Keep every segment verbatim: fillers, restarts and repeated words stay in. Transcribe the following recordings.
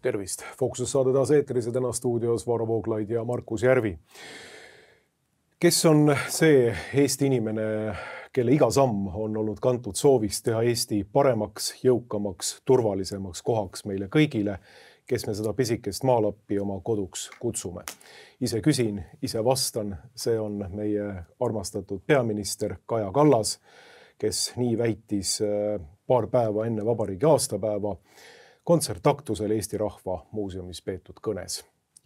Tervist! Fookuses saade taas eetris ja täna stuudios Varro Vooglaid ja Markus Järvi. Kes on see Eesti inimene, kelle iga samm on olnud kantud soovist teha Eesti paremaks, jõukamaks, turvalisemaks kohaks meile kõigile, kes me seda pisikest maalappi oma koduks kutsume? Ise küsin, ise vastan, see on meie armastatud peaminister Kaja Kallas, kes nii väitis paar päeva enne vabariigi aastapäeva kontsertaktusel Eesti Rahva Muuseumis peetud kõnes.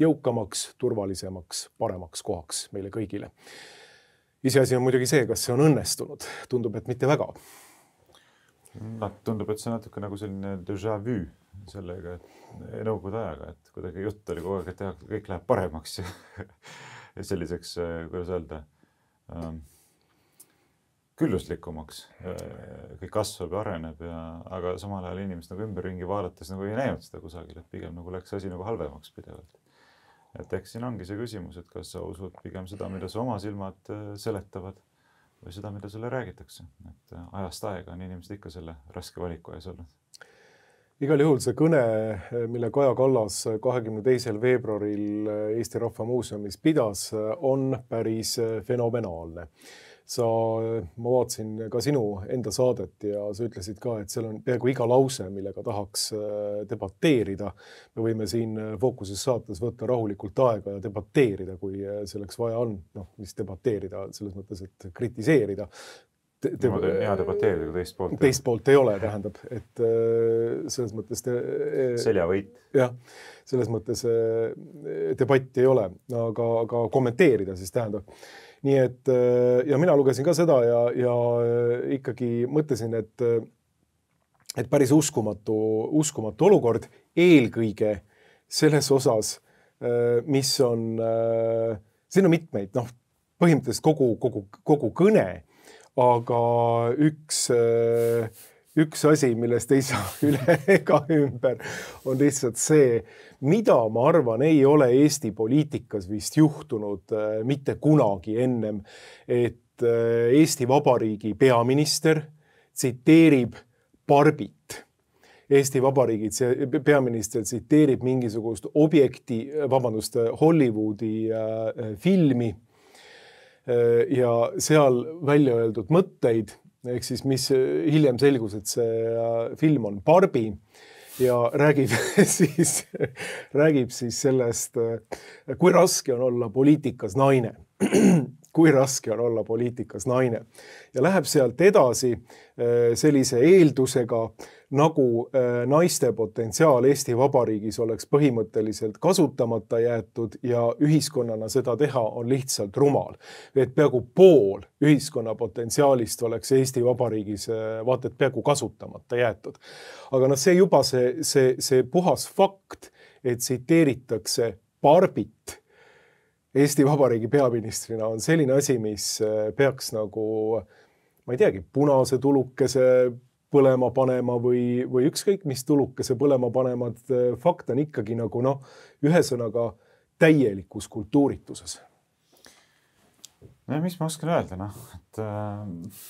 Jõukamaks, turvalisemaks, paremaks kohaks meile kõigile. Iseasi on muidugi see, kas see on õnnestunud. Tundub, et mitte väga. No, tundub, et see on natuke nagu selline déjà vu sellega, et nõukogude ajaga, et kuidagi jutt oli kogu aeg, et teha, kõik läheb paremaks ja selliseks, kuidas öelda, külluslikumaks, kõik kasvab ja areneb, ja, aga samal ajal inimesed nagu ümberringi vaadates nagu ei näinud seda kusagil, et pigem nagu läks asi nagu halvemaks pidevalt. Et eks siin ongi see küsimus, et kas sa usud pigem seda, mida sa oma silmad seletavad või seda, mida sulle räägitakse. Et ajast aega on inimesed ikka selle raske valiku ees olnud. Igal juhul see kõne, mille Kaja Kallas kahekümne teisel veebruaril Eesti Rahva Muuseumis pidas, on päris fenomenaalne. Sa, ma vaatasin ka sinu enda saadet ja sa ütlesid ka, et seal on peaaegu iga lause, millega tahaks debateerida. Me võime siin Fookuses saates võtta rahulikult aega ja debateerida, kui selleks vaja on. Noh, mis debateerida, selles mõttes, et kritiseerida. Te, te, ma teen hea debateerida, kui teist poolt. Teist poolt ei ole, tähendab, et selles mõttes... Te, Seljavõit. Jah, selles mõttes debatti ei ole, aga, aga kommenteerida siis tähendab. Nii et, ja mina lugesin ka seda ja, ja ikkagi mõtlesin, et, et päris uskumatu, uskumatu olukord eelkõige selles osas, mis on, siin on mitmeid, noh, põhimõtteliselt kogu, kogu, kogu kõne, aga üks, üks asi, millest ei saa üle ega ümber, on lihtsalt see, mida ma arvan, ei ole Eesti poliitikas vist juhtunud mitte kunagi ennem, et Eesti Vabariigi peaminister tsiteerib Barbit. Eesti Vabariigi peaminister tsiteerib mingisugust objekti, vabandust, Hollywoodi filmi ja seal välja öeldud mõtteid, ehk siis mis hiljem selgus, et see film on Barbie, ja räägib siis, räägib siis sellest, kui raske on olla poliitikas naine. Kui raske on olla poliitikas naine. Ja läheb sealt edasi sellise eeldusega, nagu naiste potentsiaal Eesti Vabariigis oleks põhimõtteliselt kasutamata jäetud ja ühiskonnana seda teha on lihtsalt rumal. Et peaaegu pool ühiskonna potentsiaalist oleks Eesti Vabariigis vaata, et peaaegu kasutamata jäetud. Aga noh, see juba see, see, see puhas fakt, et tsiteeritakse Barbit Eesti Vabariigi peaministrina on selline asi, mis peaks nagu, ma ei teagi, punase tulukese põlema panema või, või ükskõik mis tulukese põlema panemad, fakt on ikkagi nagu noh, ühesõnaga täielikus kultuurituses. No, mis ma oskan öelda, noh, et äh,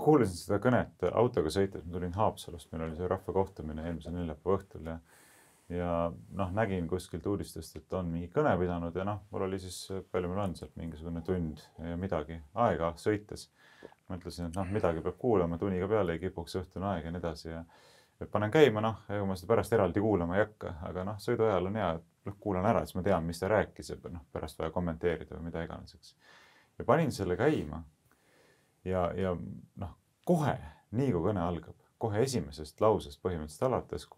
kuulasin seda kõnet autoga sõites, ma tulin Haapsalust, meil oli see rahva kohtumine eelmise neljapäeva õhtul ja ja noh, nägin kuskilt uudistest, et on mingi kõne pidanud ja noh, mul oli siis, palju mul on sealt mingisugune tund ja midagi aega sõites. Mõtlesin, et noh, midagi peab kuulama, tuniga peale ei kipuks õhtune aeg ja nii edasi ja panen käima, noh, ega ma seda pärast eraldi kuulama ei hakka, aga noh, sõidu ajal on hea, et kuulan ära, et ma tean, mis ta rääkis ja noh, pärast vaja kommenteerida või mida iganeseks. Ja panin selle käima ja, ja noh, kohe, nii kui kõne algab, kohe esimesest lausest põhimõtteliselt alates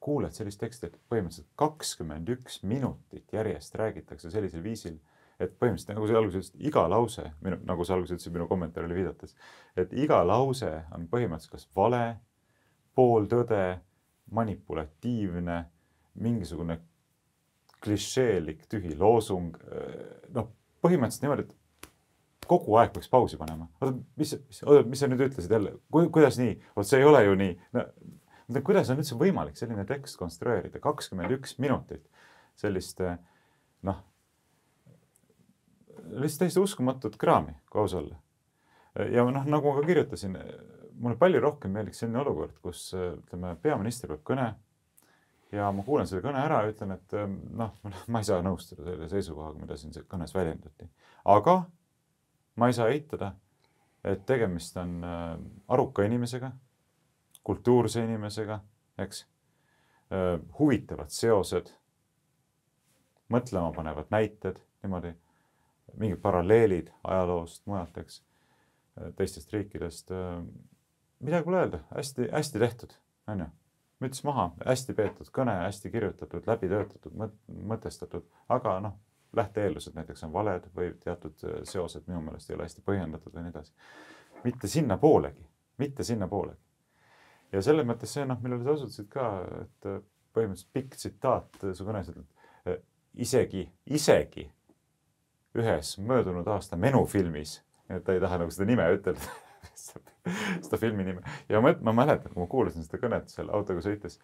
kuuled sellist teksti, et põhimõtteliselt kakskümmend üks minutit järjest räägitakse sellisel viisil, et põhimõtteliselt, nagu see alguses ütlesid, iga lause, minu, nagu see alguses ütlesid minu kommentaarile viidates, et iga lause on põhimõtteliselt kas vale, pooltõde, manipulatiivne, mingisugune klišeelik, tühi loosung, noh, põhimõtteliselt niimoodi, et kogu aeg peaks pausi panema. Oota, mis, mis, mis sa nüüd ütlesid jälle? Kuidas nii? Oot, see ei ole ju nii. No, kuidas on üldse võimalik selline tekst konstrueerida? kakskümmend üks minutit sellist, noh, lihtsalt täiesti uskumatut kraami, kui aus olla. Ja noh, nagu ma ka kirjutasin, mulle palju rohkem meeldiks selline olukord, kus ütleme, peaminister peab kõne ja ma kuulen selle kõne ära ja ütlen, et noh, ma ei saa nõustuda selle seisukohaga, mida siin kõnes väljendati. Aga ma ei saa eitada, et tegemist on aruka inimesega, kultuurse inimesega, eks, huvitavad seosed, mõtlema panevad näited, niimoodi, mingid paralleelid ajaloost, mujalt, eks, teistest riikidest. Midagi pole öelda, hästi, hästi tehtud, on ju. Müts maha, hästi peetud kõne, hästi kirjutatud, läbi töötatud, mõtestatud, aga noh, lähteeellused näiteks on valed või teatud seosed minu meelest ei ole hästi põhjendatud või nii edasi. Mitte sinna poolegi, mitte sinna poolegi. Ja selles mõttes see, noh, millele sa osutasid ka, et põhimõtteliselt pikk tsitaat su kõnes, et isegi, isegi ühes möödunud aasta menufilmis, et ta ei taha nagu seda nime ütelda, seda filmi nime. Ja ma, ma mäletan, kui ma kuulasin seda kõnet seal autoga sõites,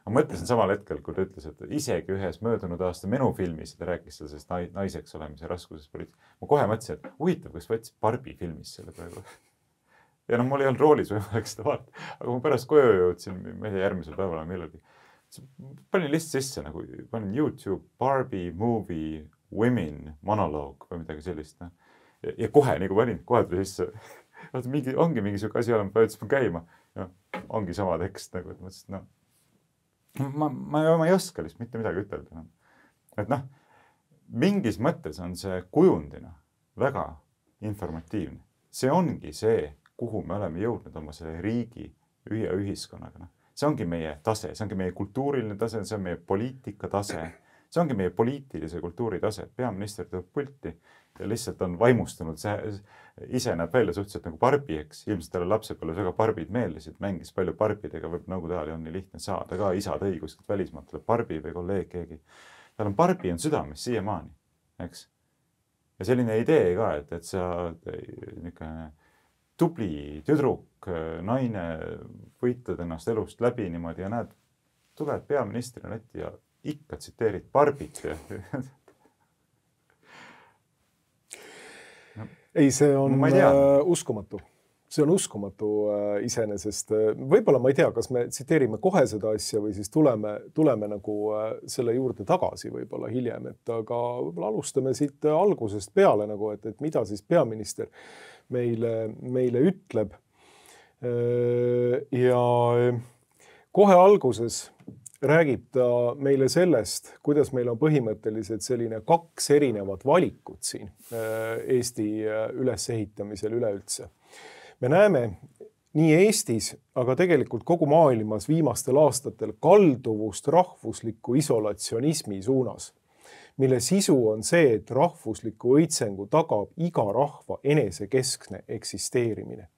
ma mõtlesin samal hetkel, kui ta ütles, et isegi ühes möödunud aasta menufilmis, ta rääkis sellest naiseks olemise raskuses poliitik. Ma kohe mõtlesin, et huvitav, kas võttis Barbie filmis selle praegu. Ja noh, mul ei olnud roolis võimalik seda vaadata, aga ma pärast koju jõudsin, ma ei tea, järgmisel päeval millalgi. Panin lihtsalt sisse, nagu panin YouTube Barbie movie women monoloog või midagi sellist. No. Ja, ja kohe, nagu panin, kohe tuli sisse, vaata, mingi, ongi mingi siuke asi olema, võtsin käima ja ongi sama tekst, nagu, et mõtlesin, no, ma, ma, ma ei oska lihtsalt mitte midagi ütelda. No. Et noh, mingis mõttes on see kujundina väga informatiivne. See ongi see, kuhu me oleme jõudnud oma selle riigi ja ühiskonnaga. No. See ongi meie tase, see ongi meie kultuuriline tase, see on meie poliitika tase, see ongi meie poliitilise kultuuri tase. Peaminister tuleb pulti ja lihtsalt on vaimustunud. See ise näeb välja suhteliselt nagu Barbie, eks. Ilmselt talle lapsepõlves väga Barbid meeldisid, mängis palju Barbidega, võib nõukogude ajal on nii lihtne saada ka isad õiguselt välismaalt tuleb Barbie või kolleeg keegi. Tal on Barbie on südames siiamaani, eks. Ja selline idee ka, et, et sa niisugune tubli tüdruk, naine, võitled ennast elust läbi niimoodi ja näed, tuled peaministrina ette ja ikka tsiteerid Barbit. No, ei, see on uh, uskumatu. See on uskumatu uh, iseenesest. Võib-olla ma ei tea, kas me tsiteerime kohe seda asja või siis tuleme, tuleme nagu uh, selle juurde tagasi võib-olla hiljem, et aga võib-olla alustame siit algusest peale, nagu, et, et mida siis peaminister meile, meile ütleb. Uh, ja kohe alguses räägib ta meile sellest, kuidas meil on põhimõtteliselt selline kaks erinevat valikut siin Eesti ülesehitamisel üleüldse. Me näeme nii Eestis, aga tegelikult kogu maailmas viimastel aastatel kalduvust rahvusliku isolatsionismi suunas, mille sisu on see, et rahvusliku õitsengu tagab iga rahva enesekeskne eksisteerimine.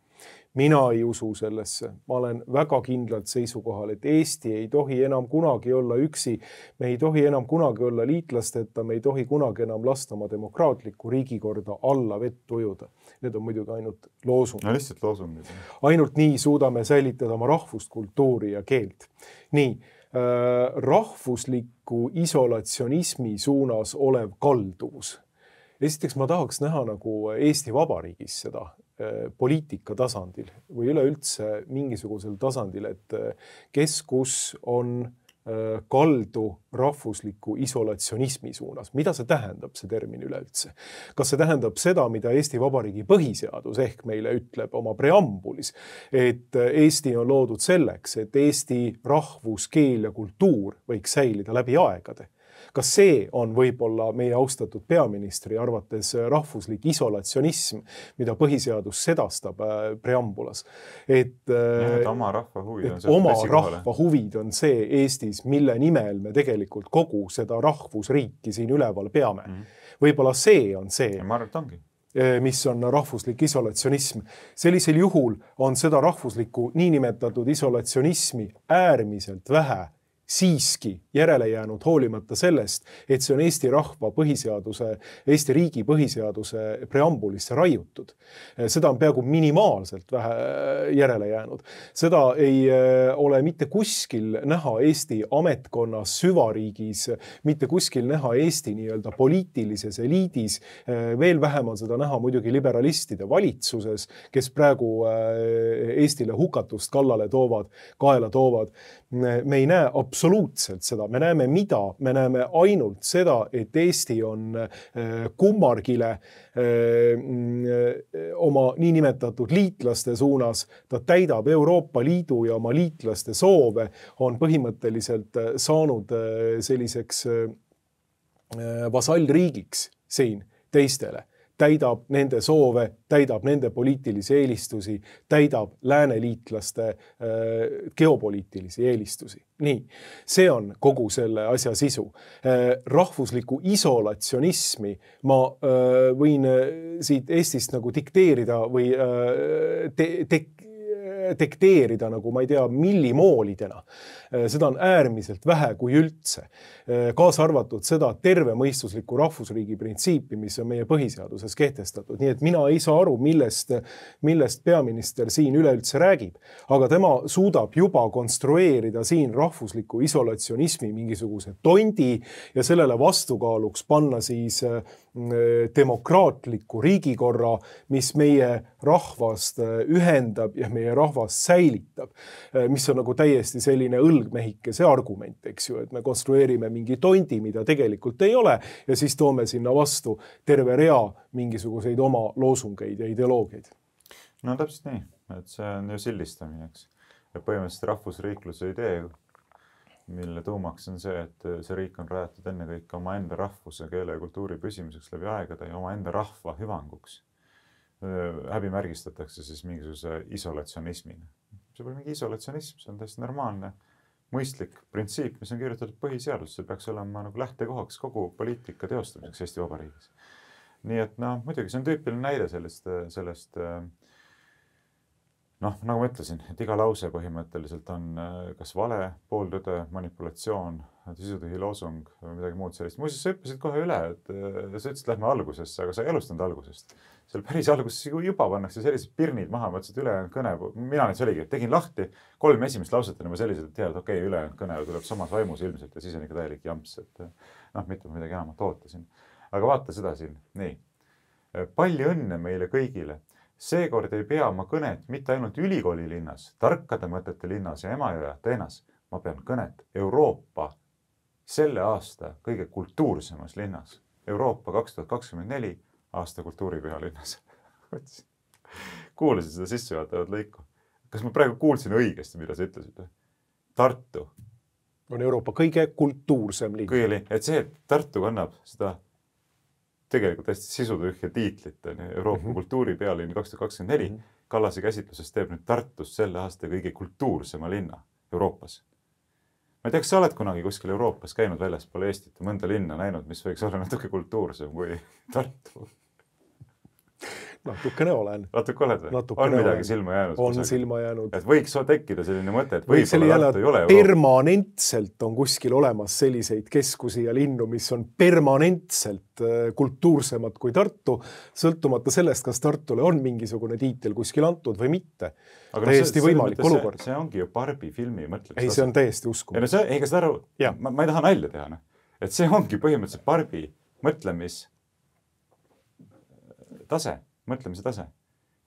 Mina ei usu sellesse. Ma olen väga kindlalt seisukohal, et Eesti ei tohi enam kunagi olla üksi, me ei tohi enam kunagi olla liitlasteta, me ei tohi kunagi enam lasta oma demokraatlikku riigikorda alla vett ujuda. Need on muidugi ainult loosungid. No lihtsalt loosungid. Ainult nii suudame säilitada oma rahvust, kultuuri ja keelt. Nii, äh, rahvusliku isolatsionismi suunas olev kalduvus. Esiteks ma tahaks näha nagu Eesti Vabariigis seda poliitika tasandil või üleüldse mingisugusel tasandil, et kes kus on kaldu rahvusliku isolatsionismi suunas. Mida see tähendab, see termin üleüldse? Kas see tähendab seda, mida Eesti Vabariigi põhiseadus ehk meile ütleb oma preambulis, et Eesti on loodud selleks, et Eesti rahvus, keel ja kultuur võiks säilida läbi aegade? Kas see on võib-olla meie austatud peaministri arvates rahvuslik isolatsionism, mida põhiseadus sedastab preambulas? Et, ja, et oma rahva huvid on, oma rahva huvid on see Eestis, mille nimel me tegelikult kogu seda rahvusriiki siin üleval peame. Mm. Võib-olla see on see. Ja ma arvan, et ongi. Mis on rahvuslik isolatsionism. Sellisel juhul on seda rahvuslikku niinimetatud isolatsionismi äärmiselt vähe siiski järele jäänud hoolimata sellest, et see on Eesti rahva põhiseaduse, Eesti riigi põhiseaduse preambulisse raiutud. Seda on peaaegu minimaalselt vähe järele jäänud. Seda ei ole mitte kuskil näha Eesti ametkonnas süvariigis, mitte kuskil näha Eesti nii-öelda poliitilises eliidis. Veel vähem on seda näha muidugi liberalistide valitsuses, kes praegu Eestile hukatust kallale toovad, kaela toovad. Me ei näe absoluutselt seda. Me näeme mida? Me näeme ainult seda, et Eesti on kummargile oma niinimetatud liitlaste suunas. Ta täidab Euroopa Liidu ja oma liitlaste soove, on põhimõtteliselt saanud selliseks vasallriigiks siin teistele. Täidab nende soove, täidab nende poliitilisi eelistusi, täidab lääneliitlaste geopoliitilisi eelistusi. Nii, see on kogu selle asja sisu. Rahvuslikku isolatsionismi ma võin siit Eestist nagu dikteerida või te, te, dekteerida nagu ma ei tea millimoolidena. Seda on äärmiselt vähe kui üldse. Kaasa arvatud seda tervemõistuslikku rahvusriigi printsiipi, mis on meie põhiseaduses kehtestatud. Nii et mina ei saa aru, millest, millest peaminister siin üleüldse räägib. Aga tema suudab juba konstrueerida siin rahvusliku isolatsionismi mingisuguse tondi ja sellele vastukaaluks panna siis demokraatliku riigikorra, mis meie rahvast ühendab ja meie rahvast säilitab, mis on nagu täiesti selline õlgmehike see argument, eks ju, et me konstrueerime mingi tondi, mida tegelikult ei ole ja siis toome sinna vastu terve rea mingisuguseid oma loosungeid ja ideoloogiaid. No täpselt nii, et see on ju sildistamine, eks. Ja põhimõtteliselt rahvusriikluse idee, mille tuumaks on see, et see riik on rajatud enne kõik oma enda rahvuse, keele ja kultuuri püsimiseks läbi aegade ja oma enda rahva hüvanguks. Häbi märgistatakse siis mingisuguse isolatsionismina. See pole mingi isolatsionism, see on täiesti normaalne, mõistlik printsiip, mis on kirjutatud põhiseadus, see peaks olema nagu lähtekohaks kogu poliitika teostamiseks Eesti Vabariigis. Nii et no, muidugi see on tüüpiline näide sellest, sellest noh, nagu ma ütlesin, et iga lause põhimõtteliselt on kas vale, pooltõde, manipulatsioon, sisutühi loosung või midagi muud sellist. Muuseas, sa hüppasid kohe üle, et sa ütlesid, lähme algusesse, aga sa ei alustanud algusest. Seal päris alguses juba pannakse sellised pirnid maha, mõtlesid ülejäänud kõne. Mina nüüd see oligi, et tegin lahti kolm esimest lauset on juba sellised, et tead, okei, okay, ülejäänud kõne tuleb samas vaimus ilmselt ja siis on ikka täielik jamps, et noh, mitte midagi enamat ootasin. Aga vaata seda siin. Nii. Palju õnne meile kõigile. Seekord ei pea ma kõnet mitte ainult ülikooli linnas, tarkade mõtete linnas ja Emajõe Ateenas. Ma pean kõnet Euroopa selle aasta kõige kultuursemas linnas. Euroopa kaks tuhat kakskümmend neli aasta kultuuripüha linnas. Kuulasid seda sissejuhatavat lõiku. Kas ma praegu kuulsin õigesti, mida sa ütlesid? Tartu on Euroopa kõige kultuursem linn. Kõige linn. Et see, et Tartu kannab seda tegelikult hästi sisutühja tiitlit Euroopa mm -hmm. kultuuripealinn kaks tuhat kakskümmend neli. Mm -hmm. Kallase käsitluses teeb nüüd Tartust selle aasta kõige kultuursema linna Euroopas. Ma ei tea, kas sa oled kunagi kuskil Euroopas käinud väljaspool Eestit ja mõnda linna näinud, mis võiks olla natuke kultuursem kui Tartu? Natukene olen. Natuke oled või? Natukene on midagi olen. Silma jäänud? On kusagil. Silma jäänud. Et võiks tekkida selline mõte, et võib-olla Tartu ei ole Euroopa. Permanentselt on kuskil olemas selliseid keskusi ja linnu, mis on permanentselt kultuursemad kui Tartu, sõltumata sellest, kas Tartule on mingisugune tiitel kuskil antud või mitte. Aga täiesti no, võimalik see, olukord. See, see ongi ju Barbi filmi mõtlemise. Ei, see on täiesti uskumatu. No see, ei, kas aru, ma, ma ei taha nalja teha. No. Et see ongi põhimõtteliselt Barbi mõtlemis tase. Mõtlemise tase.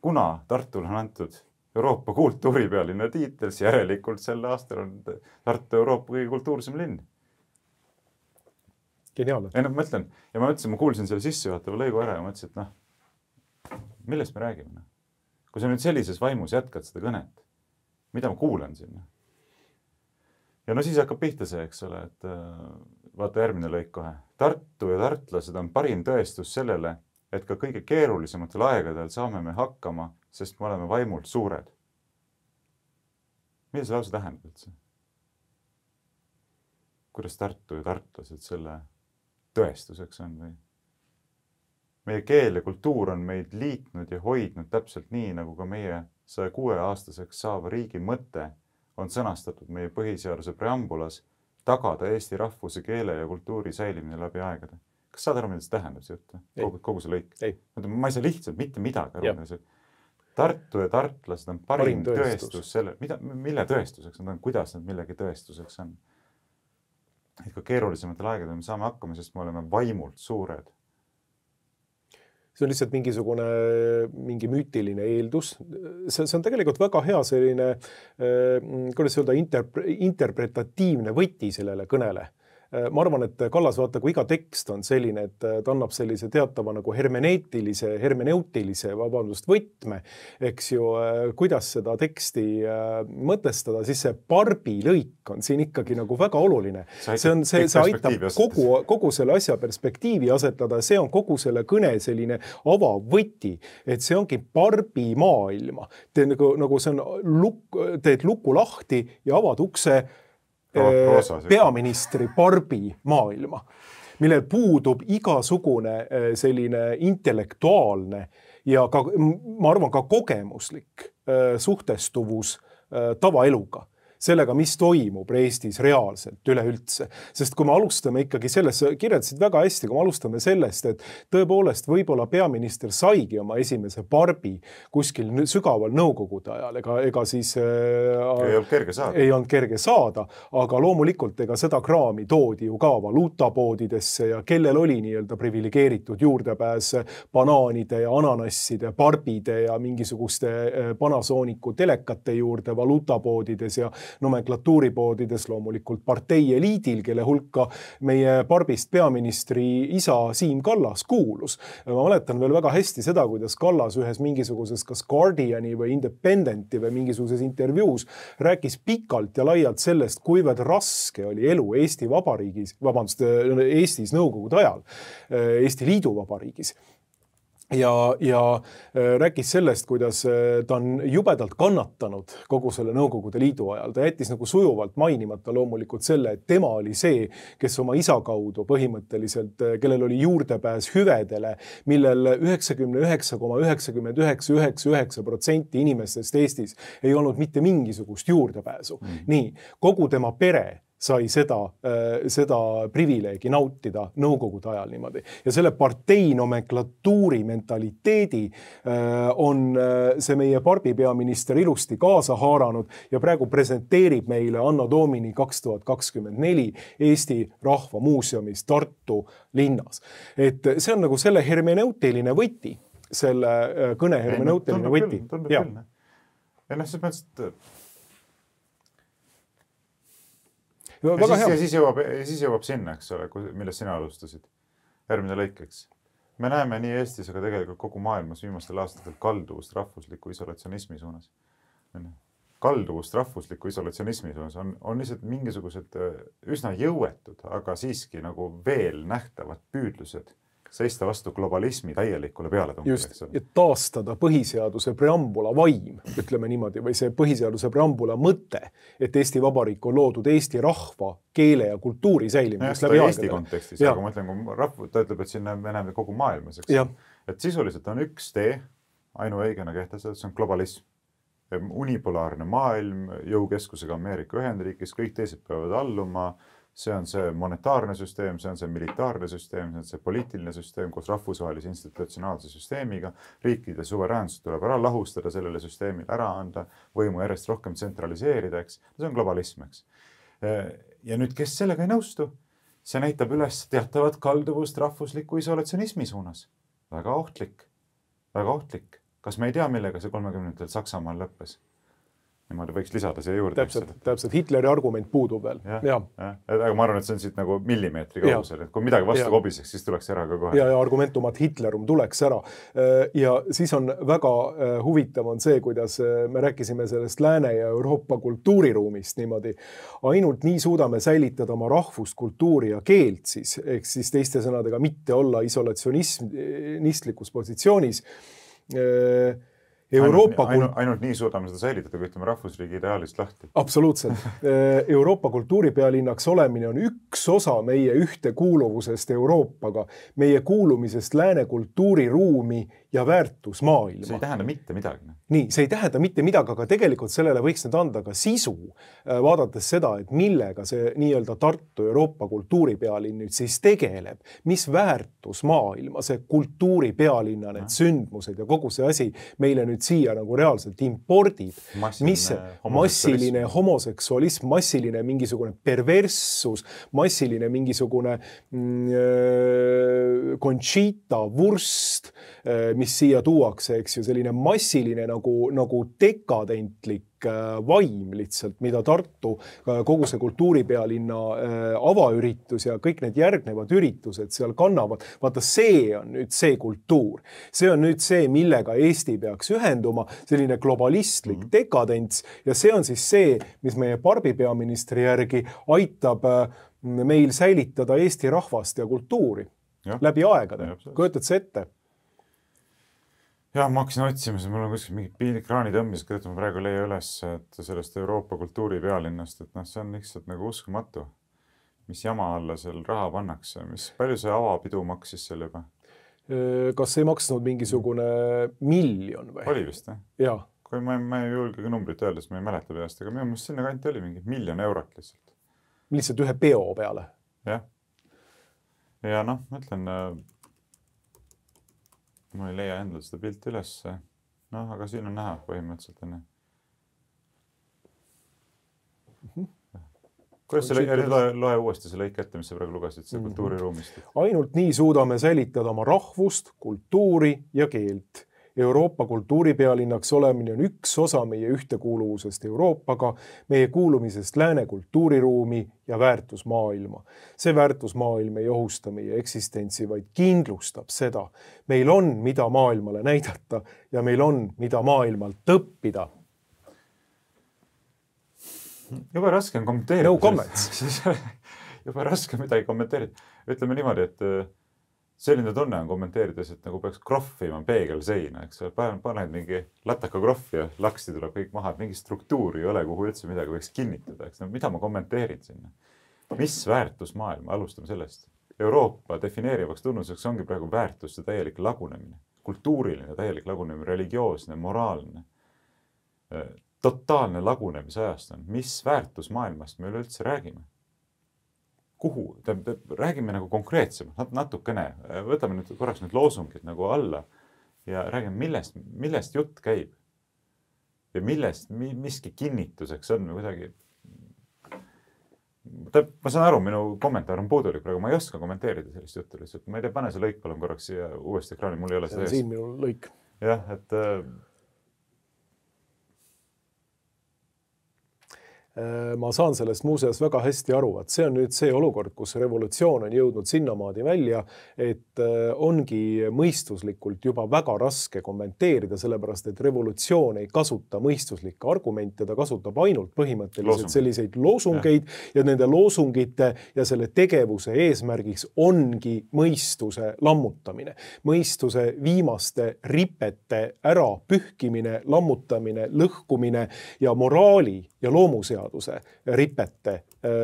Kuna Tartul on antud Euroopa kultuuripealinna tiitel, siis järelikult selle aastal on Tartu Euroopa kõige kultuursem linn. Geniaalne. Ei, no, ma mõtlen, ja ma mõtlesin, ma kuulsin selle sissejuhatava lõigu ära ja mõtlesin, et noh, millest me räägime? No? Kui sa nüüd sellises vaimus jätkad seda kõnet, mida ma kuulen sinna? Ja no siis hakkab pihta see, eks ole, et vaata järgmine lõik kohe. Tartu ja tartlased on parim tõestus sellele, et ka kõige keerulisematel aegadel saame me hakkama, sest me oleme vaimult suured. Mida see lause tähendab üldse? Kuidas Tartu ja tartlased selle tõestuseks on? Või? Meie keel ja kultuur on meid liitnud ja hoidnud täpselt nii, nagu ka meie saja kuue aastaseks saava riigi mõte on sõnastatud meie põhiseaduse preambulas tagada Eesti rahvuse, keele ja kultuuri säilimine läbi aegade. Kas saad aru, mida see tähendab see jutt? Kogu, kogu see lõik? Ei. Ma ei saa lihtsalt mitte midagi aru. Tartu ja tartlased on parim, parim tõestus. tõestus selle, mida, mille tõestuseks nad on, kuidas nad millegi tõestuseks on. Et ka keerulisematel aegadel me saame hakkama, sest me oleme vaimult suured. See on lihtsalt mingisugune mingi müütiline eeldus. See, see on tegelikult väga hea selline, kuidas öelda, interp- interpretatiivne võti sellele kõnele. Ma arvan, et Kallas vaata, kui iga tekst on selline, et ta annab sellise teatava nagu hermeneetilise, hermeneutilise, vabandust, võtme, eks ju, kuidas seda teksti mõtestada, siis see parbi lõik on siin ikkagi nagu väga oluline. See, on, see, see aitab kogu, kogu selle asja perspektiivi asetada, see on kogu selle kõne selline avavõti, et see ongi parbi maailma. Te, nagu, nagu see on luk, teed luku lahti ja avad ukse peaministri parbi maailma, millel puudub igasugune selline intellektuaalne ja ka, ma arvan, ka kogemuslik suhtestuvus tavaeluga. Sellega, mis toimub Eestis reaalselt üleüldse. Sest kui me alustame ikkagi sellest, kirjeldasid väga hästi, kui me alustame sellest, et tõepoolest võib-olla peaminister saigi oma esimese parbi kuskil sügaval nõukogude ajal, ega, ega siis ei olnud kerge saada. Ei olnud kerge saada, aga loomulikult ega seda kraami toodi ju ka valuutapoodidesse ja kellel oli nii-öelda privilegeeritud juurdepääs banaanide ja ananasside, parbide ja mingisuguste Panasooniku telekate juurde valuutapoodides ja nomenklatuuripoodides loomulikult partei eliidil, kelle hulka meie parbist peaministri isa Siim Kallas kuulus. Ma mäletan veel väga hästi seda, kuidas Kallas ühes mingisuguses kas Guardiani või Independenti või mingisuguses intervjuus rääkis pikalt ja laialt sellest, kuivõrd raske oli elu Eesti Vabariigis, vabandust, Eestis nõukogude ajal, Eesti Liidu Vabariigis. Ja, ja rääkis sellest, kuidas ta on jubedalt kannatanud kogu selle Nõukogude Liidu ajal. Ta jättis nagu sujuvalt mainimata loomulikult selle, et tema oli see, kes oma isa kaudu põhimõtteliselt, kellel oli juurdepääs hüvedele, millel üheksakümmend üheksa koma üheksakümmend üheksa koma üheksakümmend üheksa protsenti inimestest Eestis ei olnud mitte mingisugust juurdepääsu. Mm. Nii, kogu tema pere sai seda, seda privileegi nautida nõukogude ajal niimoodi. Ja selle partei nomenklatuuri mentaliteedi on see meie parbi peaminister ilusti kaasa haaranud ja praegu presenteerib meile Anno Domini kaks tuhat kakskümmend neli Eesti Rahva Muuseumis Tartu linnas. Et see on nagu selle hermeneutiline võti, selle kõne hermeneutiline võti. Tundub küll. Ja noh, see mõttes, et Ja siis, ja, siis jõuab, ja siis jõuab sinna, eks ole, millest sina alustasid. Järgmine lõikeks. Me näeme nii Eestis, aga tegelikult kogu maailmas viimastel aastatel kalduvust rahvusliku isolatsionismi suunas. Kalduvust rahvusliku isolatsionismi suunas on, on lihtsalt mingisugused üsna jõuetud, aga siiski nagu veel nähtavad püüdlused seista vastu globalismi täielikule pealetungile. Just, et taastada põhiseaduse preambula vaim, ütleme niimoodi, või see põhiseaduse preambula mõte, et Eesti Vabariik on loodud Eesti rahva, keele ja kultuuri säilimiseks läbi aegade. Eesti kontekstis, ja. Aga ma ütlen, kui rahv, ta ütleb, et siin me näeme kogu maailmas, eks? Et sisuliselt on üks tee, ainuõigena kehtestatud, see on globalism. Unipolaarne maailm, jõukeskusega Ameerika Ühendriigis, kõik teised peavad alluma. See on see monetaarne süsteem, see on see militaarne süsteem, see on see poliitiline süsteem koos rahvusvahelise institutsionaalse süsteemiga. Riikide suveräänsus tuleb ära lahustada sellele süsteemile, ära anda, võimu järjest rohkem tsentraliseerida, eks. See on globalism, eks. Ja nüüd, kes sellega ei nõustu, see näitab üles teatavat kalduvust rahvusliku isolatsionismi suunas. Väga ohtlik, väga ohtlik. Kas me ei tea, millega see kolmekümnendatel Saksamaal lõppes? Niimoodi võiks lisada siia juurde. Täpselt, täpselt. Hitleri argument puudub veel. Ja, ja. Ja. Aga ma arvan, et see on siit nagu millimeetri kaugusel. Kui midagi vastu kobiseks, siis tuleks ära ka kohe. Ja, ja argumentumat Hitlerum tuleks ära. Ja siis on väga huvitav on see, kuidas me rääkisime sellest Lääne ja Euroopa kultuuriruumist niimoodi. Ainult nii suudame säilitada oma rahvust, kultuuri ja keelt siis, ehk siis teiste sõnadega mitte olla isolatsionistlikus positsioonis. Euroopa ainult, ainult, ainult nii suudame seda säilitada, kui ütleme rahvusriigi ideaalist lahti. Absoluutselt. Euroopa kultuuripealinnaks olemine on üks osa meie ühtekuuluvusest Euroopaga, meie kuulumisest lääne kultuuriruumi ja väärtusmaailma. See ei tähenda mitte midagi. Nii, see ei tähenda mitte midagi, aga tegelikult sellele võiks nüüd anda ka sisu, vaadates seda, et millega see nii-öelda Tartu Euroopa kultuuripealinn nüüd siis tegeleb, mis väärtusmaailma see kultuuripealinna, need sündmused ja kogu see asi meile nüüd siia nagu reaalselt impordib. Massiline mis see massiline homoseksualism, massiline mingisugune perverssus, massiline mingisugune mm, Conchita Wurst, mis siia tuuakse, eks ju, selline massiline nagu, nagu dekadentlik vaim lihtsalt, mida Tartu kogu see kultuuripealinna avaüritus ja kõik need järgnevad üritused seal kannavad. Vaata, see on nüüd see kultuur. See on nüüd see, millega Eesti peaks ühenduma, selline globalistlik mm. dekadents ja see on siis see, mis meie Barbi peaministri järgi aitab meil säilitada Eesti rahvast ja kultuuri ja. Läbi aegade. Kujutad see ette? Ja, ma hakkasin otsima, mul on kuskil mingid kraani tõmbis, kõigepealt ma praegu leia üles, et sellest Euroopa kultuuripealinnast, et noh, see on lihtsalt nagu uskumatu, mis jama alla seal raha pannakse, mis palju see avapidu maksis seal juba? Kas ei maksnud mingisugune miljon või? Oli vist, jah? Jaa. Kui ma, ma ei julge ka numbrit öelda, sest ma ei mäleta peast, aga minu mõttes sinna kanti oli mingi miljon eurot lihtsalt. Lihtsalt ühe peo peale? Jah. Ja noh, ma ütlen, ma ei leia endal seda pilti üles. Noh, aga siin on näha põhimõtteliselt enne. Mm-hmm. Kuidas see lõi, loe, loe uuesti see lõik ette, mis sa praegu lugesid, see kultuuriruumist? Ainult nii suudame säilitada oma rahvust, kultuuri ja keelt. Euroopa kultuuripealinnaks olemine on üks osa meie ühtekuuluvusest Euroopaga, meie kuulumisest lääne kultuuriruumi ja väärtusmaailma. See väärtusmaailm ei ohusta meie eksistentsi, vaid kindlustab seda. Meil on, mida maailmale näidata ja meil on, mida maailmalt õppida. Juba raske on kommenteerida. No comments. Juba raske midagi kommenteerida. Ütleme niimoodi, et selline tunne on kommenteerides, et nagu peaks krohvima peegel seina, eks paned mingi lataka krohvi ja laksti tuleb kõik maha, et mingi struktuuri ei ole, kuhu üldse midagi võiks kinnitada, eks mida ma kommenteerin sinna. Mis väärtusmaailma, alustame sellest. Euroopa defineerivaks tunnuseks ongi praegu väärtuste täielik lagunemine, kultuuriline täielik lagunemine, religioosne, moraalne, totaalne lagunemise ajast on. Mis väärtusmaailmast me üleüldse räägime? Kuhu? Räägime nagu konkreetsemalt, natukene. Võtame nüüd korraks nüüd loosungid nagu alla ja räägime, millest, millest jutt käib. Ja millest miski kinnituseks on kuidagi. Ma saan aru, minu kommentaar on puudulik praegu, ma ei oska kommenteerida sellist juttu lihtsalt. Ma ei tea, pane see lõik palun korraks siia uuesti ekraani, mul ei ole seda ees. Siin minu lõik. Jah, et ma saan sellest muuseas väga hästi aru, et see on nüüd see olukord, kus revolutsioon on jõudnud sinnamaadi välja, et ongi mõistuslikult juba väga raske kommenteerida, sellepärast et revolutsioon ei kasuta mõistuslikke argumente, ta kasutab ainult põhimõtteliselt selliseid loosungeid ja. ja nende loosungite ja selle tegevuse eesmärgiks ongi mõistuse lammutamine. Mõistuse viimaste ripete ära pühkimine, lammutamine, lõhkumine ja moraali ja loomuseadus ripete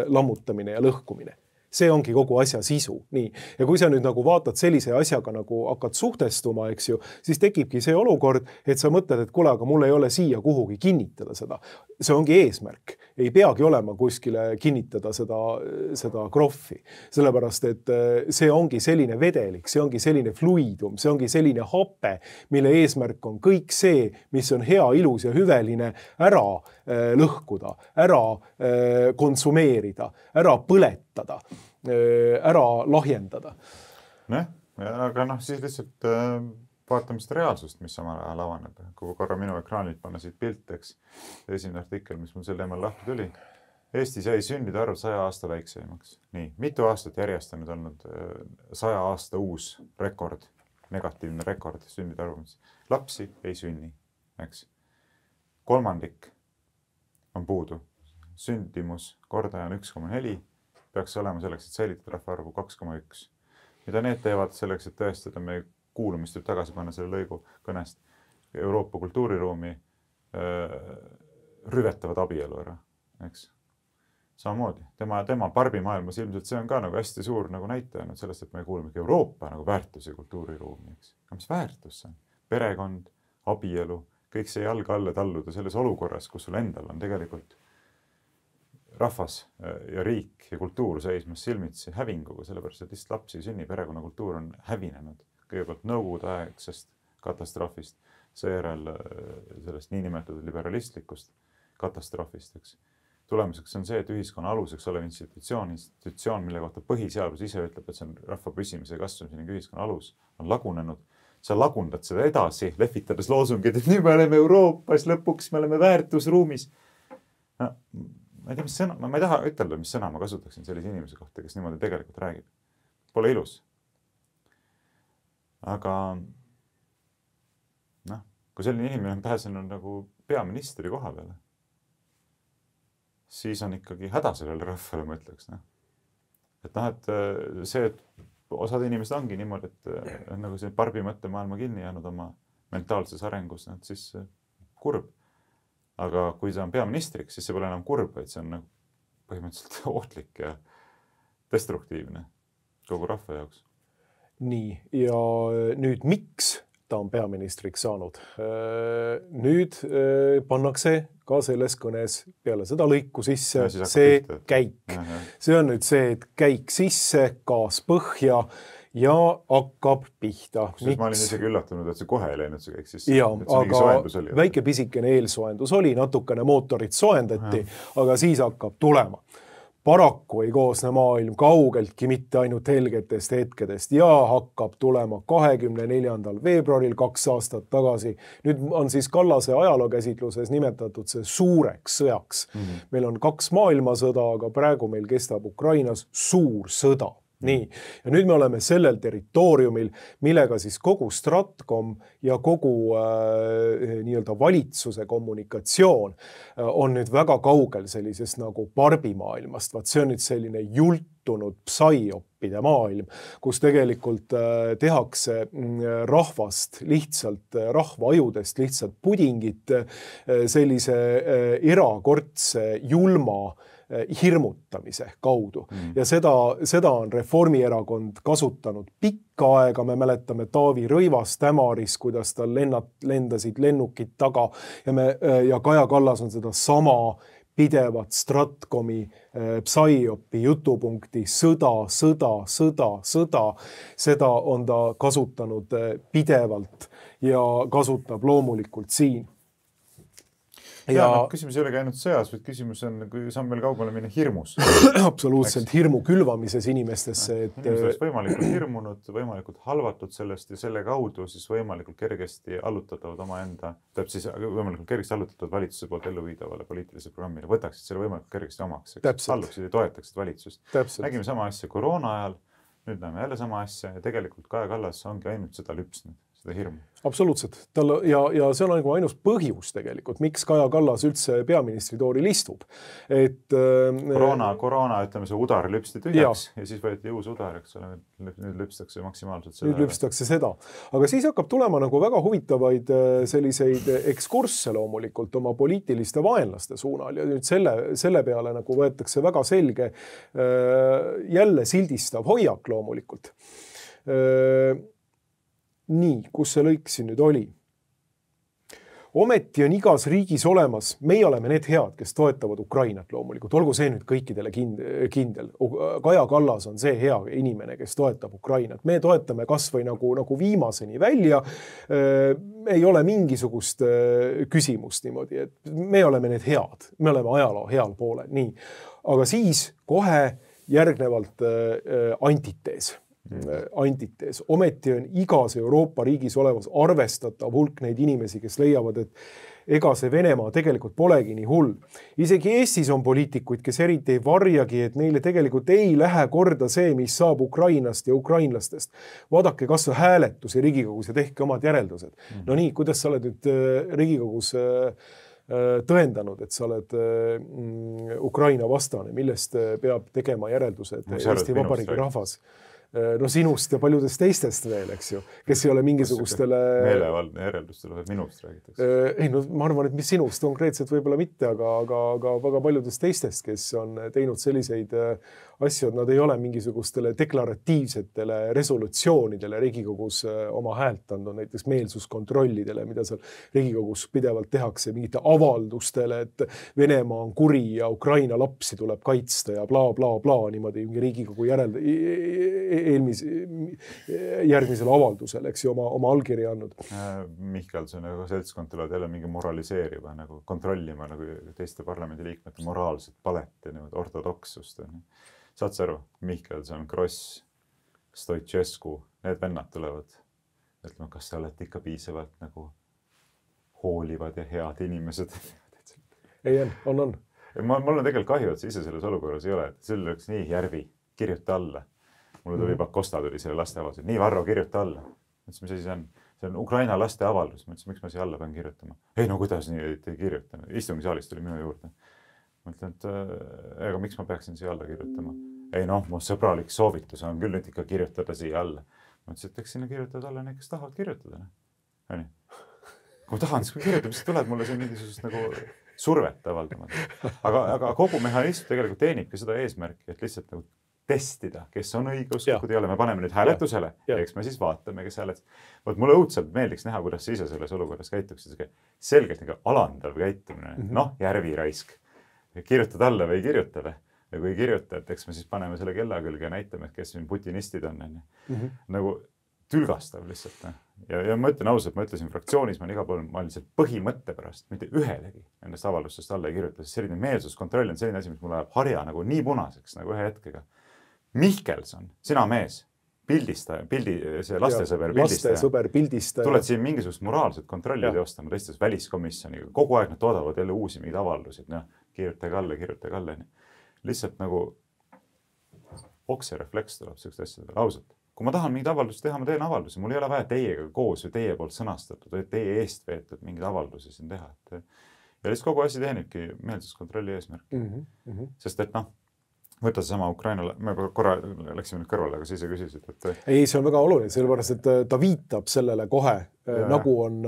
lammutamine ja lõhkumine. See ongi kogu asja sisu. Nii. Ja kui sa nüüd nagu vaatad sellise asjaga nagu hakkad suhtestuma, eks ju, siis tekibki see olukord, et sa mõtled, et kule, aga mul ei ole siia kuhugi kinnitada seda. See ongi eesmärk. Ei peagi olema kuskile kinnitada seda, seda krohvi. Sellepärast, et see ongi selline vedelik, see ongi selline fluidum, see ongi selline hape, mille eesmärk on kõik see, mis on hea, ilus ja hüveline, ära lõhkuda, ära konsumeerida, ära põletada, ära lahjendada. Ne? Aga noh, siis lihtsalt vaatame seda reaalsust, mis samal ajal avaneb. Kui korra minu ekraanilt panna siit pilt, eks, esimene artikkel, mis mul sel teemal lahti tuli. Eestis jäi sündide arv saja aasta väikseimaks. Nii, mitu aastat järjest on nüüd olnud saja aasta uus rekord, negatiivne rekord sündide arvumis. Lapsi ei sünni, eks. Kolmandik on puudu. Sündimus kordaja on üks koma neli, peaks olema selleks, et säilitada rahvaarvu kaks koma üks. Mida need teevad selleks, et tõestada meie kuulumist, et tagasi panna selle lõigu kõnest. Euroopa kultuuriruumi äh, rüvetavad abielu ära, eks. Samamoodi, tema, tema barbimaailmas ilmselt see on ka nagu hästi suur nagu näitaja nüüd sellest, et me kuuleme Euroopa nagu väärtus- ja kultuuriruumi, eks. Aga mis väärtus see on? Perekond, abielu, kõik see jalga alla talluda selles olukorras, kus sul endal on tegelikult rahvas ja riik ja kultuur seismas silmitsi hävinguga, sellepärast et lihtsalt lapsi ei sünni, perekonnakultuur on hävinenud. Kõigepealt nõukogude aegsest katastroofist, seejärel sellest niinimetatud liberalistlikust katastroofist, eks. Tulemuseks on see, et ühiskonna aluseks olev institutsioon, institutsioon, mille kohta põhiseadus ise ütleb, et see on rahva püsimise ja kasvamise ning ühiskonna alus, on lagunenud. Sa lagundad seda edasi, lehvitades loosungid, et nüüd me oleme Euroopas, lõpuks me oleme väärtusruumis. No, ma ei tea, mis sõna, ma ei taha ütelda, mis sõna ma kasutaksin sellise inimese kohta, kes niimoodi tegelikult räägib. Pole ilus. Aga noh, kui selline inimene on pääsenud nagu peaministri koha peale, siis on ikkagi häda sellele rahvale, ma ütleks. No. Et noh, et see, et osad inimesed ongi niimoodi, et on nagu see barbi mõtte maailma kinni jäänud oma mentaalses arengus, et siis kurb. Aga kui see on peaministriks, siis see pole enam kurb, vaid see on nagu põhimõtteliselt ohtlik ja destruktiivne kogu rahva jaoks. Nii, ja nüüd miks ta on peaministriks saanud? Nüüd pannakse ka selles kõnes peale seda lõiku sisse ja see pihta. Käik. Ja, ja. See on nüüd see, et käik sisse, gaas põhja ja hakkab pihta. Miks? Ma olin isegi üllatunud, et see kohe ei läinud see käik sisse. Ja, aga väike pisikene eelsoendus oli, natukene mootorit soendati, ja. Aga siis hakkab tulema. Paraku ei koosne maailm kaugeltki mitte ainult helgetest hetkedest ja hakkab tulema kahekümne neljandal veebruaril kaks aastat tagasi. Nüüd on siis Kallase ajalookäsitluses nimetatud see suureks sõjaks. Mm-hmm. Meil on kaks maailmasõda, aga praegu meil kestab Ukrainas suur sõda. Nii, ja nüüd me oleme sellel territooriumil, millega siis kogu Stratcom ja kogu äh, nii-öelda valitsuse kommunikatsioon äh, on nüüd väga kaugel sellisest nagu barbimaailmast. Vaat see on nüüd selline jultunud psaiopide maailm, kus tegelikult äh, tehakse äh, rahvast lihtsalt, äh, rahva ajudest lihtsalt pudingit äh, sellise äh, erakordse julma hirmutamise kaudu. Mm. Ja seda, seda on Reformierakond kasutanud pikka aega. Me mäletame Taavi Rõivast Ämaris, kuidas tal lennat, lendasid lennukid taga ja, me, ja Kaja Kallas on seda sama pidevat Stratcomi äh, psaiopi jutupunkti sõda, sõda, sõda, sõda. Seda on ta kasutanud äh, pidevalt ja kasutab loomulikult siin. Ja, ja no, küsimus ei ole ainult sõjas, vaid küsimus on, kui samm veel kaugele minna hirmus. Absoluutselt hirmu külvamises inimestesse. Et... Inimesed oleks võimalikult hirmunud, võimalikult halvatud sellest ja selle kaudu siis võimalikult kergesti allutatavad oma enda, täp siis võimalikult kergesti allutatavad valitsuse poolt ellu viidavale poliitilise programmile. Võtaksid selle võimalikult kergesti omaks. Alluksid ja toetaksid valitsust. Täpselt. Nägime sama asja koroona ajal, nüüd näeme jälle sama asja ja tegelikult Kaja Kallas ongi ainult seda lüpsnud. Seda hirmu. Absoluutselt. Tal, ja, ja see on nagu ainus põhjus tegelikult, miks Kaja Kallas üldse peaministri tooril istub. Et, koroona, koroona, ütleme see udar lüpsti tühjaks ja. ja siis võeti uus udar, eks ole, nüüd lüpstakse maksimaalselt seda. Nüüd lüpstakse seda. Aga siis hakkab tulema nagu väga huvitavaid selliseid ekskursse loomulikult oma poliitiliste vaenlaste suunal ja nüüd selle, selle peale nagu võetakse väga selge jälle sildistav hoiak loomulikult. Nii, kus see lõik siin nüüd oli? Ometi on igas riigis olemas, meie oleme need head, kes toetavad Ukrainat loomulikult, olgu see nüüd kõikidele kindel. Kaja Kallas on see hea inimene, kes toetab Ukrainat. Me toetame kas või nagu, nagu viimaseni välja, ei ole mingisugust küsimust niimoodi, et me oleme need head, me oleme ajaloo heal poolel, nii. Aga siis kohe järgnevalt antitees. antitees. Ometi on igas Euroopa riigis olevas arvestatav hulk neid inimesi, kes leiavad, et ega see Venemaa tegelikult polegi nii hull. Isegi Eestis on poliitikuid, kes eriti ei varjagi, et neile tegelikult ei lähe korda see, mis saab Ukrainast ja ukrainlastest. Vaadake kas või hääletusi Riigikogus ja tehke omad järeldused. Mm. No nii, kuidas sa oled nüüd Riigikogus tõendanud, et sa oled Ukraina vastane, millest peab tegema järeldused Eesti Vabariigi rahvas. no sinust ja paljudest teistest veel, eks ju, kes ei ole mingisugustele meelevaldne järeldus tuleb, et minust räägitakse. Ei, no ma arvan, et mis sinust konkreetselt võib-olla mitte, aga, aga, aga väga paljudest teistest, kes on teinud selliseid asju, et nad ei ole mingisugustele deklaratiivsetele resolutsioonidele Riigikogus oma häält andnud, näiteks meelsuskontrollidele, mida seal Riigikogus pidevalt tehakse, mingite avaldustele, et Venemaa on kuri ja Ukraina lapsi tuleb kaitsta ja bla, bla, bla, niimoodi Riigikogu järeld, eelmis, järgmisele avaldusele, eks ju, oma, oma allkirja andnud. Mihkelson ja seltskond tulevad jälle mingi moraliseeriva, nagu kontrollima nagu teiste parlamendiliikmete moraalset palet ja ortodoksust. Saad sa aru, Mihkelson, Kross, Stoicescu, need vennad tulevad, ütleme, kas sa oled ikka piisavalt nagu hoolivad ja head inimesed? Ei, on, on. Ma, mul on tegelikult kahju, et sa ise selles olukorras ei ole, et sel oleks nii järvi, kirjuta alla. Mulle tuli Pakosta tuli selle laste avaldus, et nii Varro, kirjuta alla. Mõtlesin, mis asi see on? See on Ukraina laste avaldus. Mõtlesin, miks ma siia alla pean kirjutama? Ei, no kuidas nii ei kirjuta? Istungisaalis tuli minu juurde. Mõtlen, et ega miks ma peaksin siia alla kirjutama? Ei, noh, mu sõbralik soovitus on küll nüüd ikka kirjutada siia alla. Mõtlesin, et eks sinna kirjutada alla need, kes tahavad kirjutada. Nii. Kui ma tahan, siis kui kirjutab, siis tuleb mulle see mingisugust nagu survet avaldama. Aga, aga kogu mehhanism tegelikult teenibki seda eesmärki, et lihtsalt nagu testida, kes on õigeusklikud ei ole. Me paneme nüüd hääletusele ja eks me siis vaatame, kes hääletus. Võt mulle õudselt meeldiks näha, kuidas sa ise selles olukorras käituksid. Selgelt nagu alandav käitumine. Mm -hmm. Noh, järviraisk. Kirjutad alla või ei kirjuta või? Ja kui ei kirjuta, et eks me siis paneme selle kella külge ja näitame, et kes siin putinistid on. Mm -hmm. Nagu tülgastav lihtsalt. Ja, ja ma ütlen ausalt, ma ütlesin fraktsioonis, ma olen iga pool, ma olen lihtsalt põhimõtte pärast mitte ühelegi nendest avaldustest alla ei kirjuta. Selline meelsuskontroll on selline asi, mis mulle ajab harja nagu nii punaseks nagu ühe hetkega. Mihkelson, sina mees, pildistaja, pildi, see lastesõber pildistaja. Lastesõber pildistaja. Tuled siin mingisugust moraalset kontrolli teostama teistes väliskomisjoniga. Kogu aeg nad toodavad jälle uusi mingeid avaldusid. No, kirjutage alla, kirjutage alla. Lihtsalt nagu okserefleks tuleb sellist asja. Ausalt. Kui ma tahan mingid avaldusi teha, ma teen avaldusi. Mul ei ole vaja teiega koos või teie poolt sõnastatud või teie eest veetud mingid avaldusi siin teha. Ja lihtsalt kogu asi teenibki meelsuskontrolli eesmärk. Mm -hmm. Sest et noh, võtta sama Ukraina, me korra läksime nüüd kõrvale, aga siis ei küsisid. Et... Ei, see on väga oluline, sellepärast, et ta viitab sellele kohe, ja, nagu on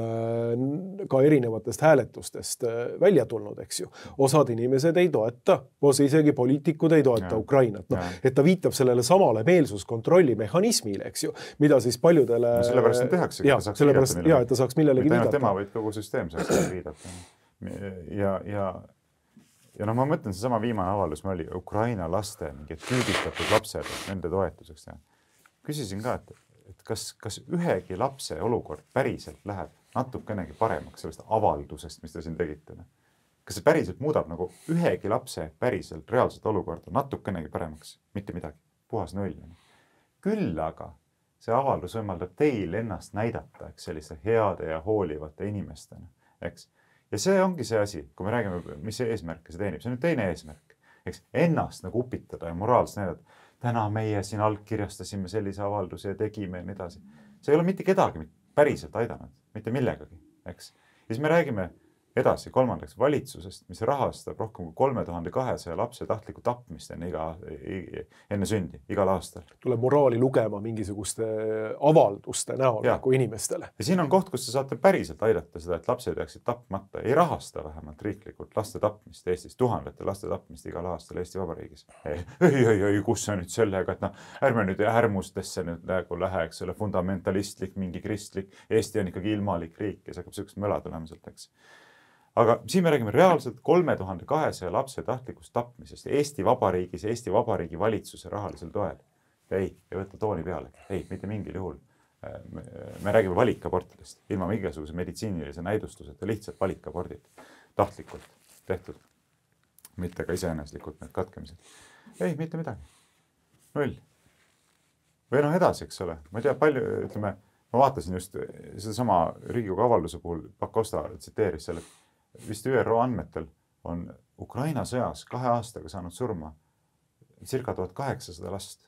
ka erinevatest hääletustest välja tulnud, eks ju. Osad inimesed ei toeta, osa isegi poliitikud ei toeta ja, Ukrainat. No, et ta viitab sellele samale meelsuskontrolli mehhanismile, eks ju, mida siis paljudele... No sellepärast on tehakse, ja, sellepärast, ja, et ta saaks millelegi viidata. Tema, vaid kogu süsteem saaks viidata. Ja, ja Ja noh, ma mõtlen, see sama viimane avaldus, me oli Ukraina laste mingid küüditatud lapsed, nende toetuseks. Ja küsisin ka, et, et kas, kas ühegi lapse olukord päriselt läheb natukenegi paremaks sellest avaldusest, mis te siin tegite? Kas see päriselt muudab nagu ühegi lapse päriselt reaalset olukorda natukenegi paremaks? Mitte midagi, puhas null. Küll aga see avaldus võimaldab teil ennast näidata, eks, selliste heade ja hoolivate inimestena, eks. Ja see ongi see asi, kui me räägime, mis see eesmärk see teenib. See on nüüd teine eesmärk. Eks ennast nagu upitada ja moraalselt näidata. Täna meie siin allkirjastasime sellise avalduse ja tegime ja nii edasi. See ei ole mitte kedagi päriselt aidanud, mitte millegagi. Eks. Ja siis me räägime edasi kolmandaks valitsusest, mis rahastab rohkem kui kolme tuhande kahesaja lapse tahtlikku tapmist enne, iga, enne sündi, igal aastal. Tuleb moraali lugema mingisuguste avalduste näol nagu inimestele. Ja siin on koht, kus sa saate päriselt aidata seda, et lapsed jääksid tapmata. Ei rahasta vähemalt riiklikult laste tapmist Eestis, tuhandete laste tapmist igal aastal Eesti Vabariigis. Ei, ei, ei, ei kus see nüüd sellega, et noh, ärme nüüd ärmustesse nüüd lähegu lähe, eks ole, fundamentalistlik, mingi kristlik. Eesti on ikkagi ilmalik riik ja see hakkab sellist möla tulemuselt, eks. Aga siin me räägime reaalselt kolme tuhande kahesaja lapse tahtlikust tapmisest Eesti Vabariigis, Eesti Vabariigi valitsuse rahalisel toel. Ei, ei võtta tooni peale. Ei, mitte mingil juhul. Me, me räägime valikabortidest, ilma mingisuguse meditsiinilise näidustuseta, lihtsalt valikabordid. Tahtlikult tehtud. Mitte ka iseeneslikult need katkemised. Ei, mitte midagi. Null. Või noh edasi, eks ole. Ma ei tea, palju, ütleme, ma vaatasin just seda sama Riigikogu avalduse puhul, Pakosta tsiteeris selle, vist Ü R O andmetel on Ukraina sõjas kahe aastaga saanud surma circa tuhat kaheksasada last.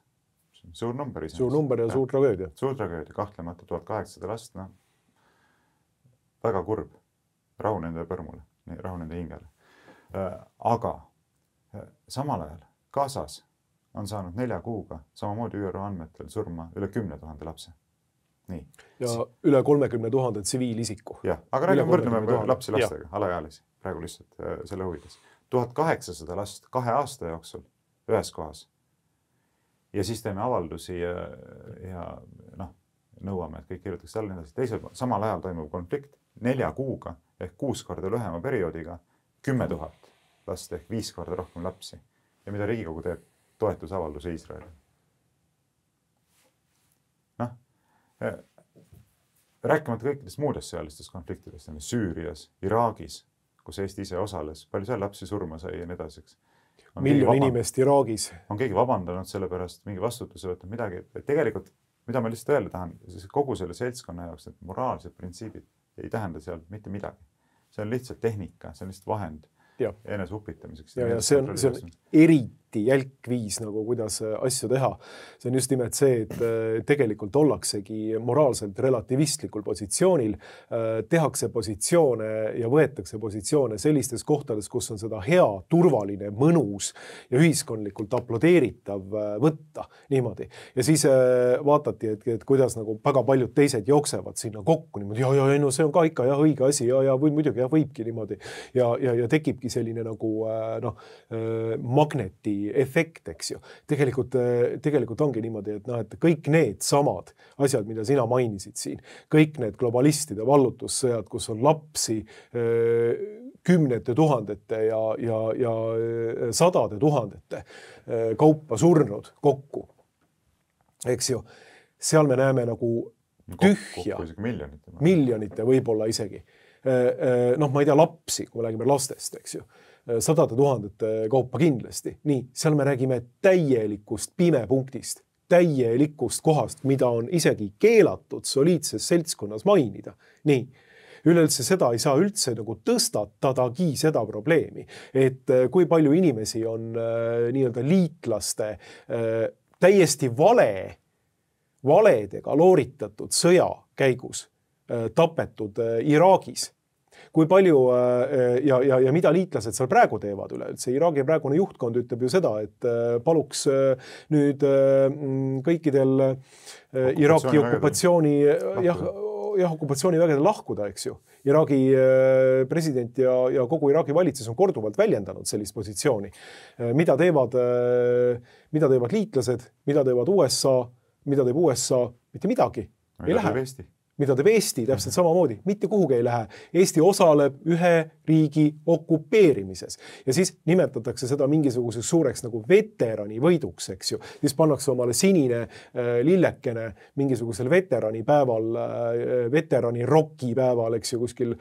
Suur number isegi. Suur number ja suur tragöödia. Suur tragöödia, kahtlemata tuhat kaheksasada last. No. Väga kurb. Rahu nende põrmule, rahu nende hingele. Aga samal ajal Gazas on saanud nelja kuuga samamoodi ÜRO andmetel surma üle kümne tuhande lapse. Nii. Ja üle kolmekümne tuhande tsiviilisiku. Jah, aga räägime võrdleme lapsi lastega, alaealisi, praegu lihtsalt äh, selle huvides. tuhat kaheksasada last kahe aasta jooksul ühes kohas. Ja siis teeme avaldusi ja, ja noh, nõuame, et kõik kirjutaks alla nii edasi. Teisel samal ajal toimub konflikt nelja kuuga ehk kuus korda lühema perioodiga kümme tuhat last ehk viis korda rohkem lapsi. Ja mida Riigikogu teeb? Toetusavalduse Iisraeli. Noh, rääkimata kõikidest muudest sõjalistest konfliktidest, Süürias, Iraagis, kus Eesti ise osales, palju seal lapsi surma sai ja nii edaseks. Miljon inimest Iraagis. On keegi vabandanud selle pärast, mingi vastutuse võtnud midagi. Et tegelikult, mida ma lihtsalt öelda tahan, siis kogu selle seltskonna jaoks, et moraalsed printsiibid ei tähenda seal mitte midagi. See on lihtsalt tehnika, see on lihtsalt vahend enese upitamiseks. Ja, ja see on, see on eriti jälk viis, nagu kuidas asju teha. See on just nimelt see, et tegelikult ollaksegi moraalselt relativistlikul positsioonil, tehakse positsioone ja võetakse positsioone sellistes kohtades, kus on seda hea, turvaline, mõnus ja ühiskondlikult aplodeeritav võtta niimoodi. Ja siis vaatati, et, et kuidas nagu väga paljud teised jooksevad sinna kokku niimoodi, ja, ja, no see on ka ikka jah, õige asi ja, ja või muidugi jah, võibki niimoodi ja, ja, ja tekibki selline nagu noh, magneti efekt, eks ju. Tegelikult, tegelikult ongi niimoodi, et, noh, et kõik need samad asjad, mida sina mainisid siin, kõik need globalistide vallutussõjad, kus on lapsi kümnete tuhandete ja, ja, ja sadade tuhandete kaupa surnud kokku, eks ju, seal me näeme nagu tühja, kokku miljonite, miljonite võib-olla isegi. Noh, ma ei tea, lapsi, kui me räägime lastest, eks ju, sadade tuhandete kaupa kindlasti. Nii, seal me räägime täielikust pimepunktist, täielikust kohast, mida on isegi keelatud soliidses seltskonnas mainida. Nii, üleüldse seda ei saa üldse nagu tõstatadagi seda probleemi, et kui palju inimesi on nii-öelda liitlaste täiesti vale, valedega looritatud sõja käigus tapetud Iraagis. Kui palju ja, ja, ja mida liitlased seal praegu teevad üleüldse. Iraagi praegune juhtkond ütleb ju seda, et paluks nüüd kõikidel Iraagi okupatsiooni, jah, jah, okupatsioonivägedel lahkuda, eks ju. Iraagi president ja, ja kogu Iraagi valitsus on korduvalt väljendanud sellist positsiooni. Mida teevad, mida teevad liitlased, mida teevad U S A, mida teeb U S A, mitte midagi. Ei lähe. Mida teeb Eesti täpselt samamoodi, mitte kuhugi ei lähe. Eesti osaleb ühe riigi okupeerimises ja siis nimetatakse seda mingisuguseks suureks nagu veterani võiduks, eks ju. Siis pannakse omale sinine lillekene mingisugusel veterani päeval, veterani roki päeval, eks ju, kuskil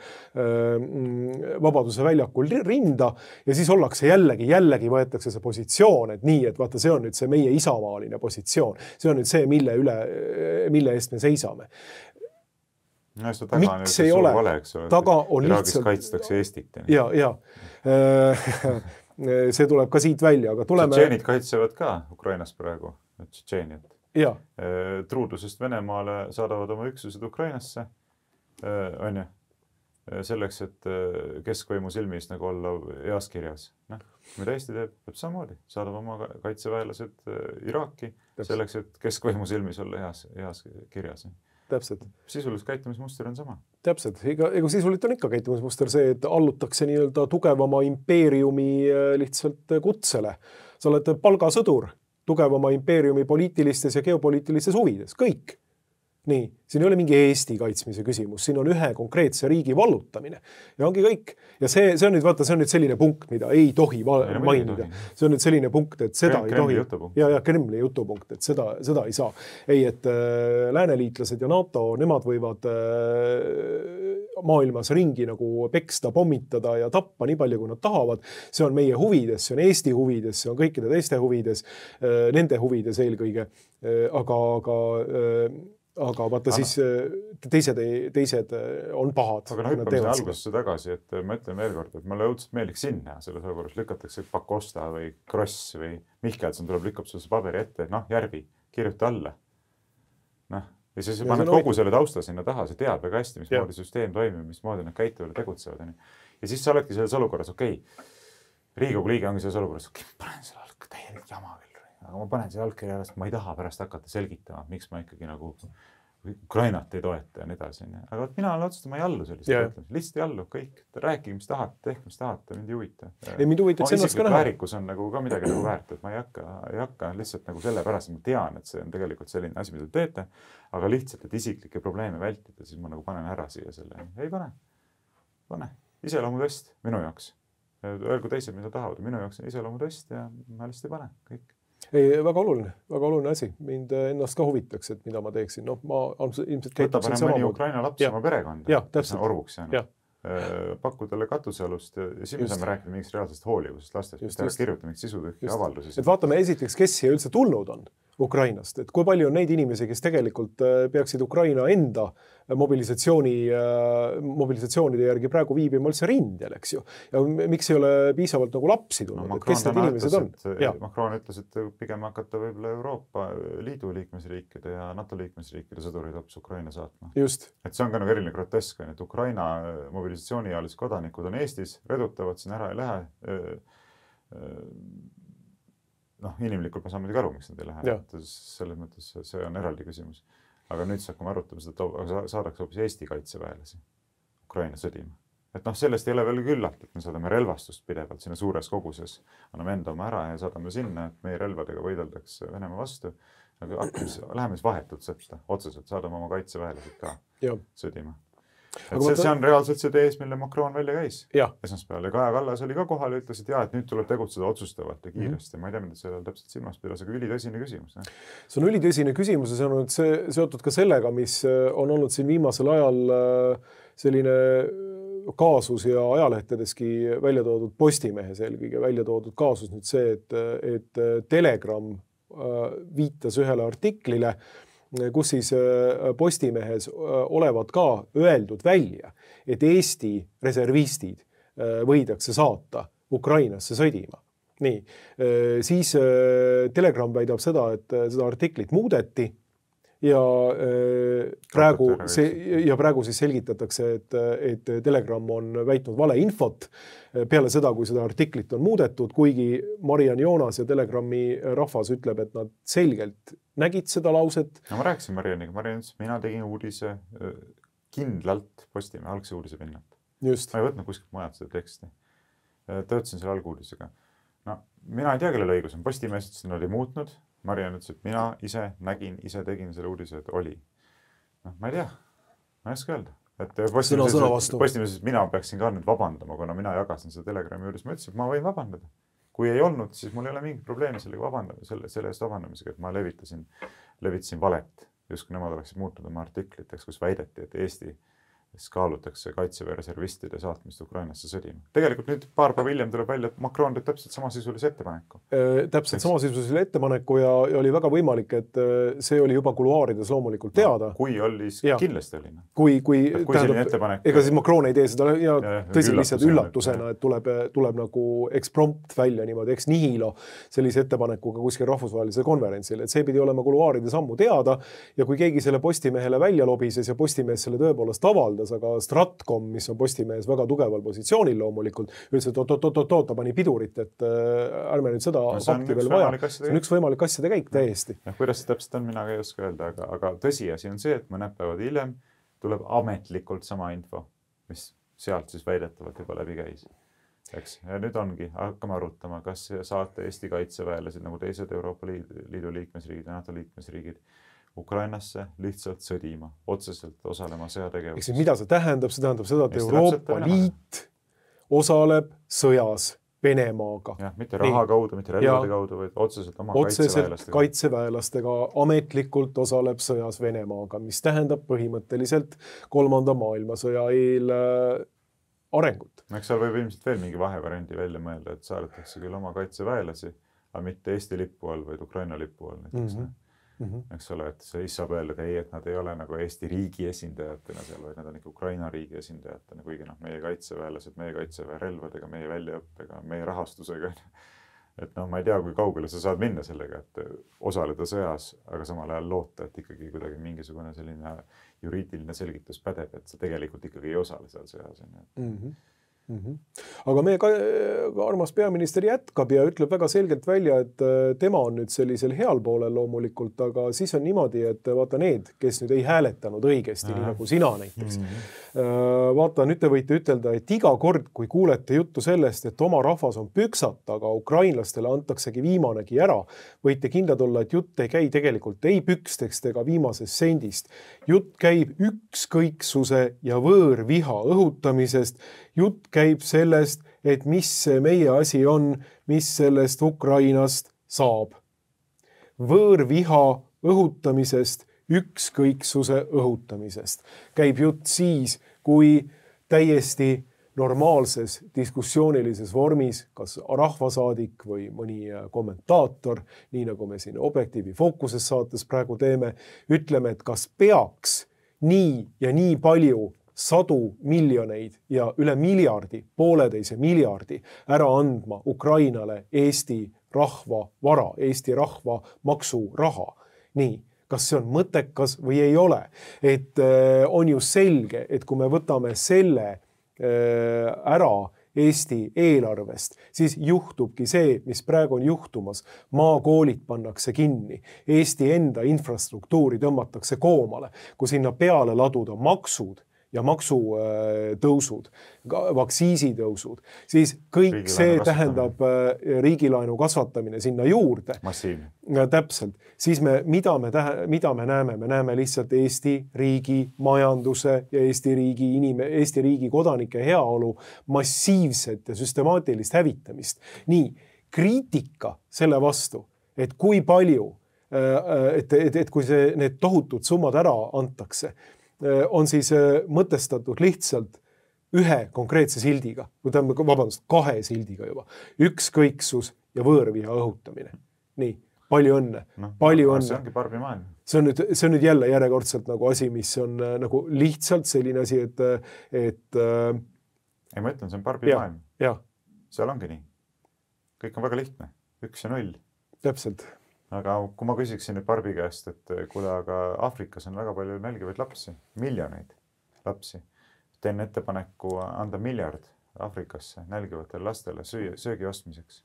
Vabaduse väljakul rinda ja siis ollakse jällegi, jällegi võetakse see positsioon, et nii, et vaata, see on nüüd see meie isamaaline positsioon. See on nüüd see, mille üle, mille eest me seisame. No, taga miks ei ole? Vale, eks ole, taga on Iraagis lihtsalt... kaitstakse Eestit. Ja, ja. See tuleb ka siit välja, aga tuleme... Tšetšeenid kaitsevad ka Ukrainas praegu, Tšetšeeniat. Ja. Truudusest Venemaale saadavad oma üksused Ukrainasse, on ju, selleks, et keskvõimu silmis nagu olla heas kirjas. No, mida Eesti teeb? Teeb samamoodi. Saadab oma kaitseväelased Iraaki selleks, et keskvõimu silmis olla heas, heas kirjas. Täpselt. Sisuliselt käitumismuster on sama. Täpselt. Ega, ega sisuliselt on ikka käitumismuster see, et allutakse nii-öelda tugevama impeeriumi lihtsalt kutsele. Sa oled palgasõdur tugevama impeeriumi poliitilistes ja geopoliitilistes huvides. Kõik. Nii, siin ei ole mingi Eesti kaitsmise küsimus, siin on ühe konkreetse riigi vallutamine ja ongi kõik. Ja see, see on nüüd, vaata, see on nüüd selline punkt, mida ei tohi ei, mainida. See on nüüd selline punkt, et seda Kremli, ei tohi. Jutupunkt. Ja, ja Kremli jutupunkt, et seda, seda ei saa. Ei, et äh, lääneliitlased ja NATO, nemad võivad äh, maailmas ringi nagu peksta, pommitada ja tappa nii palju, kui nad tahavad. See on meie huvides, see on Eesti huvides, see on kõikide teiste huvides, äh, nende huvides eelkõige, äh, aga, aga äh, aga vaata aga, siis teised, teised on pahad. Aga no hüppame see algusesse tagasi, et ma ütlen veel kord, et mulle õudselt meeldiks sinna selles olukorras lükatakse Pakosta või Kross või Mihkelson tuleb lükkab sulle paberi ette, noh, Järvi, kirjuta alla. Noh, ja siis paned kogu selle tausta sinna taha, see teab väga hästi, mis moodi süsteem toimib, mis moodi nad käituvad ja tegutsevad. Ja siis sa oledki selles olukorras, okei, okay, Riigikogu liige ongi selles olukorras, okei, okay, panen selle alg täielik jama veel. aga ma panen see allkirja, sest ma ei taha pärast hakata selgitama, miks ma ikkagi nagu Ukrainat ei toeta ja nii edasi. Aga mina olen otsustanud, ma ei allu sellist yeah. mõtlemist. Lihtsalt ei allu, kõik. Rääkige, mis tahate, tehke, mis tahate, mind ei huvita. Ei, mind huvita, et ennast ka näha. Väärikus on nagu ka midagi nagu väärt, et ma ei hakka, ei hakka lihtsalt nagu selle pärast, ma tean, et see on tegelikult selline asi, mida te teete, aga lihtsalt, et isiklikke probleeme vältida, siis ma nagu panen ära siia selle. Ei pane. Pane. Iseloomutest minu jaoks. Öelgu teised, mida tahavad. Minu jaoks on iseloomutest ja ma lihtsalt ei pane. Kõik. Ei, väga oluline, väga oluline asi. Mind ennast ka huvitaks, et mida ma teeksin. No, ma ilmselt käituksin sama mõni Ukraina laps ja. Oma perekonda, ja, kes on orvuks jäänud. Pakku talle katusealust ja siin me saame rääkida mingist reaalsest hoolivusest lastest, mis ta kirjutab mingit sisutühki avaldusi. Et vaatame esiteks, kes siia üldse tulnud on Ukrainast, et kui palju on neid inimesi, kes tegelikult peaksid Ukraina enda mobilisatsiooni, mobilisatsioonide järgi praegu viibima üldse rindel, eks ju. Ja miks ei ole piisavalt nagu lapsi tulnud, no, et kes need inimesed on? Macron ütles, et pigem hakata võib-olla Euroopa Liidu liikmesriikide ja NATO liikmesriikide sõdurid hoopis Ukraina saatma. Just. Et see on ka nagu eriline grotesk, et Ukraina mobilisatsioonialised kodanikud on Eestis, redutavad siin ära ei lähe. Noh, inimlikult ma saan muidugi aru, miks nad ei lähe. Selles mõttes see on eraldi küsimus. Aga nüüd hakkame arutama seda, et saadaks hoopis Eesti kaitseväelasi Ukraina sõdima. Et noh, sellest ei ole veel küllalt, et me saadame relvastust pidevalt sinna suures koguses. Anname enda oma ära ja saadame sinna, et meie relvadega võideldaks Venemaa vastu. Aga hakkame, läheme siis vahetult sõtta, otseselt saadame oma kaitseväelased ka ja. Sõdima. Et see, see on reaalselt see tees, mille Macron välja käis esmaspäeval. Ja Kaja Kallas oli ka kohal ja ütles, et jah, et nüüd tuleb tegutseda otsustavalt ja kiiresti. Mm-hmm. Ma ei tea, mida sellel täpselt silmas pidas, aga ülitõsine küsimus. Ne? See on ülitõsine küsimus ja see on see, seotud ka sellega, mis on olnud siin viimasel ajal selline kaasus ja ajalehtedeski välja toodud Postimehes eelkõige välja toodud kaasus nüüd see, et, et Telegram viitas ühele artiklile, kus siis Postimehes olevat ka öeldud välja, et Eesti reservistid võidakse saata Ukrainasse sõdima. Nii, siis Telegram väidab seda, et seda artiklit muudeti ja praegu, see, ja praegu siis selgitatakse, et, et Telegram on väitnud valeinfot peale seda, kui seda artiklit on muudetud, kuigi Mariann Joonas ja Telegrami rahvas ütleb, et nad selgelt nägid seda lauset. No ma rääkisin Marianniga. Mariann ütles, mina tegin uudise kindlalt Postimehe algse uudise pinnalt. Just. Ma ei võtnud kuskilt mujalt seda teksti. Töötasin selle alguudisega. No, mina ei tea, kellel õigus on. Postimees ütles, et nad ei muutnud. Mariann ütles, et mina ise nägin, ise tegin selle uudise, et oli. No, ma ei tea. Ma ei oska öelda. Et Postimees, mina peaksin ka nüüd vabandama, kuna mina jagasin seda Telegrami juures. Ma ütlesin, et ma võin vabandada. Kui ei olnud, siis mul ei ole mingit probleemi sellega vabandama, selle, selle eest vabandamisega, et ma levitasin, levitasin valet. Just kui nemad oleksid muutnud oma artikliteks, kus väideti, et Eesti kaalutakse kaitseväe reservistide saatmist Ukrainasse sõdima. Tegelikult nüüd paar päeva hiljem tuleb välja, et Macron teeb täpselt samasisulise ettepaneku. Äh, täpselt samasisulise ettepaneku ja, ja oli väga võimalik, et see oli juba kuluaarides loomulikult teada. No, kui oli, siis kindlasti oli. Kui, kui, kui tähendab, ega siis Macron ei tee seda ja, ja tõsi lihtsalt üllatusena, et tuleb, tuleb nagu eksprompt välja niimoodi, eks nihilo sellise ettepanekuga kuskil rahvusvahelisel konverentsil, et see pidi olema kuluaarides ammu teada ja kui keegi selle Postimehele välja lobises ja Postimees selle tõepoolest avaldas, aga Stratcom, mis on Postimehes väga tugeval positsioonil loomulikult, ütles, et oot-oot-oot-oot, ta pani pidurit, et ärme nüüd seda no, fakti veel vaja. See on üks võimalik asjade käik täiesti. Ja, kuidas see täpselt on, mina ei oska öelda, aga, aga tõsiasi on see, et mõned päevad hiljem tuleb ametlikult sama info, mis sealt siis väidetavalt juba läbi käis. Eks? Ja nüüd ongi, hakkame arutama, kas saate Eesti kaitseväelased nagu teised Euroopa Liidu liikmesriigid ja NATO liikmesriigid Ukrainasse lihtsalt sõdima, otseselt osalema sõjategevuses. Eks mida see tähendab? See tähendab seda, et Euroopa Liit osaleb sõjas Venemaaga. Ja, mitte raha kaudu, mitte relvade kaudu, vaid otseselt oma otseselt kaitseväelastega. kaitseväelastega ametlikult osaleb sõjas Venemaaga, mis tähendab põhimõtteliselt kolmanda maailmasõja eel arengut. Eks seal võib ilmselt veel mingi vahevariandi välja mõelda, et saadetakse küll oma kaitseväelasi, aga mitte Eesti lipu all, vaid Ukraina lipu all. Näiteks, mm-hmm. Mm-hmm. Eks ole, et see saab öelda, et ei, et nad ei ole nagu Eesti riigi esindajatena seal, vaid nad on ikka Ukraina riigi esindajatena, kuigi noh, meie kaitseväelased, meie kaitseväe relvadega, meie väljaõppega, meie rahastusega. Et noh, ma ei tea, kui kaugele sa saad minna sellega, et osaleda sõjas, aga samal ajal loota, et ikkagi kuidagi mingisugune selline juriidiline selgitus pädeb, et sa tegelikult ikkagi ei osale seal sõjas. Mm-hmm. Mm -hmm. Aga meie ka, armas peaminister jätkab ja ütleb väga selgelt välja, et tema on nüüd sellisel heal poolel loomulikult, aga siis on niimoodi, et vaata need, kes nüüd ei hääletanud õigesti, nii nagu sina näiteks. Mm -hmm. Vaata, nüüd te võite ütelda, et iga kord, kui kuulete juttu sellest, et oma rahvas on püksat, aga ukrainlastele antaksegi viimanegi ära, võite kindlad olla, et jutt ei käi tegelikult ei pükstest ega viimasest sendist. Jutt käib ükskõiksuse ja võõrviha õhutamisest. Jutt käib sellest, et mis see meie asi on, mis sellest Ukrainast saab. Võõrviha õhutamisest, ükskõiksuse õhutamisest. Käib jutt siis, kui täiesti normaalses diskussioonilises vormis, kas rahvasaadik või mõni kommentaator, nii nagu me siin Objektiivi Fookuses saates praegu teeme, ütleme, et kas peaks nii ja nii palju sadu miljoneid ja üle miljardi, pooleteise miljardi ära andma Ukrainale Eesti rahva vara, Eesti rahva maksuraha. Nii, kas see on mõttekas või ei ole? Et on ju selge, et kui me võtame selle ära Eesti eelarvest, siis juhtubki see, mis praegu on juhtumas. Maakoolid pannakse kinni, Eesti enda infrastruktuuri tõmmatakse koomale, kui sinna peale laduda maksud ja maksutõusud, vaktsiisitõusud, siis kõik see tähendab riigilaenu kasvatamine sinna juurde. Massiivne. Täpselt. Siis me, mida me, tähe, mida me näeme? Me näeme lihtsalt Eesti riigi majanduse ja Eesti riigi, inime, Eesti riigi kodanike heaolu massiivset ja süstemaatilist hävitamist. Nii, kriitika selle vastu, et kui palju, et, et, et kui see, need tohutud summad ära antakse, on siis mõtestatud lihtsalt ühe konkreetse sildiga, või tähendab, vabandust, kahe sildiga juba. Ükskõiksus ja võõrviha õhutamine. Nii, palju õnne, no, palju õnne. See ongi Barbi maailm. See on nüüd, see on nüüd jälle järjekordselt nagu asi, mis on nagu lihtsalt selline asi, et, et ei, ma ütlen, see on Barbi ja, maailm. Ja. Seal ongi nii. Kõik on väga lihtne. Üks ja null. Täpselt. Aga kui ma küsiksin nüüd Barbi käest, et kuule, aga Aafrikas on väga palju nälgivaid lapsi, miljoneid lapsi. Teen ettepaneku anda miljard Aafrikasse nälgivatele lastele söö, söögi ostmiseks.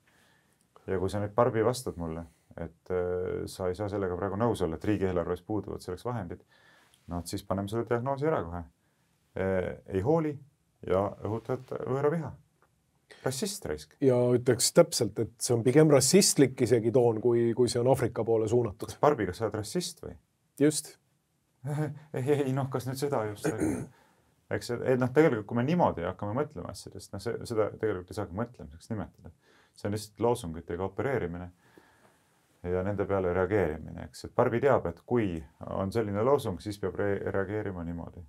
Ja kui sa nüüd Barbi vastad mulle, et sa ei saa sellega praegu nõus olla, et riigieelarves puuduvad selleks vahendid, no siis paneme selle diagnoosi ära kohe. Ei hooli ja õhutad võõra viha. Rassist raisk. Ja ütleks täpselt, et see on pigem rassistlik isegi toon, kui, kui see on Aafrika poole suunatud. Kas Barbi, kas sa oled rassist või? Just. ei, ei, noh, kas nüüd seda just? Eks, et noh, tegelikult kui me niimoodi hakkame mõtlema asjadest, noh, see, seda tegelikult ei saagi mõtlemiseks nimetada. See on lihtsalt loosungitega opereerimine ja nende peale reageerimine. Eks, et Barbi teab, et kui on selline loosung, siis peab re reageerima niimoodi.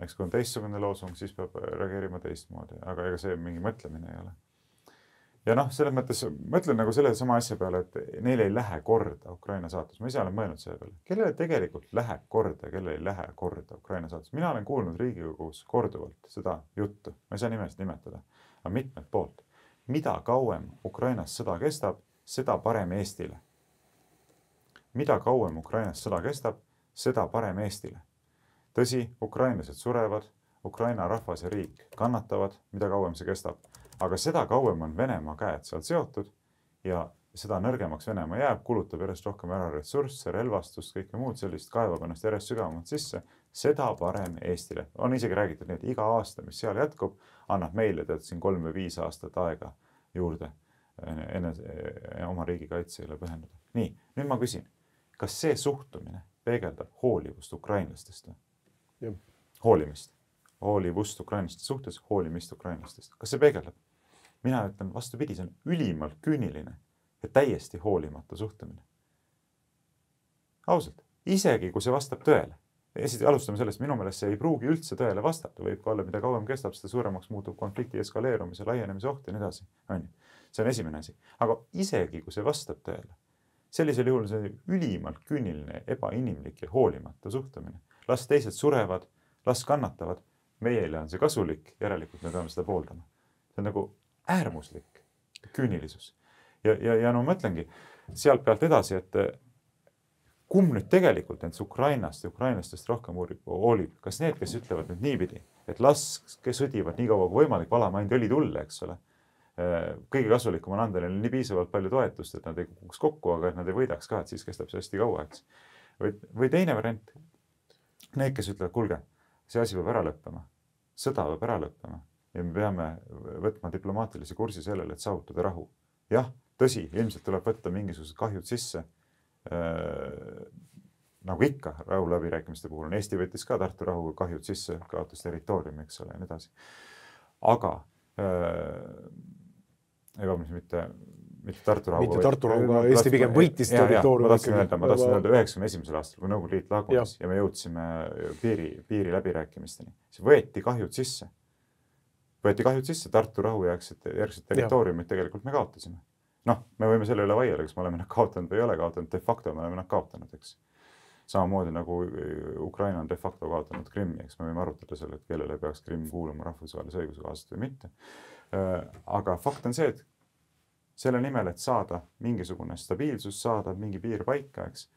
Eks kui on teistsugune loosung, siis peab reageerima teistmoodi, aga ega see mingi mõtlemine ei ole. Ja noh, selles mõttes mõtlen nagu selle sama asja peale, et neil ei lähe korda Ukraina saatus. Ma ise olen mõelnud selle peale. Kellele tegelikult läheb korda ja kellele ei lähe korda Ukraina saatus? Mina olen kuulnud Riigikogus korduvalt seda juttu. Ma ei saa nimest nimetada, aga mitmed poolt. Mida kauem Ukrainas sõda kestab, seda parem Eestile. Mida kauem Ukrainas sõda kestab, seda parem Eestile. Tõsi, ukrainlased surevad, Ukraina rahvas ja riik kannatavad, mida kauem see kestab. Aga seda kauem on Venemaa käed sealt seotud ja seda nõrgemaks Venemaa jääb, kulutab järjest rohkem ära ressursse, relvastust, kõike muud sellist, kaevab ennast järjest sügavamalt sisse, seda parem Eestile. On isegi räägitud nii, et iga aasta, mis seal jätkub, annab meile tead siin kolm või viis aastat aega juurde enne oma riigikaitsele pühenduda. Nii, nüüd ma küsin, kas see suhtumine peegeldab hoolivust ukrainlastest või? Ja. Hoolimist. Hoolivust ukrainlaste suhtes, hoolimist ukrainlastest. Kas see peegeldab? Mina ütlen vastupidi, see on ülimalt küüniline ja täiesti hoolimatu suhtumine. Ausalt, isegi kui see vastab tõele. Esiti alustame sellest, minu meelest see ei pruugi üldse tõele vastata. Võib ka olla, mida kauem kestab, seda suuremaks muutub konflikti eskaleerumise, laienemise oht ja nii edasi. See on esimene asi. Aga isegi kui see vastab tõele, sellisel juhul see on ülimalt küüniline, ebainimlik ja hoolimatu suhtumine. Las teised surevad, las kannatavad, meile on see kasulik, järelikult me peame seda pooldama. See on nagu äärmuslik küünilisus. Ja, ja, ja no mõtlengi sealt pealt edasi, et kumb nüüd tegelikult nendest Ukrainast ja ukrainlastest rohkem hoolib? Kas need, kes ütlevad nüüd niipidi, et las, kes sõdivad nii kaua kui võimalik, valame ainult õli tulle, eks ole. Kõige kasulikum on anda neile nii piisavalt palju toetust, et nad ei kukuks kokku, aga et nad ei võidaks ka, et siis kestab see hästi kaua, eks. Või, või teine variant, need, kes ütlevad, kuulge, see asi peab ära lõppema, sõda peab ära lõppema ja me peame võtma diplomaatilise kursi sellele, et saavutada rahu. Jah, tõsi, ilmselt tuleb võtta mingisugused kahjud sisse. Äh, nagu ikka rahu läbirääkimiste puhul on. Eesti võttis ka Tartu rahu kahjud sisse, kaotas territooriumi, eks ole, ja nii edasi. Aga äh, ega mis mitte, mitte Tartu rahu. Mitte Tartu rahu, aga Eesti pigem võitis territooriumi. Ma tahtsin öelda, ma tahtsin öelda üheksakümne esimesel aastal, kui Nõukogude Liit lagunes ja. ja me jõudsime piiri, piiri läbirääkimisteni. See võeti kahjud sisse. Võeti kahjud sisse, Tartu rahu järgset, järgset territooriumit tegelikult me kaotasime. Noh, me võime selle üle vaielda, kas me oleme nad kaotanud või ei ole kaotanud, de facto me oleme nad kaotanud, eks. Samamoodi nagu Ukraina on de facto kaotanud Krimmi, eks me võime arutada selle, et kellele peaks Krimm kuuluma rahvusvahelise õiguse kohaselt või mitte. Aga fakt on see, et selle nimel, et saada mingisugune stabiilsus, saada mingi piir paika, eks,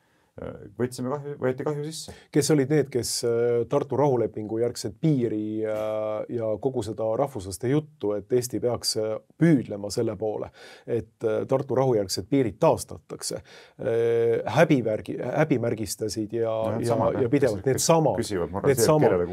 võtsime kahju, võeti kahju sisse. Kes olid need, kes Tartu rahulepingu järgset piiri ja kogu seda rahvuslaste juttu, et Eesti peaks püüdlema selle poole, et Tartu rahujärgsed piirid taastatakse. Häbivärgi, häbimärgistasid ja, no, ja, samad, ja pidevalt need samad. Need samad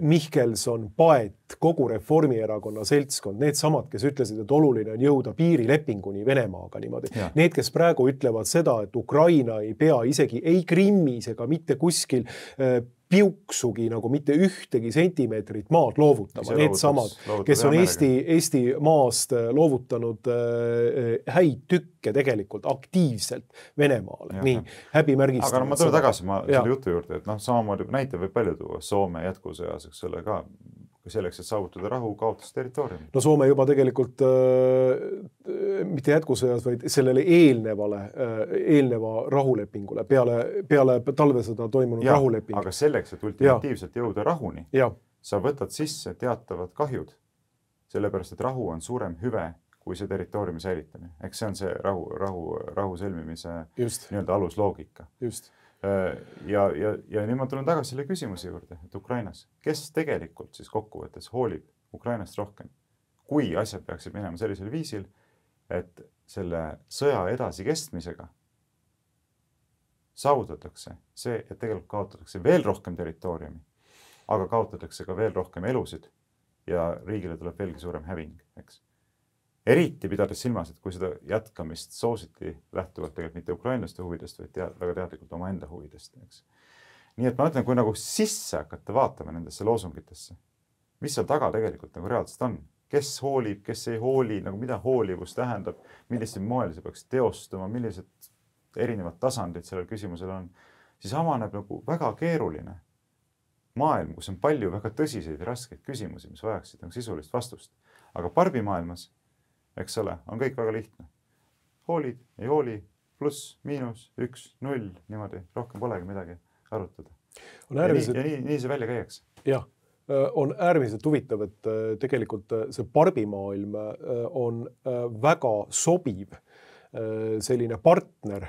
Mihkelson, Paet, kogu Reformierakonna seltskond, need samad, kes ütlesid, et oluline on jõuda piirilepinguni Venemaaga niimoodi. Ja. Need, kes praegu ütlevad seda, et Ukraina ei pea isegi ei Krimmis ega mitte kuskil äh, piuksugi nagu mitte ühtegi sentimeetrit maad loovutama. Need samad, kes on Eesti, Eesti maast loovutanud äh, häid tükke tegelikult aktiivselt Venemaale. Ja, nii, häbimärgistanud. Aga no, ma tulen tagasi ma selle jutu juurde, et noh, samamoodi näite võib palju tuua Soome jätkusõjas, eks ole ka selleks, et saavutada rahu, kaotas territooriumi. No Soome juba tegelikult äh, mitte jätkusõjas, vaid sellele eelnevale, äh, eelneva rahulepingule, peale, peale talvesõda toimunud ja, rahuleping. Aga selleks, et ultimatiivselt ja. jõuda rahuni, ja. sa võtad sisse teatavad kahjud, sellepärast, et rahu on suurem hüve kui see territooriumi säilitamine. Eks see on see rahu, rahu, rahu sõlmimise nii-öelda alusloogika. Just. Ja, ja, ja nüüd ma tulen tagasi selle küsimuse juurde, et Ukrainas, kes tegelikult siis kokkuvõttes hoolib Ukrainast rohkem, kui asjad peaksid minema sellisel viisil, et selle sõja edasi kestmisega saavutatakse see, et tegelikult kaotatakse veel rohkem territooriumi, aga kaotatakse ka veel rohkem elusid ja riigile tuleb veelgi suurem häving, eks. Eriti pidades silmas, et kui seda jätkamist soositi lähtuvalt tegelikult mitte ukrainlaste huvidest, vaid tead, väga teadlikult oma enda huvidest. Eks. Nii et ma ütlen, kui nagu sisse hakata vaatama nendesse loosungitesse, mis seal taga tegelikult nagu reaalselt on, kes hoolib, kes ei hooli, nagu mida hoolivus tähendab, millised moel see peaks teostuma, millised erinevad tasandid sellel küsimusel on, siis avaneb nagu väga keeruline maailm, kus on palju väga tõsiseid ja raskeid küsimusi, mis vajaksid nagu sisulist vastust. Aga parbimaailmas eks ole, on kõik väga lihtne. Hoolid, ei hooli, pluss, miinus, üks, null, niimoodi, rohkem polegi midagi arutada. Äärmiselt... Ja, nii, ja nii, nii see välja käiaks. Jah, on äärmiselt huvitav, et tegelikult see parbimaailm on väga sobiv selline partner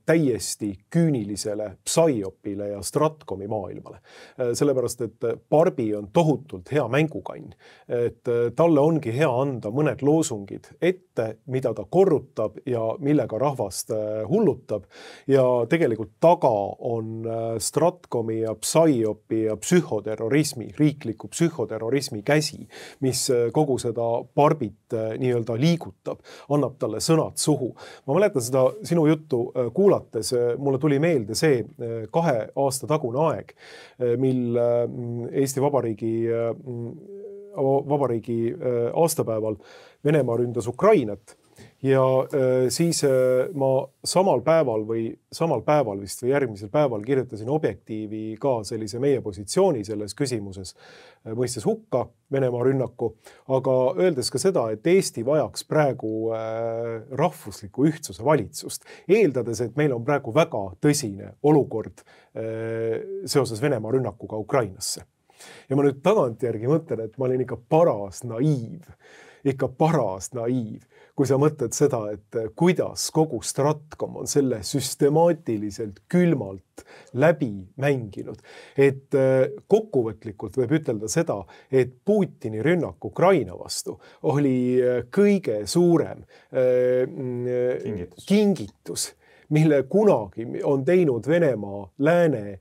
täiesti küünilisele Psyopile ja Stratkomi maailmale. Sellepärast, et Barbi on tohutult hea mängukann. Et talle ongi hea anda mõned loosungid ette, mida ta korrutab ja millega rahvast hullutab. Ja tegelikult taga on Stratkomi ja Psyopi ja psühhoterrorismi, riikliku psühhoterrorismi käsi, mis kogu seda Barbit nii-öelda liigutab, annab talle sõnad suhu. Ma mäletan seda sinu juttu kuulates, mulle tuli meelde see kahe aasta tagune aeg, mil Eesti Vabariigi, Vabariigi aastapäeval Venemaa ründas Ukrainat. Ja siis ma samal päeval või samal päeval vist või järgmisel päeval kirjutasin Objektiivi ka sellise meie positsiooni selles küsimuses, mõistes hukka Venemaa rünnaku, aga öeldes ka seda, et Eesti vajaks praegu rahvusliku ühtsuse valitsust, eeldades, et meil on praegu väga tõsine olukord seoses Venemaa rünnakuga Ukrainasse. Ja ma nüüd tagantjärgi mõtlen, et ma olin ikka paras naiiv. ikka paras naiiv, kui sa mõtled seda, et kuidas kogu Stratcom on selle süstemaatiliselt külmalt läbi mänginud. Et kokkuvõtlikult võib ütelda seda, et Putini rünnak Ukraina vastu oli kõige suurem kingitus, kingitus mille kunagi on teinud Venemaa lääne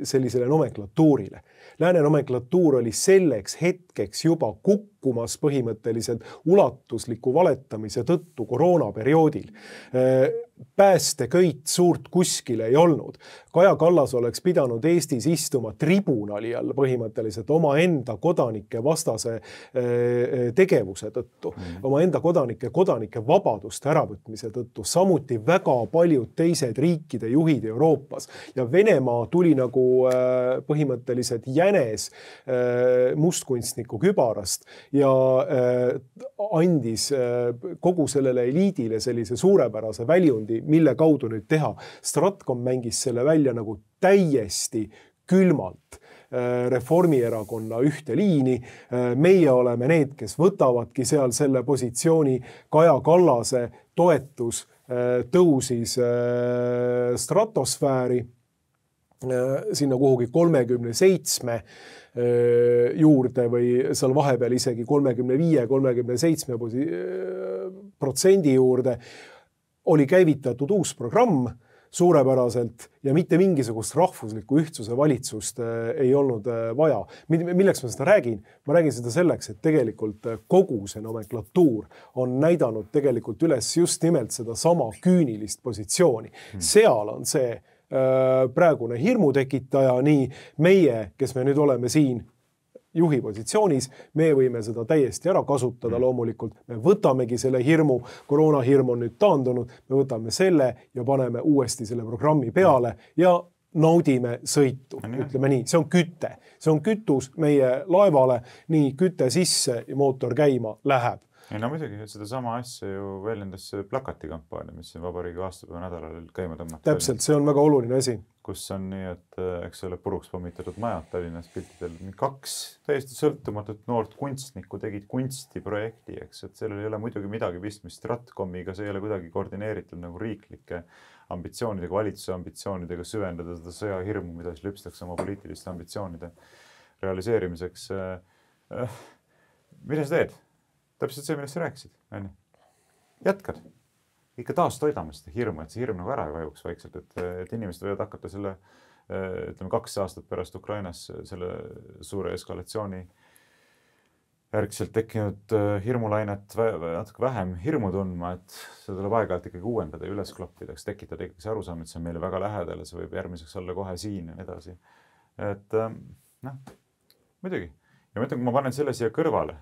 sellisele nomenklatuurile. Lääne nomenklatuur oli selleks hetkeks juba kukkumas põhimõtteliselt ulatusliku valetamise tõttu koroonaperioodil. Päästeköit suurt kuskil ei olnud. Kaja Kallas oleks pidanud Eestis istuma tribunali all põhimõtteliselt oma enda kodanike vastase tegevuse tõttu, mm. oma enda kodanike, kodanike vabaduste äravõtmise tõttu, samuti väga paljud teised riikide juhid Euroopas. Ja Venemaa tuli nagu põhimõtteliselt jänes mustkunstniku kübarast ja andis kogu sellele eliidile sellise suurepärase väljund, mille kaudu nüüd teha. Stratcom mängis selle välja nagu täiesti külmalt Reformierakonna ühte liini. Meie oleme need, kes võtavadki seal selle positsiooni. Kaja Kallase toetus tõusis stratosfääri sinna kuhugi kolmekümne seitsme juurde või seal vahepeal isegi kolmekümne viie kolmekümne seitsme protsendi juurde. Oli käivitatud uus programm suurepäraselt ja mitte mingisugust rahvusliku ühtsuse valitsust ei olnud vaja. Milleks ma seda räägin? Ma räägin seda selleks, et tegelikult kogu see nomenklatuur on näidanud tegelikult üles just nimelt seda sama küünilist positsiooni. Seal on see praegune hirmu tekitaja, nii meie, kes me nüüd oleme siin juhi positsioonis, me võime seda täiesti ära kasutada loomulikult. Me võtamegi selle hirmu, koroonahirm on nüüd taandunud, me võtame selle ja paneme uuesti selle programmi peale ja naudime sõitu, ütleme nii. See on küte, see on kütus meie laevale, nii küte sisse ja mootor käima läheb. Ei, no muidugi, seda sama asja ju väljendas plakatikampaania, mis siin vabariigi aastapäeva nädalal käima tõmmata. Täpselt, see on väga oluline asi. Kus on nii, et eks ole puruks pommitatud majad Tallinnas piltidel. Kaks täiesti sõltumatut noort kunstnikku tegid kunstiprojekti, eks, et sellel ei ole muidugi midagi pistmist Stratcomiga, see ei ole kuidagi koordineeritud nagu riiklike ambitsioonidega, valitsuse ambitsioonidega süvendada seda sõjahirmu, mida siis lüpstakse oma poliitiliste ambitsioonide realiseerimiseks. Mida sa teed? Täpselt see, millest sa rääkisid. Jätkad. Ikka taas toidame seda hirmu, et see hirm nagu ära ei vajuks vaikselt, et, et inimesed võivad hakata selle, ütleme, kaks aastat pärast Ukrainas selle suure eskalatsiooni järgselt tekkinud hirmulainet natuke vähem hirmu tundma, et seda tuleb aeg-ajalt ikkagi uuendada ja üles kloppida, tekitada ikkagi see arusaam, et see on meile väga lähedal ja see võib järgmiseks olla kohe siin ja nii edasi. Et noh, muidugi. Ja ma ütlen, kui ma panen selle siia kõrvale,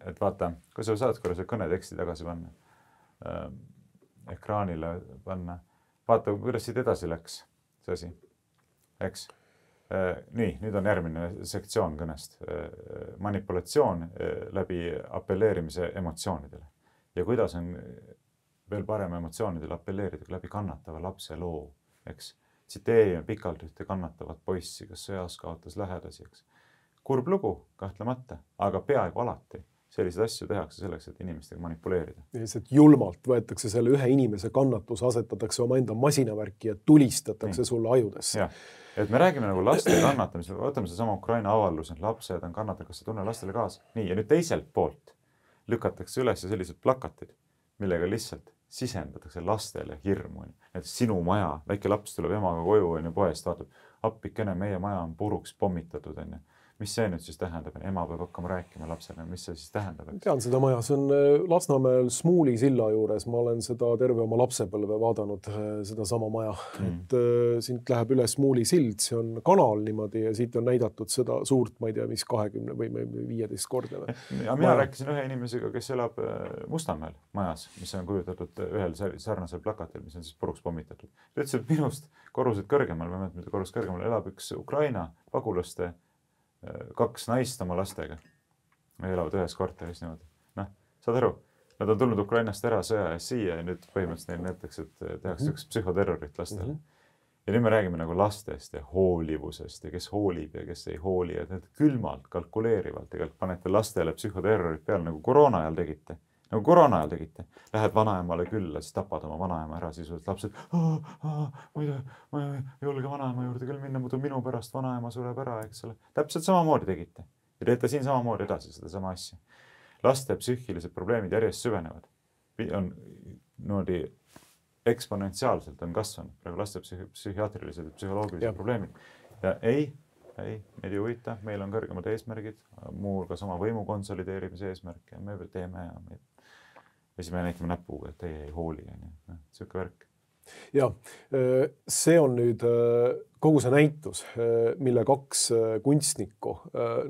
et vaata, kui sa saad korra see kõneteksti tagasi panna, äh, ekraanile panna, vaata, kuidas siit edasi läks see asi, eks? Äh, nii, nüüd on järgmine sektsioon kõnest. Äh, manipulatsioon äh, läbi apelleerimise emotsioonidele. Ja kuidas on veel parem emotsioonidele apelleerida läbi kannatava lapse loo, eks? Tsiteerime pikalt ühte kannatavat poissi, kes sõjas kaotas lähedasi, eks? Kurb lugu, kahtlemata, aga peaaegu alati selliseid asju tehakse selleks, et inimestega manipuleerida. Lihtsalt julmalt võetakse selle ühe inimese kannatus, asetatakse oma enda masinavärki ja tulistatakse nii sulle ajudesse. Ja, et me räägime nagu laste kannatamisel, võtame see sama Ukraina avaldus, et lapsed on kannatanud, kas sa tunne lastele kaasa. Nii, ja nüüd teiselt poolt lükatakse üles sellised plakatid, millega lihtsalt sisendatakse lastele hirmu. Et sinu maja, väike laps tuleb emaga koju ja poest vaatab, appikene, meie maja on puruks pommitatud. On. Mis see nüüd siis tähendab? Ema peab hakkama rääkima lapsele, mis see siis tähendab? Eks? Tean seda maja, see on Lasnamäel Smuuli silla juures. Ma olen seda terve oma lapsepõlve vaadanud, seda sama maja. Mm. Et äh, siit läheb üle Smuuli sild, see on kanal niimoodi ja siit on näidatud seda suurt, ma ei tea, mis kahekümne või viieteist kordne. Ja mina rääkisin ühe inimesega, kes elab Mustamäel majas, mis on kujutatud ühel sarnasel plakatil, mis on siis puruks pommitatud. Ütlesin, et minust korrusid kõrgemal, ma mõtlen, korrus kõrgemal elab üks Ukraina pagulaste kaks naist oma lastega. Me elavad ühes korteris niimoodi. Noh, saad aru, nad on tulnud Ukrainast ära sõja ja siia ja nüüd põhimõtteliselt neil näiteks, et tehakse üks psühhoterrorit lastele. Mm -hmm. Ja nüüd me räägime nagu lastest ja hoolivusest ja kes hoolib ja kes ei hooli, et need külmalt, kalkuleerivalt tegelikult panete lastele psühhoterrorit peale nagu koroona ajal tegite. Nagu koroona ajal tegite. Lähed vanaemale külla, siis tapad oma vanaema ära, siis oled lapsed, ma ei tea, ma ei julge vanaema juurde küll minna, muidu minu pärast vanaema sureb ära, eks ole. Täpselt samamoodi tegite. Ja teete siin samamoodi edasi seda sama asja. Laste psüühilised probleemid järjest süvenevad. On noodi eksponentsiaalselt on kasvanud praegu laste psühhiaatrilised ja psühholoogilised ja. probleemid. Ja ei, ei, meid ei huvita, meil on kõrgemad eesmärgid, muu hulgas oma võimu konsolideerimise eesmärk ja me teeme ja me ja siis me näitame näpuga, et teie ei hooli. Siuke värk. Ja see on nüüd kogu see näitus, mille kaks kunstnikku,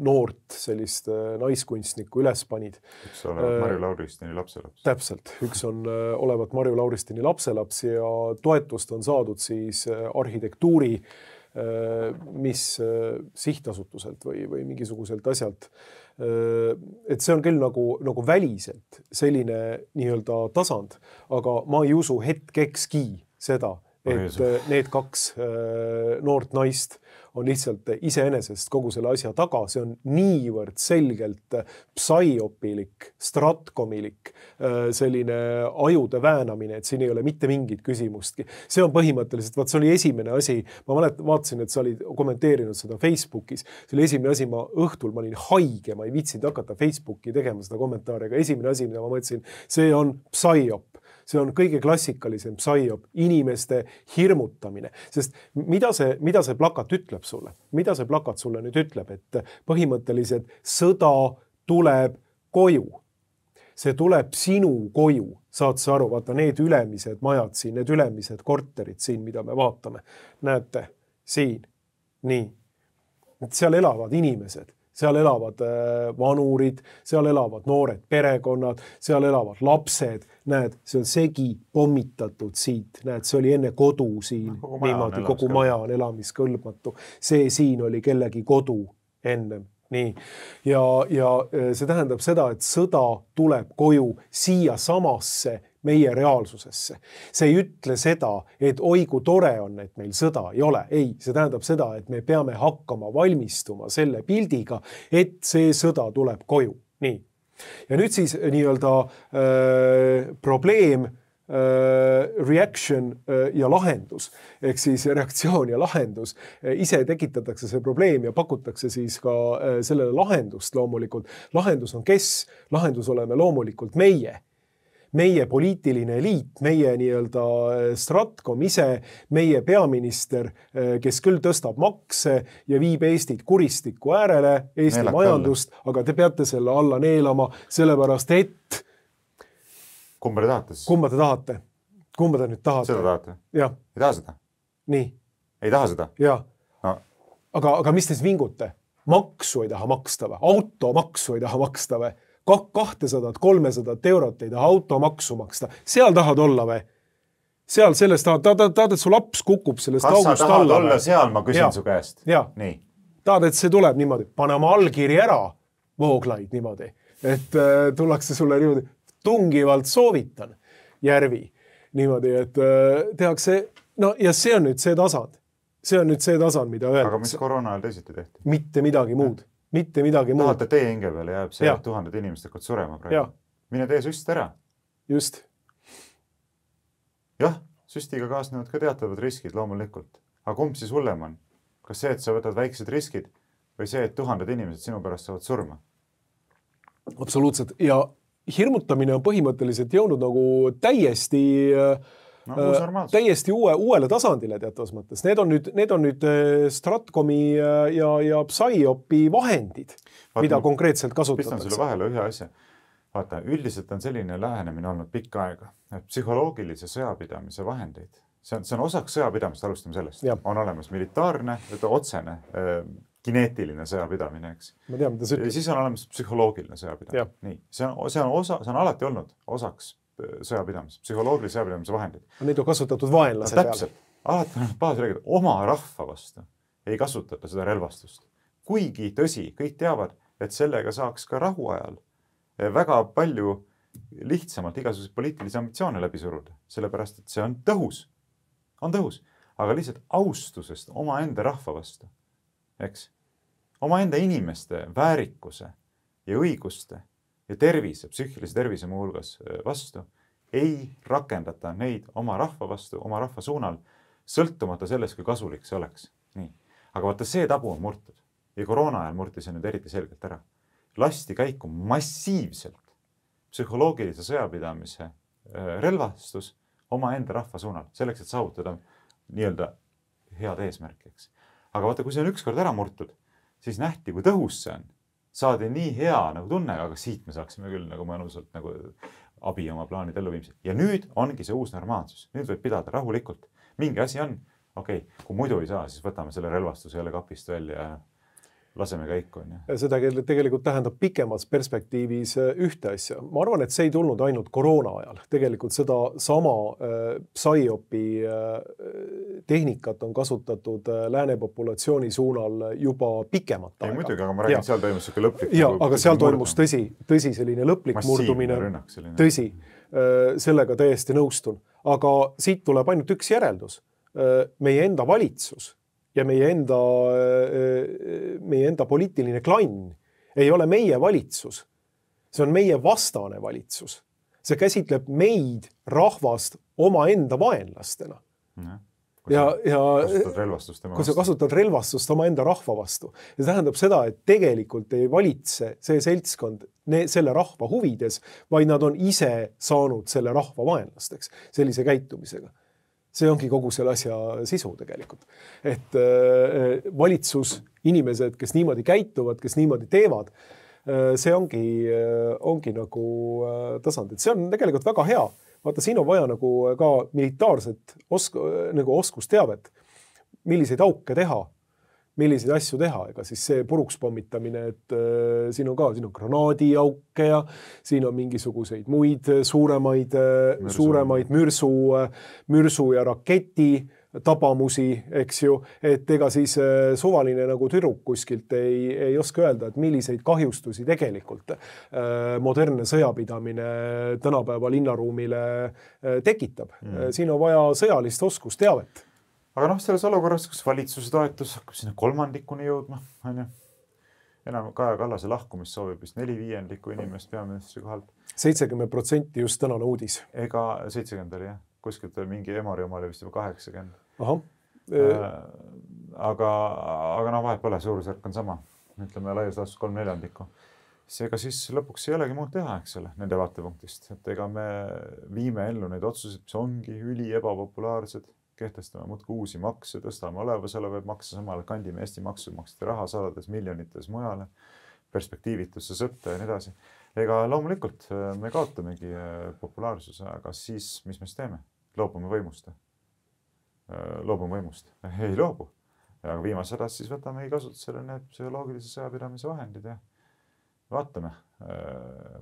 noort sellist naiskunstnikku üles panid. Üks olevat Marju Lauristini lapselaps. Täpselt. Üks on olevat Marju Lauristini lapselaps ja toetust on saadud siis arhitektuuri, mis sihtasutuselt või, või mingisuguselt asjalt. Et see on küll nagu, nagu väliselt selline nii-öelda tasand, aga ma ei usu hetkekski seda, et need kaks noort naist on lihtsalt iseenesest kogu selle asja taga. See on niivõrd selgelt psaiopilik, stratkomilik, selline ajude väänamine, et siin ei ole mitte mingit küsimustki. See on põhimõtteliselt, vaat see oli esimene asi, ma mälet, vaatasin, et sa olid kommenteerinud seda Facebookis. See oli esimene asi, ma õhtul, ma olin haige, ma ei viitsinud hakata Facebooki tegema seda kommentaari, aga esimene asi, mida ma mõtlesin, see on psaiop. See on kõige klassikalisem psaiop, inimeste hirmutamine. Sest mida see, mida see plakat ütleb sulle? Mida see plakat sulle nüüd ütleb? Et põhimõtteliselt sõda tuleb koju. See tuleb sinu koju. Saad sa aru, vaata need ülemised majad siin, need ülemised korterid siin, mida me vaatame. Näete, siin, nii. Seal elavad inimesed. Seal elavad vanurid, seal elavad noored perekonnad, seal elavad lapsed. Näed, see on segi pommitatud siit. Näed, see oli enne kodu siin. Kogu maja, niimoodi, kogu maja on elamiskõlbmatu. See siin oli kellegi kodu ennem. Nii. Ja, ja see tähendab seda, et sõda tuleb koju siia samasse meie reaalsusesse. See ei ütle seda, et oi kui tore on, et meil sõda ei ole. Ei, see tähendab seda, et me peame hakkama valmistuma selle pildiga, et see sõda tuleb koju. Nii. Ja nüüd siis nii-öelda äh, probleem, äh, reaction äh, ja lahendus, ehk siis reaktsioon ja lahendus. Ise tekitatakse see probleem ja pakutakse siis ka äh, sellele lahendust loomulikult. Lahendus on kes? Lahendus oleme loomulikult meie. Meie poliitiline eliit, meie nii-öelda stratkom ise, meie peaminister, kes küll tõstab makse ja viib Eestit kuristiku äärele, Eesti Neelak majandust, alla. Aga te peate selle alla neelama, sellepärast et... Kumba te tahate? Kumba te tahate? Kumba te nüüd tahate? Seda tahate? Ja. Ei taha seda? Nii. Ei taha seda? Ja. No. Aga, aga mis te siis vingute? Maksu ei taha maksta või? Automaksu ei taha maksta või? kahtesadat, kolmesadat eurot ei taha automaksu maksta. Seal tahad olla või? Seal sellest tahad, tahad, tahad, et su laps kukub sellest Kas august alla. Kas sa tahad olla või? Seal, ma küsin ja. Su käest. Ja. Nii. Tahad, et see tuleb niimoodi. Pane oma allkiri ära, Vooglaid niimoodi. Et äh, tullakse sulle niimoodi, tungivalt soovitan Järvi. Niimoodi, et äh, tehakse, no ja see on nüüd see tasand. See on nüüd see tasand, mida öeldakse. Aga mis koroona ajal teisiti tehti? Mitte midagi muud. Mitte midagi muud. Tahate teie hinge peale jääb see, et tuhanded inimesed hakkavad surema praegu. Mine tee süst ära. Just. Jah, süstiga kaasnevad ka teatavad riskid loomulikult. Aga kumb siis hullem on? Kas see, et sa võtad väiksed riskid või see, et tuhanded inimesed sinu pärast saavad surma? Absoluutselt. Ja hirmutamine on põhimõtteliselt jõudnud nagu täiesti... No, täiesti uue, uuele tasandile teatavas mõttes. Need on nüüd, need on nüüd stratkomi ja, ja psaiopi vahendid, vaata, mida konkreetselt kasutatakse. Pistan sulle vahele ühe asja. Vaata, üldiselt on selline lähenemine olnud pikka aega. Psühholoogilise sõjapidamise vahendeid. See on, see on osaks sõjapidamist, alustame sellest. Ja. On olemas militaarne, otsene, kineetiline sõjapidamine, eks. Ma tean, mida sa ütled. Ja siis on olemas psühholoogiline sõjapidamine. Nii. See on, see on, osa, see on alati olnud osaks sõjapidamise, psühholoogilise sõjapidamise vahendid. Neid on kasutatud vaenlase no, peale. Alati on baas räägida, oma rahva vastu ei kasutata seda relvastust. Kuigi tõsi, kõik teavad, et sellega saaks ka rahu ajal väga palju lihtsamalt igasuguseid poliitilisi ambitsioone läbi suruda, sellepärast, et see on tõhus. On tõhus. aga lihtsalt austusest omaenda rahva vastu, eks? Omaenda inimeste väärikuse ja õiguste ja tervise, psüühilise tervise muu hulgas vastu ei rakendata neid oma rahva vastu, oma rahva suunal, sõltumata sellest, kui kasulik see oleks. Nii. Aga vaata, see tabu on murtud ja koroona ajal murti see nüüd eriti selgelt ära. Lasti käiku massiivselt psühholoogilise sõjapidamise relvastus omaenda rahva suunal, selleks, et saavutada nii-öelda head eesmärkiks. Aga vaata, kui see on ükskord ära murtud, siis nähti, kui tõhus see on. Saadi nii hea nagu tunne, aga siit me saaksime küll nagu mõnusalt nagu abi oma plaanid elluviimisel. Ja nüüd ongi see uus normaalsus. Nüüd võib pidada rahulikult. Mingi asi on, okei, okay, kui muidu ei saa, siis võtame selle relvastuse jälle kapist välja ja laseme käiku. Seda tegelikult tähendab pikemas perspektiivis ühte asja. Ma arvan, et see ei tulnud ainult koroona ajal. Tegelikult seda sama äh, PSYOP-i äh, tehnikat on kasutatud äh, lääne populatsiooni suunal juba pikemat aega. Ei muidugi, aga ma räägin, seal toimus selline lõplik. Ja, aga seal toimus tõsi, tõsi selline lõplik murdumine. Rünnak, selline. Tõsi, äh, sellega täiesti nõustun. Aga siit tuleb ainult üks järeldus. Äh, meie enda valitsus ja meie enda, meie enda poliitiline klann ei ole meie valitsus. See on meie vastane valitsus. See käsitleb meid rahvast oma enda vaenlastena. Ja, kui ja, sa ja, kasutad relvastust tema kui sa kasutad relvastust oma enda rahva vastu. Ja see tähendab seda, et tegelikult ei valitse see seltskond ne, selle rahva huvides, vaid nad on ise saanud selle rahva vaenlasteks sellise käitumisega. See ongi kogu selle asja sisu tegelikult. Et äh, valitsus, inimesed, kes niimoodi käituvad, kes niimoodi teevad, äh, see ongi, äh, ongi nagu äh, tasand. Et see on tegelikult väga hea. Vaata, siin on vaja nagu ka militaarset osk nagu oskusteavet, milliseid auke teha, milliseid asju teha. Ega siis see puruks pommitamine, et äh, siin on ka siin on granaadiauke ja siin on mingisuguseid muid suuremaid, mürsu. suuremaid mürsu, mürsu ja raketi tabamusi, eks ju, et ega siis äh, suvaline nagu tüdruk kuskilt ei, ei oska öelda, et milliseid kahjustusi tegelikult äh, modernne sõjapidamine tänapäeva linnaruumile äh, tekitab. Mm. Siin on vaja sõjalist oskusteavet. Aga noh, selles olukorras, kus valitsuse toetus hakkab sinna kolmandikuni jõudma, on ju, enam Kaja Kallase lahkumist soovib vist neli viiendikku inimest peaministri kohalt. seitsekümmend protsenti just tänane uudis. Ega seitsekümmend oli jah, kuskilt mingi Emori oma oli vist juba kaheksakümmend. Aha. Äh, aga, aga noh, vahet pole, suurusjärk on sama. Ütleme laias laastus kolm neljandikku. Seega siis lõpuks ei olegi muud teha, eks ole, nende vaatepunktist. Et ega me viime ellu neid otsuseid, mis ongi üli ebapopulaarsed. Kehtestame muudkui uusi makse, tõstame olevasolevaid makse, samal kandime Eesti maksumaksjate raha sadades miljonites mujale, perspektiivitusse sõtta ja nii edasi. Ega loomulikult me kaotamegi populaarsuse, aga siis, mis me siis teeme? Loobume võimust. Loobume võimust. Ei loobu. Aga viimas hädas siis võtamegi kasutusele need psühholoogilise sõjapidamise vahendid ja vaatame,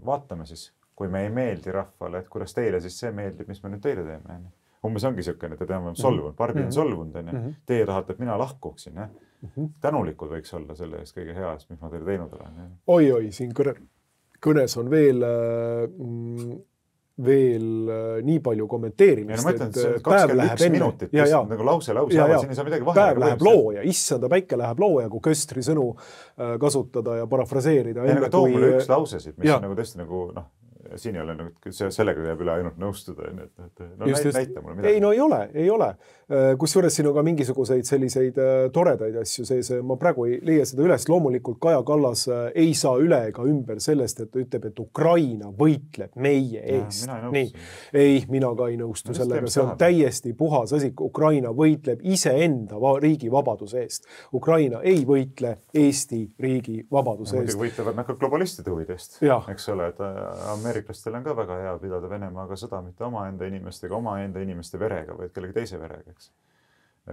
vaatame siis, kui me ei meeldi rahvale, et kuidas teile siis see meeldib, mis me nüüd teile teeme. Umbes ongi siukene, et te teame solvunud, Barbi on solvunud, mm-hmm. Teie tahate, et mina lahkuksin. Mm-hmm. Tänulikud võiks olla selle eest kõige hea eest, mis ma teile teinud olen. Oi, oi, siin kõne, kõnes on veel, veel nii palju kommenteerimist. Ja no ma ütlen, et see kakskümmend üks minutit, ja, ja. Nagu lause, lause, ja, ja. Siin ei saa midagi vahele. Päev läheb looja, issanda päike läheb looja, kui Köstri sõnu kasutada ja parafraseerida. Ja nagu too mulle üks lausesid, mis ja. On nagu tõesti nagu, noh, siin ei ole nagu, sellega jääb üle ainult nõustuda. Et, et, no just, näita, näita mulle midagi. Ei, no ei ole, ei ole. Kusjuures siin on ka mingisuguseid selliseid toredaid asju sees. Ma praegu ei leia seda üles. Loomulikult Kaja Kallas ei saa üle ega ümber sellest, et ta ütleb, et Ukraina võitleb meie eest. Ja, Nii. Ei, mina ka ei nõustu no, sellega. See on tahab. Täiesti puhas asi. Ukraina võitleb iseenda riigi vabaduse eest. Ukraina ei võitle Eesti riigi vabaduse eest. Võitlevad nad ka globalistide huvidest. Eks ole, et ameeriklastel on ka väga hea pidada Venemaaga sõda, mitte omaenda inimestega, omaenda inimeste verega, vaid kellegi teise verega. Eks.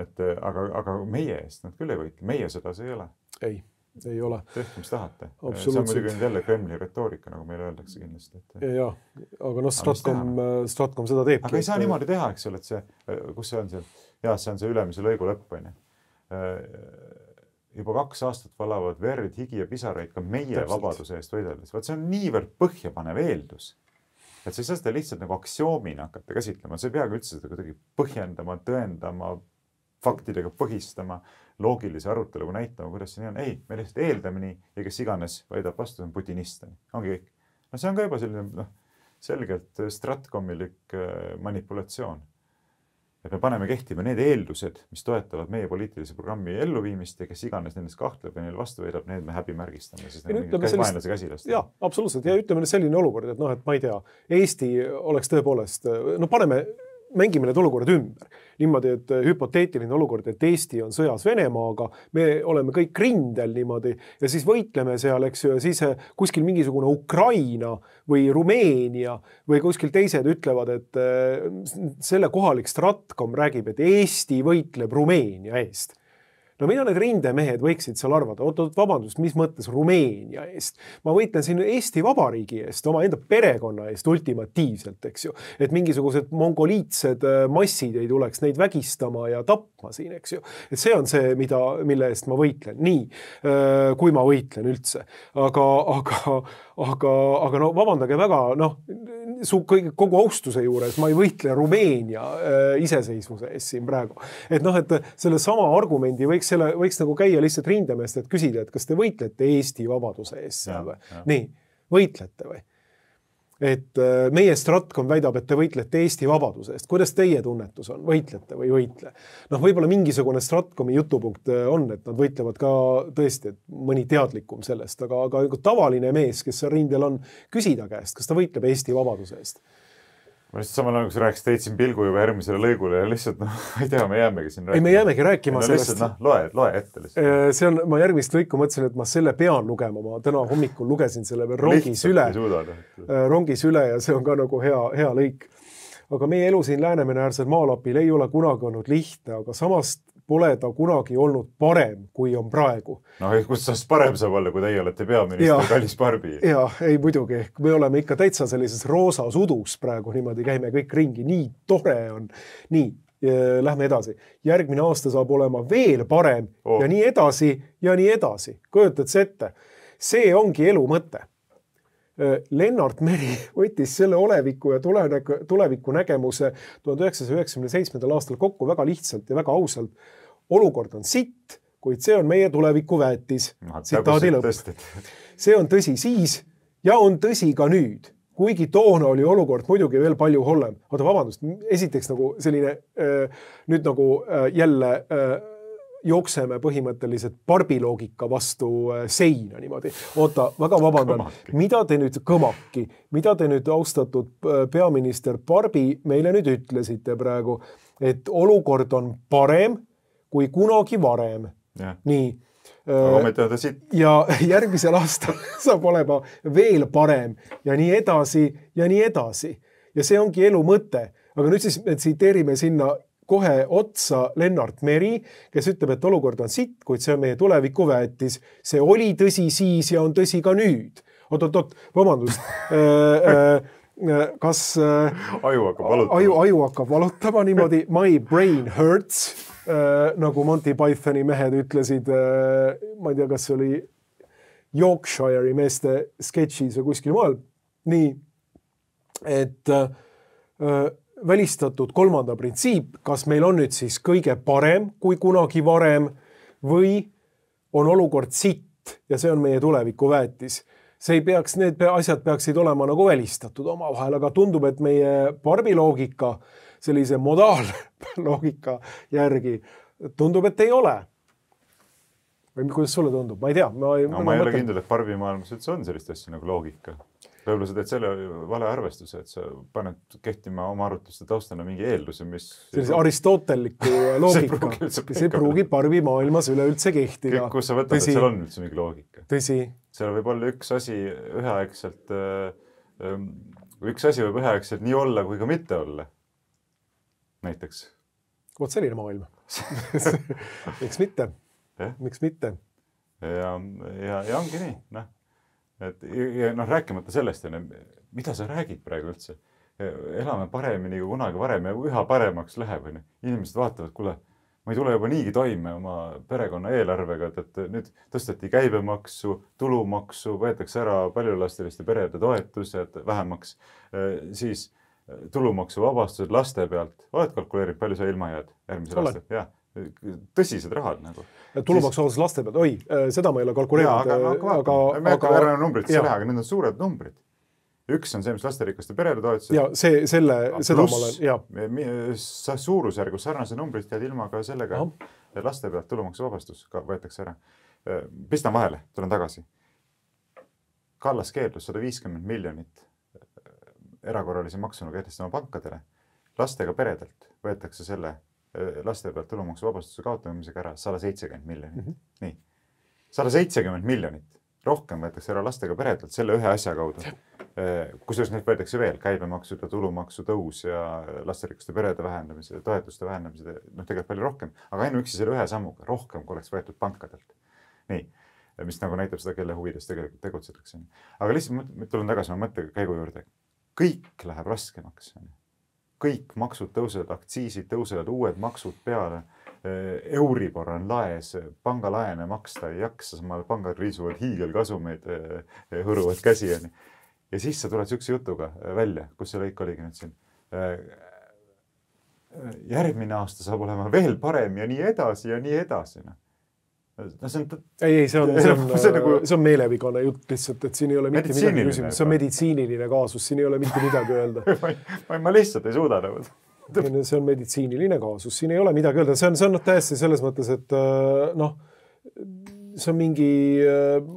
Et, aga, aga meie eest nad küll ei võitle. Meie sõda see ei ole. Ei, ei ole. Tehke, mis tahate. See on muidugi jälle Kremli retoorika, nagu meile öeldakse kindlasti. Et... Ja, ja, aga noh, Stratcom, Stratcom seda teebki. Aga ei saa et... niimoodi teha, eks ole, et see, kus see on seal? Ja, see on see ülemise lõigu lõpp. Juba kaks aastat valavad verd, higi ja pisaraid ka meie Täpselt. Vabaduse eest võideldes. Vaat see on niivõrd põhjapanev eeldus. Et sa ei saa seda lihtsalt nagu aktsioomina hakata käsitlema. See ei peagi üldse seda kuidagi põhjendama, tõendama, faktidega põhistama, loogilise aruteluga näitama, kuidas see nii on. Ei, me lihtsalt eeldame nii ja kes iganes väidab vastu, on putinist. Ongi kõik. No see on ka juba selline no, selgelt stratkomilik manipulatsioon. Et me paneme kehtima need eeldused, mis toetavad meie poliitilise programmi elluviimist ja kes iganes nendest kahtleb ja neil vastu veedab, need me häbimärgistame, sest need on mingid vaenlase käsilast. Jaa, absoluutselt. Ja ütleme selline olukord, et noh, et ma ei tea, Eesti oleks tõepoolest, no paneme mängime need olukorrad ümber. Niimoodi, et hüpoteetiline olukord, et Eesti on sõjas Venemaaga, me oleme kõik rindel niimoodi ja siis võitleme seal, eks ju, ja siis kuskil mingisugune Ukraina või Rumeenia või kuskil teised ütlevad, et selle kohalik Stratkom räägib, et Eesti võitleb Rumeenia eest. No mida need rindemehed võiksid seal arvata? Oot, oot, vabandust, mis mõttes Rumeenia eest? Ma võitlen siin Eesti Vabariigi eest, oma enda perekonna eest ultimatiivselt, eks ju. Et mingisugused mongoliitsed massid ei tuleks neid vägistama ja tapma siin, eks ju. Et see on see, mida, mille eest ma võitlen. Nii, kui ma võitlen üldse. Aga, aga, aga, aga no vabandage väga, noh, su kogu austuse juures ma ei võitle Rumeenia iseseisvuse eest siin praegu. Et noh, et selle sama argumendi võiks selle võiks nagu käia lihtsalt rindemeest, et küsida, et kas te võitlete Eesti vabaduse eest seal või? Nii, võitlete või? Et meie Stratkom väidab, et te võitlete Eesti vabaduse eest. Kuidas teie tunnetus on? Võitlete või võitle? Noh, võib-olla mingisugune Stratkomi jutupunkt on, et nad võitlevad ka tõesti, et mõni teadlikum sellest, aga, aga tavaline mees, kes rindel on, küsida käest, kas ta võitleb Eesti vabaduse eest? Ma lihtsalt samal ajal, kui sa rääkis, teitsin pilgu juba järgmisele lõigule ja lihtsalt, noh, ei tea, me jäämegi siin rääkima. Ei, me jäämegi rääkima no, sellest. Lihtsalt, noh, loe, loe ette lihtsalt. See on, ma järgmist lõiku mõtlesin, et ma selle pean lugema. Ma täna hommikul lugesin selle veel rongis üle. Rongis üle ja see on ka nagu hea, hea lõik. Aga meie elu siin Läänemere äärsel maalapil ei ole kunagi olnud lihtne, aga samast pole ta kunagi olnud parem, kui on praegu. No, kus saast parem saab olla, kui teie olete peaminister Kallis Barbi? Jaa, ei muidugi. Me oleme ikka täitsa sellises roosas udus praegu, niimoodi käime kõik ringi. Nii tore on. Nii, lähme edasi. Järgmine aasta saab olema veel parem oh. ja nii edasi ja nii edasi. Kujutad see ette? See ongi elu mõte. Lennart Meri võttis selle oleviku ja tuleviku nägemuse tuhat üheksasaja üheksakümne seitsmendal aastal kokku väga lihtsalt ja väga ausalt. Olukord on sitt, kuid see on meie tuleviku väetis. Tsitaadi lõpp. See on tõsi siis ja on tõsi ka nüüd. Kuigi toona oli olukord muidugi veel palju hullem. Oota, vabandust, esiteks nagu selline nüüd nagu jälle jookseme põhimõtteliselt barbiloogika vastu seina niimoodi. Oota, väga vabandan. Kõmaki. Mida te nüüd kõmaki, mida te nüüd austatud peaminister Barbi meile nüüd ütlesite praegu, et olukord on parem kui kunagi varem. Ja. Nii. Ja järgmisel aastal saab olema veel parem ja nii edasi ja nii edasi. Ja see ongi elu mõte. Aga nüüd siis me tsiteerime sinna kohe otsa Lennart Meri, kes ütleb, et olukord on sitt, kuid see on meie tuleviku väetis. See oli tõsi siis ja on tõsi ka nüüd. Oot, oot, oot, vabandust. Kas aju hakkab valutama, aju, aju hakkab valutama niimoodi. My brain hurts, nagu Monty Pythoni mehed ütlesid. Ma ei tea, kas see oli Yorkshire'i meeste sketšis või kuskil maal. Nii, et välistatud kolmanda printsiip, kas meil on nüüd siis kõige parem kui kunagi varem või on olukord sitt ja see on meie tuleviku väetis. See ei peaks, need asjad peaksid olema nagu välistatud oma vahel, aga tundub, et meie barbiloogika, sellise modaalloogika järgi tundub, et ei ole. Või kuidas sulle tundub? Ma ei tea. Ma ei, no, ma ei ole kindel, et barbi maailmas üldse on sellist asja nagu loogika. Võib-olla sa teed selle vale arvestuse, et sa paned kehtima oma arutluste taustana mingi eelduse, mis... Sellise aristotelliku loogika. See pruugib barbi maailmas üleüldse kehtida. Kus sa võtad, et seal on üldse mingi loogika? Tõsi. Seal võib olla üks asi üheaegselt, üks asi võib üheaegselt nii olla, kui ka mitte olla. Näiteks. Vot selline maailm. Miks mitte? Miks mitte? Ja, ja, ja ongi nii, noh. Et, ja noh, rääkimata sellest, mida sa räägid praegu üldse. Elame paremini kui kunagi varem ja üha paremaks läheb. Inimesed vaatavad, kuule, ma ei tule juba niigi toime oma perekonna eelarvega, et nüüd tõsteti käibemaksu, tulumaksu, võetakse ära paljullasteliste perede toetused vähemaks, siis tulumaksu vabastused laste pealt. Oled kalkuleerib, palju sa ilma jääd järgmisel aastal? Ja. tõsised rahad nagu. Tulumaksuvabastus laste pealt, oi, seda ma ei ole kalkuleerinud. Aga, aga, aga, me ei hakka ära numbrit see lähe, aga need on suured numbrid. Üks on see, mis lasterikaste perede toetused. Ja see, selle, seda plus, ma olen, jah. Sa suurusjärgus sarnase numbrit tead ilma ka sellega, et laste pealt tulumaksuvabastus võetakse ära. Pistan vahele, tulen tagasi. Kallas keeldus sada viiskümmend miljonit erakorralise maksuna kehtestama pankadele. Lastega peredelt võetakse selle laste pealt tulumaksuvabastuse kaotamisega ära sada seitsekümmend miljonit. Mm-hmm. Nii. sada seitsekümmend miljonit. Rohkem võetakse ära lastega peredelt selle ühe asja kaudu. Kusjuures neid võetakse veel käibemaksu ja tulumaksu tõus ja lasterikaste perede vähendamise, toetuste vähendamise, noh tegelikult palju rohkem, aga ainuüksi selle ühe sammuga rohkem, kui oleks võetud pankadelt. Nii, mis nagu näitab seda, kelle huvides tegelikult tegutsetakse. Aga lihtsalt tulen tagasi oma mõttekäigu juurde. Kõik läheb raskemaks. Kõik maksud tõusevad, aktsiisid tõusevad, uued maksud peale, Euribor on laes, pangalaene maksta ei jaksa, samal pangad riisuvad hiigelkasumeid, hõruvad käsi. Ja siis sa tuled sükse jutuga välja, kus see lõik oligi nüüd siin. Järgmine aasta saab olema veel parem ja nii edasi ja nii edasi. No, see on... Ei, ei, see on, see on, see on, nagu... see on meelevigane jutt lihtsalt, et siin ei ole mitte midagi küsimus. See on meditsiiniline kaasus, siin ei ole mitte midagi öelda. ma, ma lihtsalt ei suuda nagu. See on meditsiiniline kaasus, siin ei ole midagi öelda. See on, see on täiesti selles mõttes, et noh, see on mingi...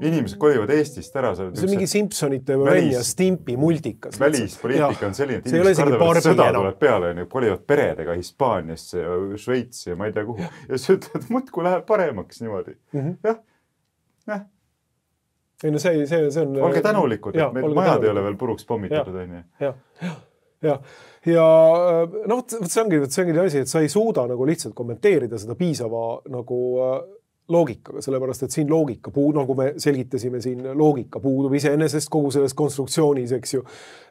Inimesed kolivad Eestist ära. See on mingi Simpsonite või ja Stimpi multikas. Välispoliitika on selline, et inimesed kardavad, et sõda tuleb peale, kolivad peredega Hispaaniasse ja Šveitsi ja ma ei tea kuhu. Ja see ütleb, et muudku läheb paremaks niimoodi. Jah, jah. Ei no see, see, see on... Olge tänulikud, et meil majad ei ole veel puruks pommitatud. Ja, ja, ja. Ja no, see ongi, see ongi asi, et sa ei suuda nagu lihtsalt kommenteerida seda piisava nagu loogikaga, sellepärast, et siin loogika puudub, nagu me selgitasime siin, loogika puudub iseenesest kogu selles konstruktsioonis, eks ju.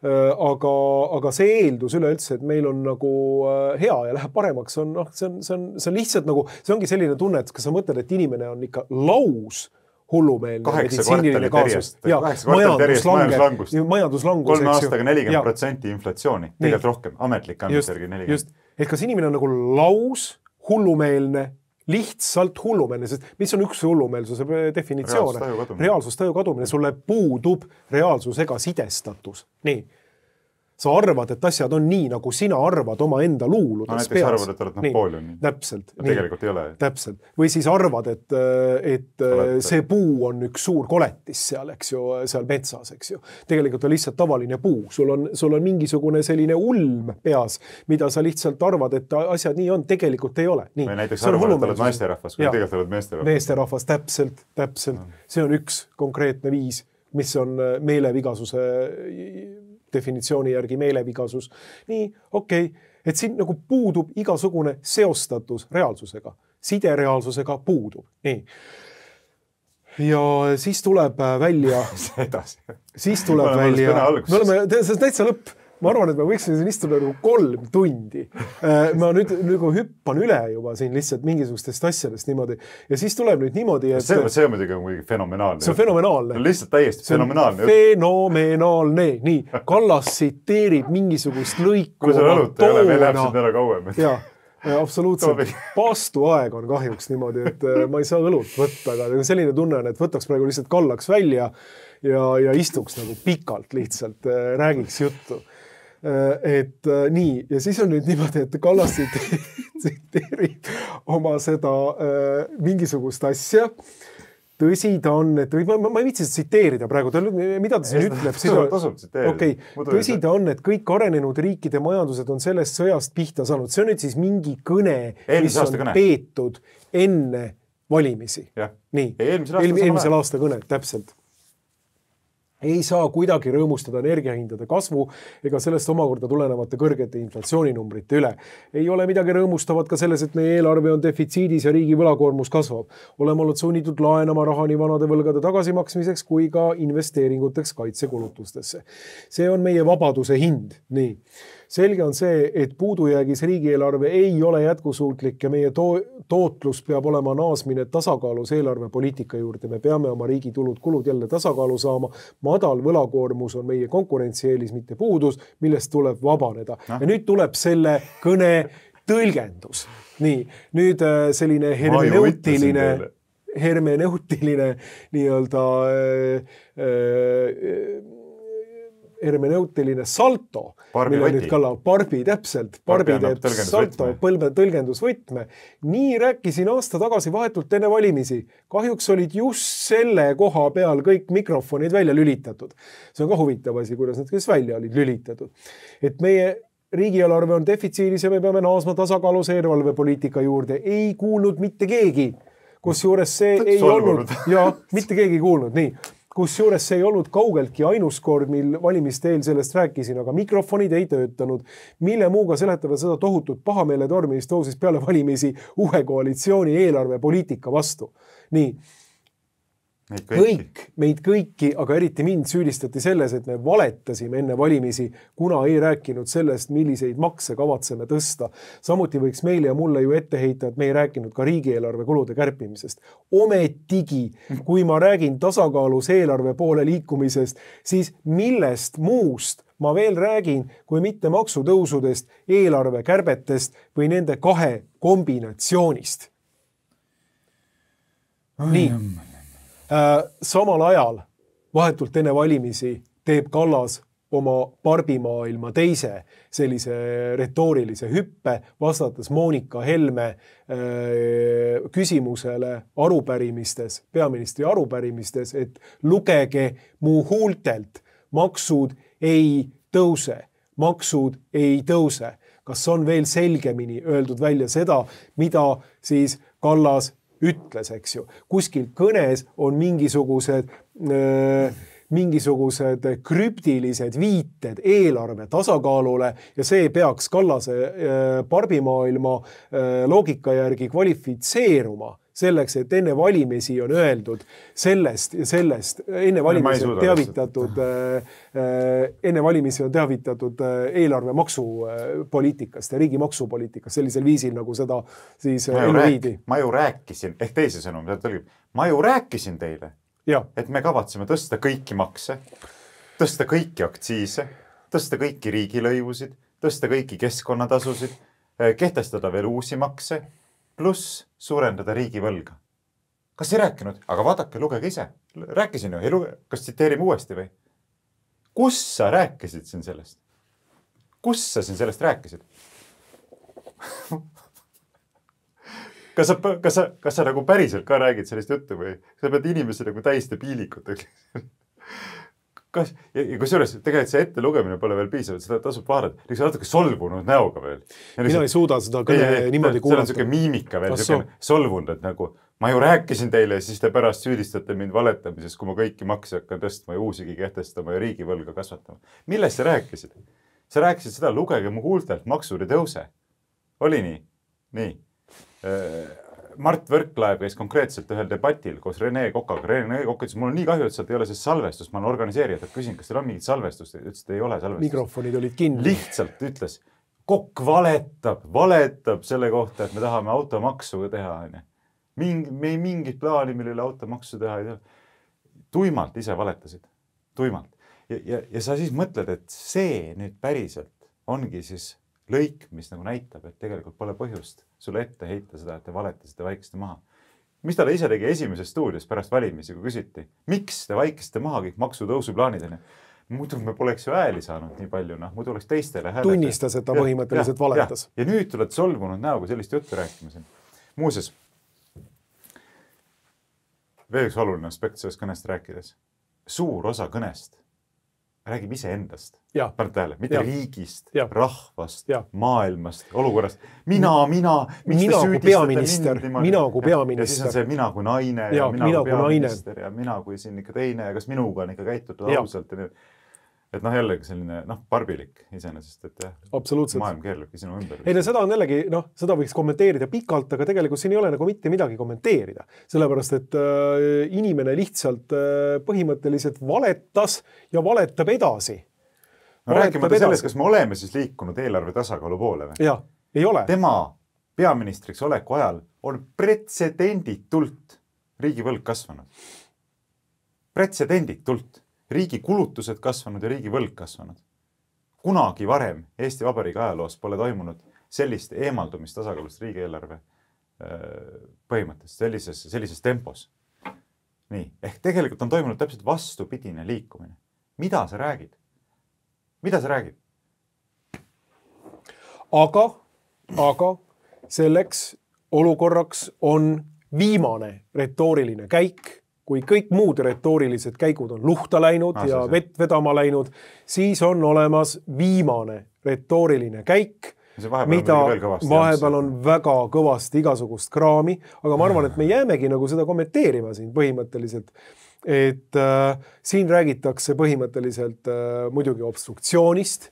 Aga, aga see eeldus üleüldse, et meil on nagu hea ja läheb paremaks, on, noh, see on, see on, see on lihtsalt nagu, see ongi selline tunne, et kas sa mõtled, et inimene on ikka laus hullumeelne meditsiiniline kaasus. Ja, majanduslangus. majanduslangus. Kolme aastaga nelikümmend protsenti inflatsiooni, tegelikult rohkem, ametlik andmisjärgi nelikümmend. Just, et kas inimene on nagu laus hullumeelne, lihtsalt hullumeelne, sest mis on üks hullumeelsuse definitsioon? Reaalsustaju kadumine. Sulle puudub reaalsusega sidestatus. Nii. Sa arvad, et asjad on nii, nagu sina arvad oma enda luuludes peas. No näiteks arvad, et oled Napoleon. Täpselt. Tegelikult ei ole. Täpselt. Või siis arvad, et, et see puu on üks suur koletis seal, eks ju, seal metsas, eks ju. Tegelikult on lihtsalt tavaline puu. Sul on, sul on mingisugune selline ulm peas, mida sa lihtsalt arvad, et asjad nii on. Tegelikult ei ole. Nii. Või näiteks arvad, et oled naisterahvas, kui tegelikult oled meesterahvas. Meesterahvas, täpselt, täpselt. No. See on üks konkreetne viis, mis on meelevigasuse definitsiooni järgi meelevigasus. Nii, okei, okay. Et siin nagu puudub igasugune seostatus reaalsusega. Side reaalsusega puudub. Nii. Ja siis tuleb välja... edasi. Siis tuleb me välja... Me oleme, see on täitsa lõpp. Ma arvan, et me võiksime siin istuda nagu kolm tundi. Ma nüüd nagu hüppan üle juba siin lihtsalt mingisugustest asjadest niimoodi. Ja siis tuleb nüüd niimoodi, et... See, see on muidugi fenomenaalne. See on fenomenaalne. No lihtsalt täiesti fenomenaalne. Fenomenaalne. Nii, Kallas tsiteerib mingisugust lõiku. Kui see õlut ei ole, meil läheb siin ära kauem. Jaa, absoluutselt. Paastu aeg on kahjuks niimoodi, et ma ei saa õlut võtta, aga selline tunne on, et võtaks praegu lihtsalt kallaks välja ja, ja istuks nagu pikalt lihtsalt, räägiks juttu. Et nii, ja siis on nüüd niimoodi, et Kallas tsiteerib oma seda äh, mingisugust asja. Tõsi ta on, et ma, ma ei viitsi tsiteerida praegu, ta, mida ta siin ütleb? Tasub okay. Tõsi ta on, et kõik arenenud riikide majandused on sellest sõjast pihta saanud. See on nüüd siis mingi kõne, mis on kõne. Peetud enne valimisi. Ja. Nii, eelmisel aasta, Eel, eelmisel aasta kõne, täpselt. Ei saa kuidagi rõõmustada energiahindade kasvu ega sellest omakorda tulenevate kõrgete inflatsiooninumbrite üle. Ei ole midagi rõõmustavat ka selles, et meie eelarve on defitsiidis ja riigi võlakoormus kasvab. Oleme olnud sunnitud laenama raha nii vanade võlgade tagasimaksmiseks kui ka investeeringuteks kaitsekulutustesse. See on meie vabaduse hind. Nii. Selge on see, et puudujäägis riigieelarve ei ole jätkusuutlik ja meie to- tootlus peab olema naasmine tasakaalus eelarvepoliitika juurde. Me peame oma riigi tulud kulud jälle tasakaalu saama. Madal võlakoormus on meie konkurentsieelis, mitte puudus, millest tuleb vabaneda. No. Ja nüüd tuleb selle kõne tõlgendus. Nii, nüüd selline hermeneutiline, hermeneutiline nii-öelda äh, hermeneutiline salto, mille nüüd kalla Barbi täpselt, Barbi teeb salto, põlve tõlgendusvõtme. Nii rääkisin aasta tagasi vahetult enne valimisi. Kahjuks olid just selle koha peal kõik mikrofonid välja lülitatud. See on ka huvitav asi, kuidas need kes välja olid lülitatud. Et meie riigieelarve on defitsiidis ja me peame naasma tasakaalus eelarvepoliitika juurde. Ei kuulnud mitte keegi, kus juures see ei olnud. Ja, mitte keegi ei kuulnud, nii. Kus juures see ei olnud kaugeltki ainus kord, mil valimiste eel sellest rääkisin, aga mikrofonid ei töötanud. Mille muuga seletavad seda tohutut pahameele tormi, mis tõusis peale valimisi uue koalitsiooni eelarvepoliitika vastu. Nii, meid kõik, meid kõiki, aga eriti mind süüdistati selles, et me valetasime enne valimisi, kuna ei rääkinud sellest, milliseid makse kavatseme tõsta. Samuti võiks meile ja mulle ju ette heita, et me ei rääkinud ka riigieelarve kulude kärpimisest. Ometigi, kui ma räägin tasakaalus eelarve poole liikumisest, siis millest muust ma veel räägin, kui mitte maksutõusudest, eelarve kärbetest või nende kahe kombinatsioonist. Nii. Samal ajal vahetult enne valimisi teeb Kallas oma Barbimaailma teise sellise retoorilise hüppe, vastates Monika Helme küsimusele arupärimistes, peaministri arupärimistes, et lugege mu huultelt, maksud ei tõuse, maksud ei tõuse. Kas on veel selgemini öeldud välja seda, mida siis Kallas ütles, eks ju. Kuskil kõnes on mingisugused, äh, mingisugused krüptilised viited eelarve tasakaalule ja see peaks Kallase äh, Barbimaailma äh, loogika järgi kvalifitseeruma selleks, et enne valimisi on öeldud sellest ja sellest, enne valimisi on teavitatud, enne valimisi on teavitatud eelarve maksupoliitikast ja riigi maksupoliitikast sellisel viisil, nagu seda siis ellu viidi. Ma ju rääkisin, ehk teise sõnum, ma ju rääkisin teile, ja. Et me kavatseme tõsta kõiki makse, tõsta kõiki aktsiise, tõsta kõiki riigilõivusid, tõsta kõiki keskkonnatasusid, kehtestada veel uusi makse, pluss suurendada riigi võlga. Kas ei rääkinud? Aga vaadake, lugege ise. Rääkisin ju, luge... kas tsiteerime uuesti või? Kus sa rääkisid siin sellest? Kus sa siin sellest rääkisid? kas, sa, kas, sa, kas sa nagu päriselt ka räägid sellist juttu või sa pead inimesi nagu täiste piilikut? Kas, ja, ja kusjuures tegelikult see ette lugemine pole veel piisavalt, seda tasub vaadata. Liks natuke solvunud näoga veel. Mina lihtsalt, ei suuda seda kõne ei, niimoodi kuulata. See on niisugune miimika veel, niisugune solvunud, et nagu ma ju rääkisin teile ja siis te pärast süüdistate mind valetamises, kui ma kõiki makse hakkan tõstma ja uusigi kehtestama ja riigivõlga kasvatama. Millest sa rääkisid? Sa rääkisid seda, lugege mu huultelt, maksud ei tõuse. Oli nii? Nii. Mart Võrklaev käis konkreetselt ühel debatil koos Rene Kokaga. Rene Kokk ütles, mul on nii kahju, et sealt ei ole see salvestust. Ma olen organiseerijad, et küsin, kas teil on mingit salvestust? Ütles, et ei ole salvestust. Mikrofonid olid kinni. Lihtsalt ütles, Kokk valetab, valetab selle kohta, et me tahame automaksu teha. Mingi, me ei mingit plaani, millele automaksu teha ei tea. Tuimalt ise valetasid. Tuimalt. Ja, ja, ja sa siis mõtled, et see nüüd päriselt ongi siis lõik, mis nagu näitab, et tegelikult pole põhjust sulle ette heita seda, et te valetasite vaikiste maha. Mis talle ise tegi esimeses stuudios pärast valimisi, kui küsiti, miks te vaikiste maha kõik maksutõusu plaanideni? Muidu me poleks ju ääli saanud nii palju, noh, muidu oleks teistele hääletada. Tunnistas, et ta põhimõtteliselt valetas. Ja, ja nüüd tuled solvunud näoga sellist juttu rääkimisel. Muuses, veel üks oluline aspekt sellest kõnest rääkides. Suur osa kõnest räägib ise endast. Paned tähele, mitte ja. Riigist, ja. Rahvast, ja. Maailmast, olukorrast. Mina, mina, miks mina te kui peaminister, mina kui peaminister. Ja siis on see mina kui naine ja, ja mina, mina kui peaminister naine. Ja mina kui siin ikka teine ja kas minuga on ikka käitutud ja. Ausalt. Ja et noh, jällegi selline noh, barbilik iseenesest, et absoluutselt. Maailm keerlebki sinu ümber. Ei, no seda on jällegi, noh, seda võiks kommenteerida pikalt, aga tegelikult siin ei ole nagu mitte midagi kommenteerida. Sellepärast, et äh, inimene lihtsalt äh, põhimõtteliselt valetas ja valetab edasi. No rääkimata sellest, kas me oleme siis liikunud eelarve tasakaalu poole või? Jah, ei ole. Tema peaministriks oleku ajal on pretsedenditult riigi võlg kasvanud. Pretsedenditult. Riigi kulutused kasvanud ja riigi võlg kasvanud. Kunagi varem Eesti Vabariigi ajaloos pole toimunud sellist eemaldumist tasakaalust riigieelarve põhimõttest sellises, sellises tempos. Nii, ehk tegelikult on toimunud täpselt vastupidine liikumine. Mida sa räägid? Mida sa räägid? Aga, aga selleks olukorraks on viimane retooriline käik. Kui kõik muud retoorilised käigud on luhta läinud ah, ja see. vett vedama läinud, siis on olemas viimane retooriline käik, mida vahepeal on väga kõvasti igasugust kraami, aga ma arvan, et me jäämegi nagu seda kommenteerima siin põhimõtteliselt, et äh, siin räägitakse põhimõtteliselt äh, muidugi obstruktsioonist,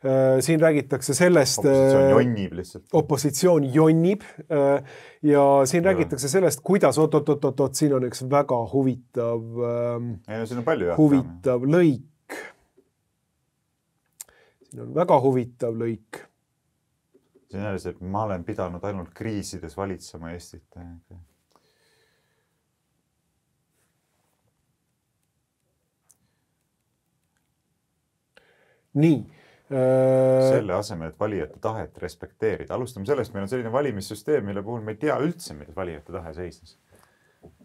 äh, siin räägitakse sellest... Opositsioon jonnib lihtsalt. Opositsioon jonnib äh, ja siin ja. räägitakse sellest, kuidas oot-oot-oot-oot, siin on üks väga huvitav, äh, Ei, no, siin on palju huvitav jah. lõik. Siin on väga huvitav lõik. See on see, et ma olen pidanud ainult kriisides valitsema Eestit. Nii. Selle asemel, et valijate tahet respekteerida. Alustame sellest, meil on selline valimissüsteem, mille puhul me ei tea üldse, milles valijate tahe seisnes.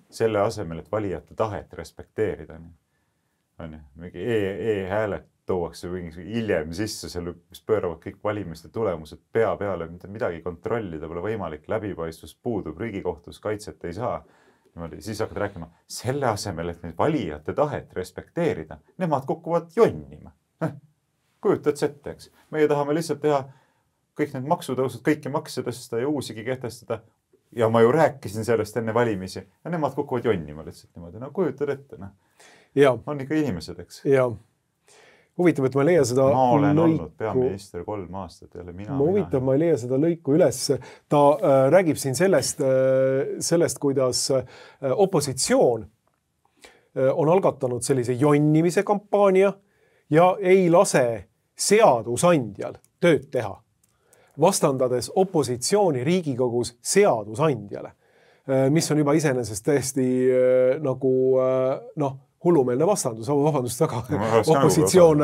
Selle asemel, et valijate tahet respekteerida. On ju, mingi e-hääled tuuakse hiljem sisse, selle, mis pööravad kõik valimiste tulemused pea peale, midagi kontrollida pole võimalik, läbipaistvus puudub, Riigikohtus kaitset ei saa. Niimoodi, siis hakkad rääkima, selle asemel, et neid valijate tahet respekteerida, nemad kukuvad jonnima. Kujutad sette, eks. Meie tahame lihtsalt teha kõik need maksutõusud, kõiki makse tõsta ja uusigi kehtestada. Ja ma ju rääkisin sellest enne valimisi ja nemad kukuvad jonnima lihtsalt niimoodi. No kujutad ette, noh. Ja. On ikka inimesed, eks. Ja. Huvitav, et ma ei leia seda ma olen lõiku. olnud peaminister kolm aastat jälle mina. Ma huvitav, mina. ma ei leia seda lõiku üles. Ta äh, räägib siin sellest, äh, sellest, kuidas äh, opositsioon äh, on algatanud sellise jonnimise kampaania ja ei lase seadusandjal tööd teha, vastandades opositsiooni Riigikogus seadusandjale, äh, mis on juba iseenesest täiesti äh, nagu äh, noh, hullumeelne vastandus, vabandust väga, opositsioon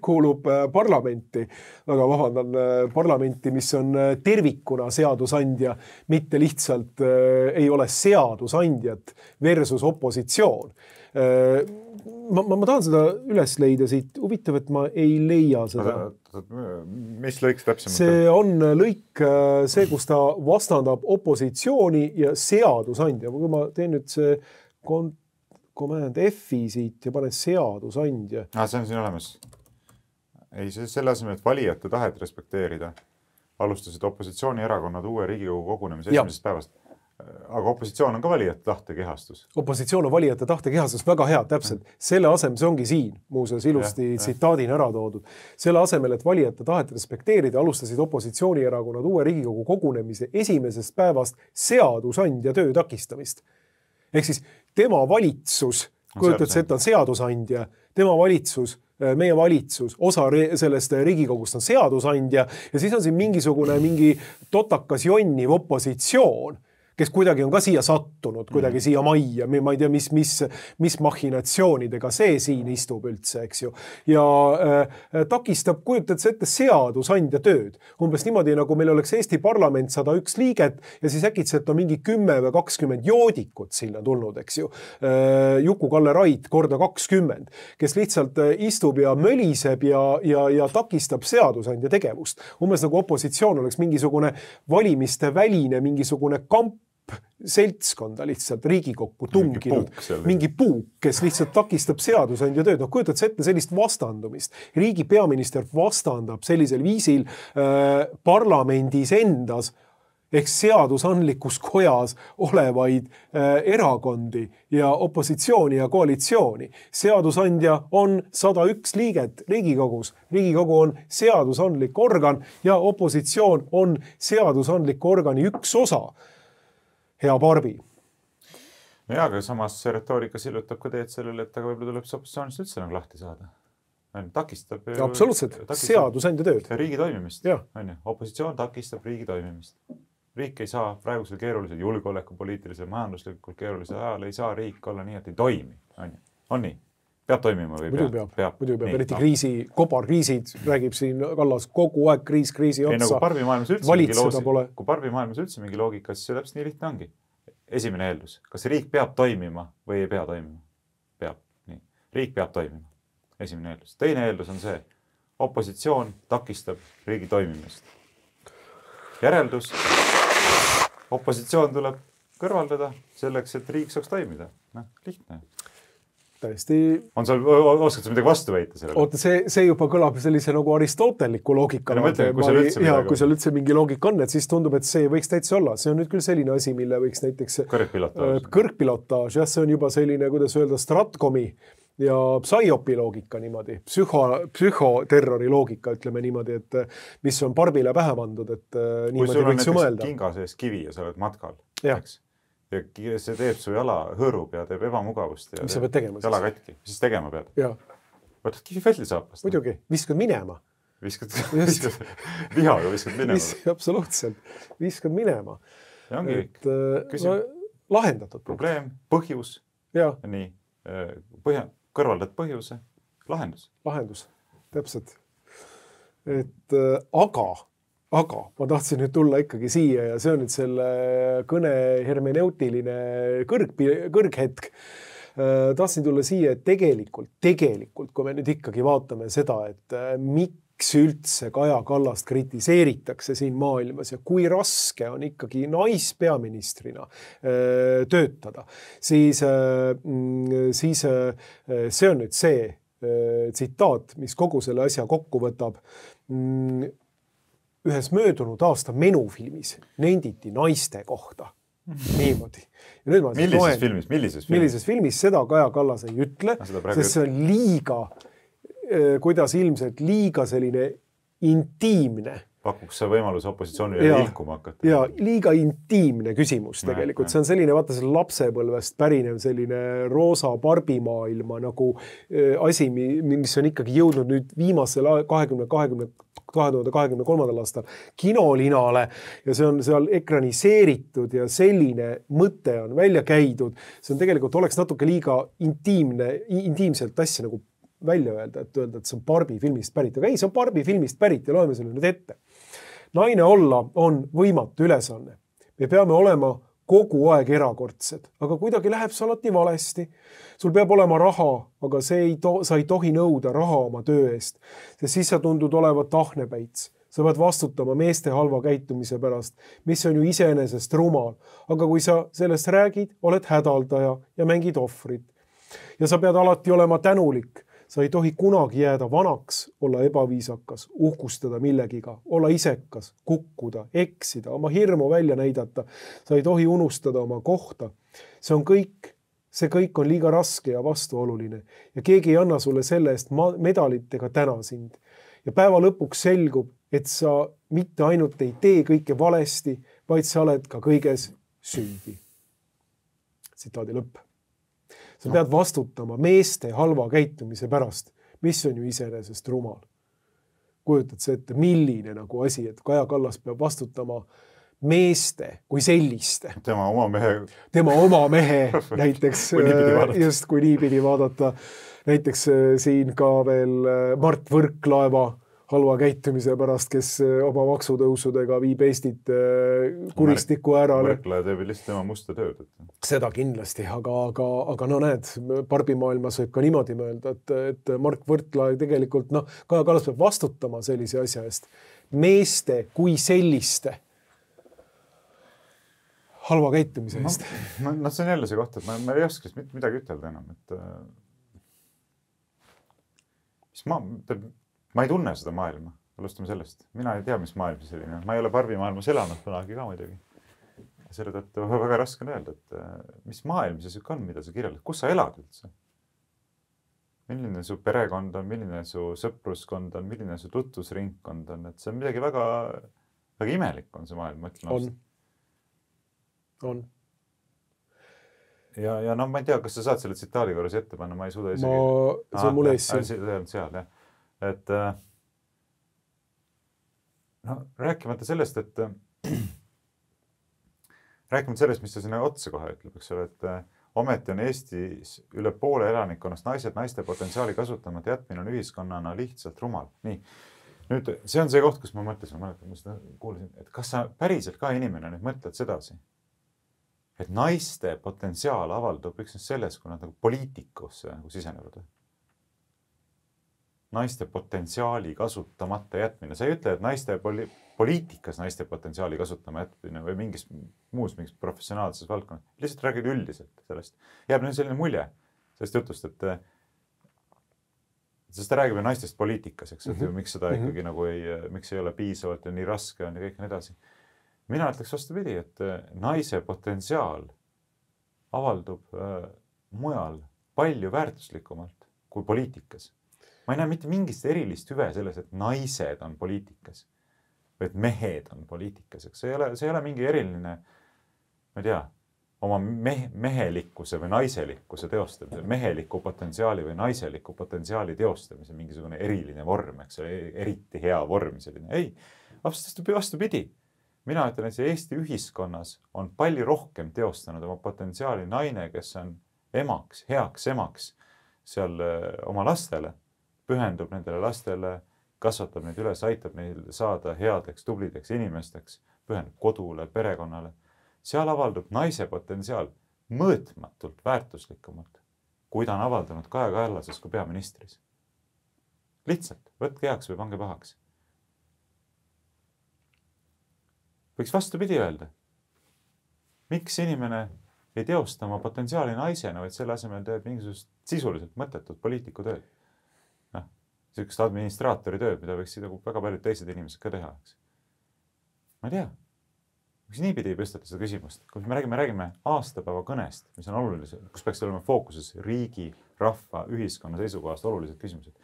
kuulub parlamenti, väga vabandan parlamenti, mis on tervikuna seadusandja, mitte lihtsalt ei ole seadusandjat versus opositsioon. Ma, ma, ma tahan seda üles leida siit, huvitav, et ma ei leia seda. Mis lõiks täpsemalt? See on lõik, see, kus ta vastandab opositsiooni ja seadusandja. Kui ma teen nüüd see kont- Command F-i siit ja panen seadusandja. Ah, see on siin olemas. Ei, selle asemel, et valijate tahet respekteerida, alustasid opositsioonierakonnad uue Riigikogu kogunemise esimesest päevast. Aga opositsioon on ka valijate tahte kehastus. Opositsioon on valijate tahte kehastus, väga hea, täpselt. Selle asemel, see ongi siin, muuseas ilusti ja, tsitaadin ära toodud. Selle asemel, et valijate tahet respekteerida, alustasid opositsioonierakonnad uue Riigikogu kogunemise esimesest päevast seadusandja töö takistamist. Ehk siis tema valitsus, kujutad see, et on seadusandja, tema valitsus, meie valitsus, osa sellest Riigikogust on seadusandja ja siis on siin mingisugune mingi totakas jonniv opositsioon, kes kuidagi on ka siia sattunud, kuidagi siia majja, ma ei tea, mis, mis, mis machinatsioonidega see siin istub üldse, eks ju. Ja äh, takistab, kujutad see ette seadusandja tööd. Umbes niimoodi, nagu meil oleks Eesti parlament sada üks liiget ja siis äkitselt on mingi kümme või kakskümmend joodikut sinna tulnud, eks ju. Äh, Juku-Kalle Rait korda kakskümmend, kes lihtsalt istub ja möliseb ja, ja, ja takistab seadusandja tegevust. Umbes nagu opositsioon oleks mingisugune valimiste väline, mingisugune kamp seltskonda lihtsalt Riigikokku tunginud, mingi puuk, mingi puuk, kes lihtsalt takistab seadusandja tööd. No kujutad sa ette sellist vastandumist. Riigi peaminister vastandab sellisel viisil äh, parlamendis endas ehk seadusandlikus kojas olevaid äh, erakondi ja opositsiooni ja koalitsiooni. Seadusandja on sada üks liiget Riigikogus. Riigikogu on seadusandlik organ ja opositsioon on seadusandlik organi üks osa. Hea Barbi. Ja, aga samas see retoorika sillutab ka teed sellele, et aga võib-olla tuleb see opositsioonist üldse nagu lahti saada. Takistab. Absoluutselt. Seadusandja tööd. Riigi toimimist. Opositsioon takistab riigi toimimist. Riik ei saa praegusel keerulisel julgeoleku, poliitilisel, majanduslikult keerulisel ajal ei saa riik olla nii, et ei toimi. On, on nii? peab toimima või muidu peab, peab. Muidu peab, eriti kriisi, kobarkriisid, räägib siin Kallas kogu aeg kriis, kriisi otsa. Ei, no kui barbimaailmas üldse mingi loosi, kui barbimaailmas üldse mingi loogika, siis see täpselt nii lihtne ongi. Esimene eeldus, kas riik peab toimima või ei pea toimima? Peab, nii. Riik peab toimima. Esimene eeldus. Teine eeldus on see, opositsioon takistab riigi toimimist. Järeldus, opositsioon tuleb kõrvaldada selleks, et riik saaks toimida. Noh, lihtne. Täiesti... On sul, oskad sa midagi vastu väita sellele? Oota, see, see juba kõlab sellise nagu aristoteliku loogika. No, mõtlen, kui seal üldse ja, kui seal üldse mingi loogika on, et siis tundub, et see võiks täitsa olla. See on nüüd küll selline asi, mille võiks näiteks... Kõrgpilotaaž. Kõrgpilotaaž, jah, see on juba selline, kuidas öelda, stratkomi ja psühhopi loogika niimoodi. Psühho, psühhoterrori loogika, ütleme niimoodi, et mis on parbile pähe pandud, et niimoodi võiks ju mõelda. Kui sul on näiteks kinga sees kivi ja sa oled matkal, eks? Ja see teeb su jala hõõrub ja teeb ebamugavust ja mis sa pead tegema jala katki. Siis tegema pead. Ja. Võtad kivi väldi saapast. Muidugi, viskad minema. Viskad, viskad vihaga viskad minema. Vis, absoluutselt, viskad minema. Ja ongi et, no, lahendatud. Probleem, põhjus. Ja. Nii, põhja, kõrvaldad põhjuse, lahendus. Lahendus, täpselt. Et aga... Aga ma tahtsin nüüd tulla ikkagi siia ja see on nüüd selle kõne hermeneutiline kõrg, kõrghetk. Tahtsin tulla siia, et tegelikult, tegelikult, kui me nüüd ikkagi vaatame seda, et miks üldse Kaja Kallast kritiseeritakse siin maailmas ja kui raske on ikkagi naispeaministrina töötada, siis, siis see on nüüd see tsitaat, mis kogu selle asja kokku võtab. Ühes möödunud aasta menufilmis nenditi naiste kohta. Niimoodi. Ja nüüd ma millises loen, filmis? Millises filmis? Millises filmis seda Kaja Kallas ei ütle, sest see on liiga, kuidas ilmselt liiga selline intiimne. Pakuks see võimalus opositsioonile ja, ilkuma hakata. Ja liiga intiimne küsimus tegelikult. See on selline, vaata see lapsepõlvest pärinev selline roosa barbimaailma nagu asi, mis on ikkagi jõudnud nüüd viimasel kahekümne kahekümne kahe tuhande kahekümne kolmandal aastal kinolinale ja see on seal ekraniseeritud ja selline mõte on välja käidud. See on tegelikult oleks natuke liiga intiimne, intiimselt asja nagu välja öelda, et öelda, et see on Barbi filmist pärit. Aga ei, see on Barbi filmist pärit ja loeme selle nüüd ette. Naine olla on võimatu ülesanne. Me peame olema kogu aeg erakordsed, aga kuidagi läheb see alati valesti. Sul peab olema raha, aga see ei to- sa ei tohi nõuda raha oma töö eest, sest siis sa tundud olevat ahnepäits. Sa pead vastutama meeste halva käitumise pärast, mis on ju iseenesest rumal. Aga kui sa sellest räägid, oled hädaldaja ja mängid ohvrit. Ja sa pead alati olema tänulik. Sa ei tohi kunagi jääda vanaks, olla ebaviisakas, uhkustada millegiga, olla isekas, kukkuda, eksida, oma hirmu välja näidata. Sa ei tohi unustada oma kohta. See on kõik, see kõik on liiga raske ja vastuoluline ja keegi ei anna sulle selle eest medalit ega täna sind. Ja päeva lõpuks selgub, et sa mitte ainult ei tee kõike valesti, vaid sa oled ka kõiges süüdi. Tsitaadi lõpp. Sa pead vastutama meeste halva käitumise pärast, mis on ju iseenesest rumal. Kujutad see ette, milline nagu asi, et Kaja Kallas peab vastutama meeste kui selliste. Tema oma mehe. Tema oma mehe näiteks, kui just kui nii pidi vaadata. Näiteks siin ka veel Mart Võrklaeva halva käitumise pärast, kes oma maksutõusudega viib Eestit kuristiku äärale. Võrklaev teeb lihtsalt tema musta tööd. Seda kindlasti, aga, aga, aga no näed, barbimaailmas võib ka niimoodi mõelda, et, et Mark Võrklaev tegelikult, noh, Kaja Kallas peab vastutama sellise asja eest. Meeste kui selliste halva käitumise eest. No, no see on jälle see koht, et ma, ma ei oskaks midagi ütelda enam, et mis ma... Ma ei tunne seda maailma, alustame sellest. Mina ei tea, mis maailm see selline. Ma ei ole barbimaailmas elanud kunagi ka muidugi. Selle tõttu väga raske on öelda, et mis maailm see on, mida sa kirjeldad. Kus sa elad üldse? Milline su perekond on, milline su sõpruskond on, milline su tutvusringkond on. Et see on midagi väga, väga imelik on see maailm, ma ütlen. On. On. Ja, ja no ma ei tea, kas sa saad selle tsitaadi korras ette panna, ma ei suuda isegi. Ma, see on mul ees siin. See on seal, jah. Et no, rääkimata sellest, et rääkimata sellest, mis ta sinna otsa kohe ütleb, eks ole, et ometi on Eestis üle poole elanikkonnast naised, naiste potentsiaali kasutamata jätmine on ühiskonnana lihtsalt rumal. Nii, nüüd see on see koht, kus ma mõtlesin, ma mäletan, ma seda kuulasin, et kas sa päriselt ka inimene nüüd mõtled sedasi, et naiste potentsiaal avaldub üksnes selles, kui nad nagu poliitikusse nagu sisenevad. Naiste potentsiaali kasutamata jätmine. Sa ei ütle, et naiste poli poliitikas naiste potentsiaali kasutama jätmine või mingis muus mingis professionaalses valdkonnas. Lihtsalt räägid üldiselt sellest. Jääb nüüd selline mulje sellest jutust, et sest ta räägib naistest poliitikas, eks, et mm-hmm. miks seda ikkagi mm-hmm. nagu ei, miks ei ole piisavalt ja nii raske on ja kõik nii edasi. Mina ütleks vastupidi, et naise potentsiaal avaldub äh, mujal palju väärtuslikumalt kui poliitikas. Ma ei näe mitte mingist erilist hüve selles, et naised on poliitikas või et mehed on poliitikas. See ei ole, see ei ole mingi eriline, ma ei tea, oma mehe, mehelikkuse või naiselikkuse teostamise, meheliku potentsiaali või naiseliku potentsiaali teostamise mingisugune eriline vorm, eks ole, eriti hea vorm selline. Ei, vastupidi. Mina ütlen, et see Eesti ühiskonnas on palju rohkem teostanud oma potentsiaali naine, kes on emaks, heaks emaks seal oma lastele, pühendub nendele lastele, kasvatab neid üles, aitab neil saada headeks, tublideks inimesteks, pühendub kodule, perekonnale. Seal avaldub naise potentsiaal mõõtmatult väärtuslikumalt, kui ta on avaldanud Kaja Kallases kui peaministris. Lihtsalt, võtke heaks või pange pahaks. Võiks vastupidi öelda. Miks inimene ei teosta oma potentsiaali naisena, vaid selle asemel teeb mingisugust sisuliselt mõttetut poliitiku tööd? Noh, sellist administraatori tööd, mida võiks väga paljud teised inimesed ka teha. Ma ei tea. Miks niipidi ei püstata seda küsimust? Kui me räägime, räägime aastapäeva kõnest, mis on oluline, kus peaks olema fookuses riigi, rahva, ühiskonna seisukohast olulised küsimused.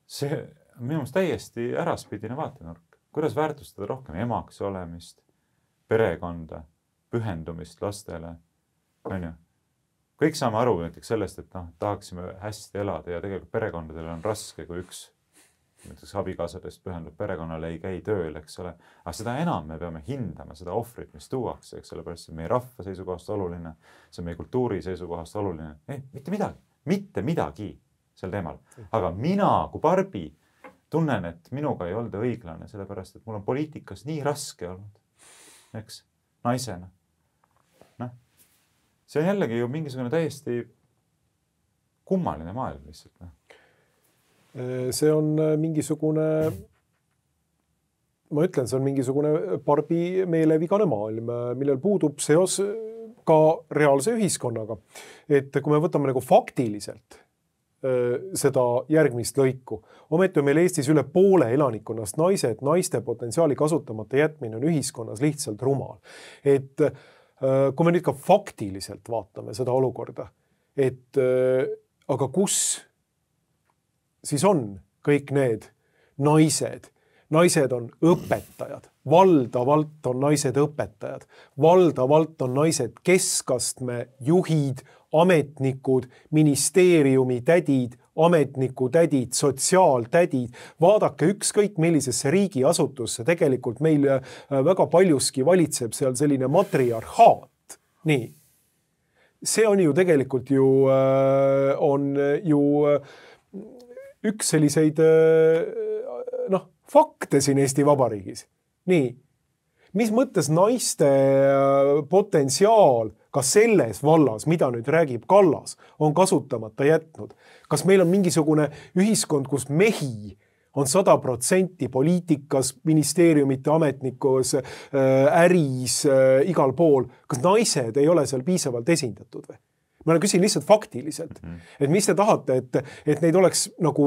See on minu meelest täiesti äraspidine vaatenurk. Kuidas väärtustada rohkem emaks olemist, perekonda, pühendumist lastele. On ju? Kõik saame aru näiteks sellest, et no, tahaksime hästi elada ja tegelikult perekondadele on raske, kui üks näiteks abikaasadest pühendub perekonnale, ei käi tööl, eks ole. Aga seda enam me peame hindama seda ohvrit, mis tuuakse, eks ole, pärast see on meie rahva seisukohast oluline, see on meie kultuuri seisukohast oluline. Ei, mitte midagi, mitte midagi sel teemal. Aga mina kui Barbi tunnen, et minuga ei olda õiglane, sellepärast, et mul on poliitikas nii raske olnud, eks, naisena. Noh, see on jällegi ju mingisugune täiesti kummaline maailm lihtsalt. No. See on mingisugune, ma ütlen, see on mingisugune Barbi meelevigane maailm, millel puudub seos ka reaalse ühiskonnaga. Et kui me võtame nagu faktiliselt seda järgmist lõiku. Ometi on meil Eestis üle poole elanikkonnast naised, naiste potentsiaali kasutamata jätmine on ühiskonnas lihtsalt rumal. Et kui me nüüd ka faktiliselt vaatame seda olukorda, et aga kus siis on kõik need naised? Naised on õpetajad, valdavalt on naised õpetajad, valdavalt on naised keskastme juhid, ametnikud, ministeeriumi tädid, ametniku tädid, sotsiaaltädid. Vaadake ükskõik millisesse riigiasutusse, tegelikult meil väga paljuski valitseb seal selline matriarhaat. Nii. See on ju tegelikult ju, on ju üks selliseid noh, fakte siin Eesti Vabariigis. Nii, mis mõttes naiste potentsiaal ka selles vallas, mida nüüd räägib Kallas, on kasutamata jätnud? Kas meil on mingisugune ühiskond, kus mehi on sada protsenti poliitikas, ministeeriumite ametnikus, äris, igal pool? Kas naised ei ole seal piisavalt esindatud või? Ma küsin lihtsalt faktiliselt, et mis te tahate, et, et neid oleks nagu,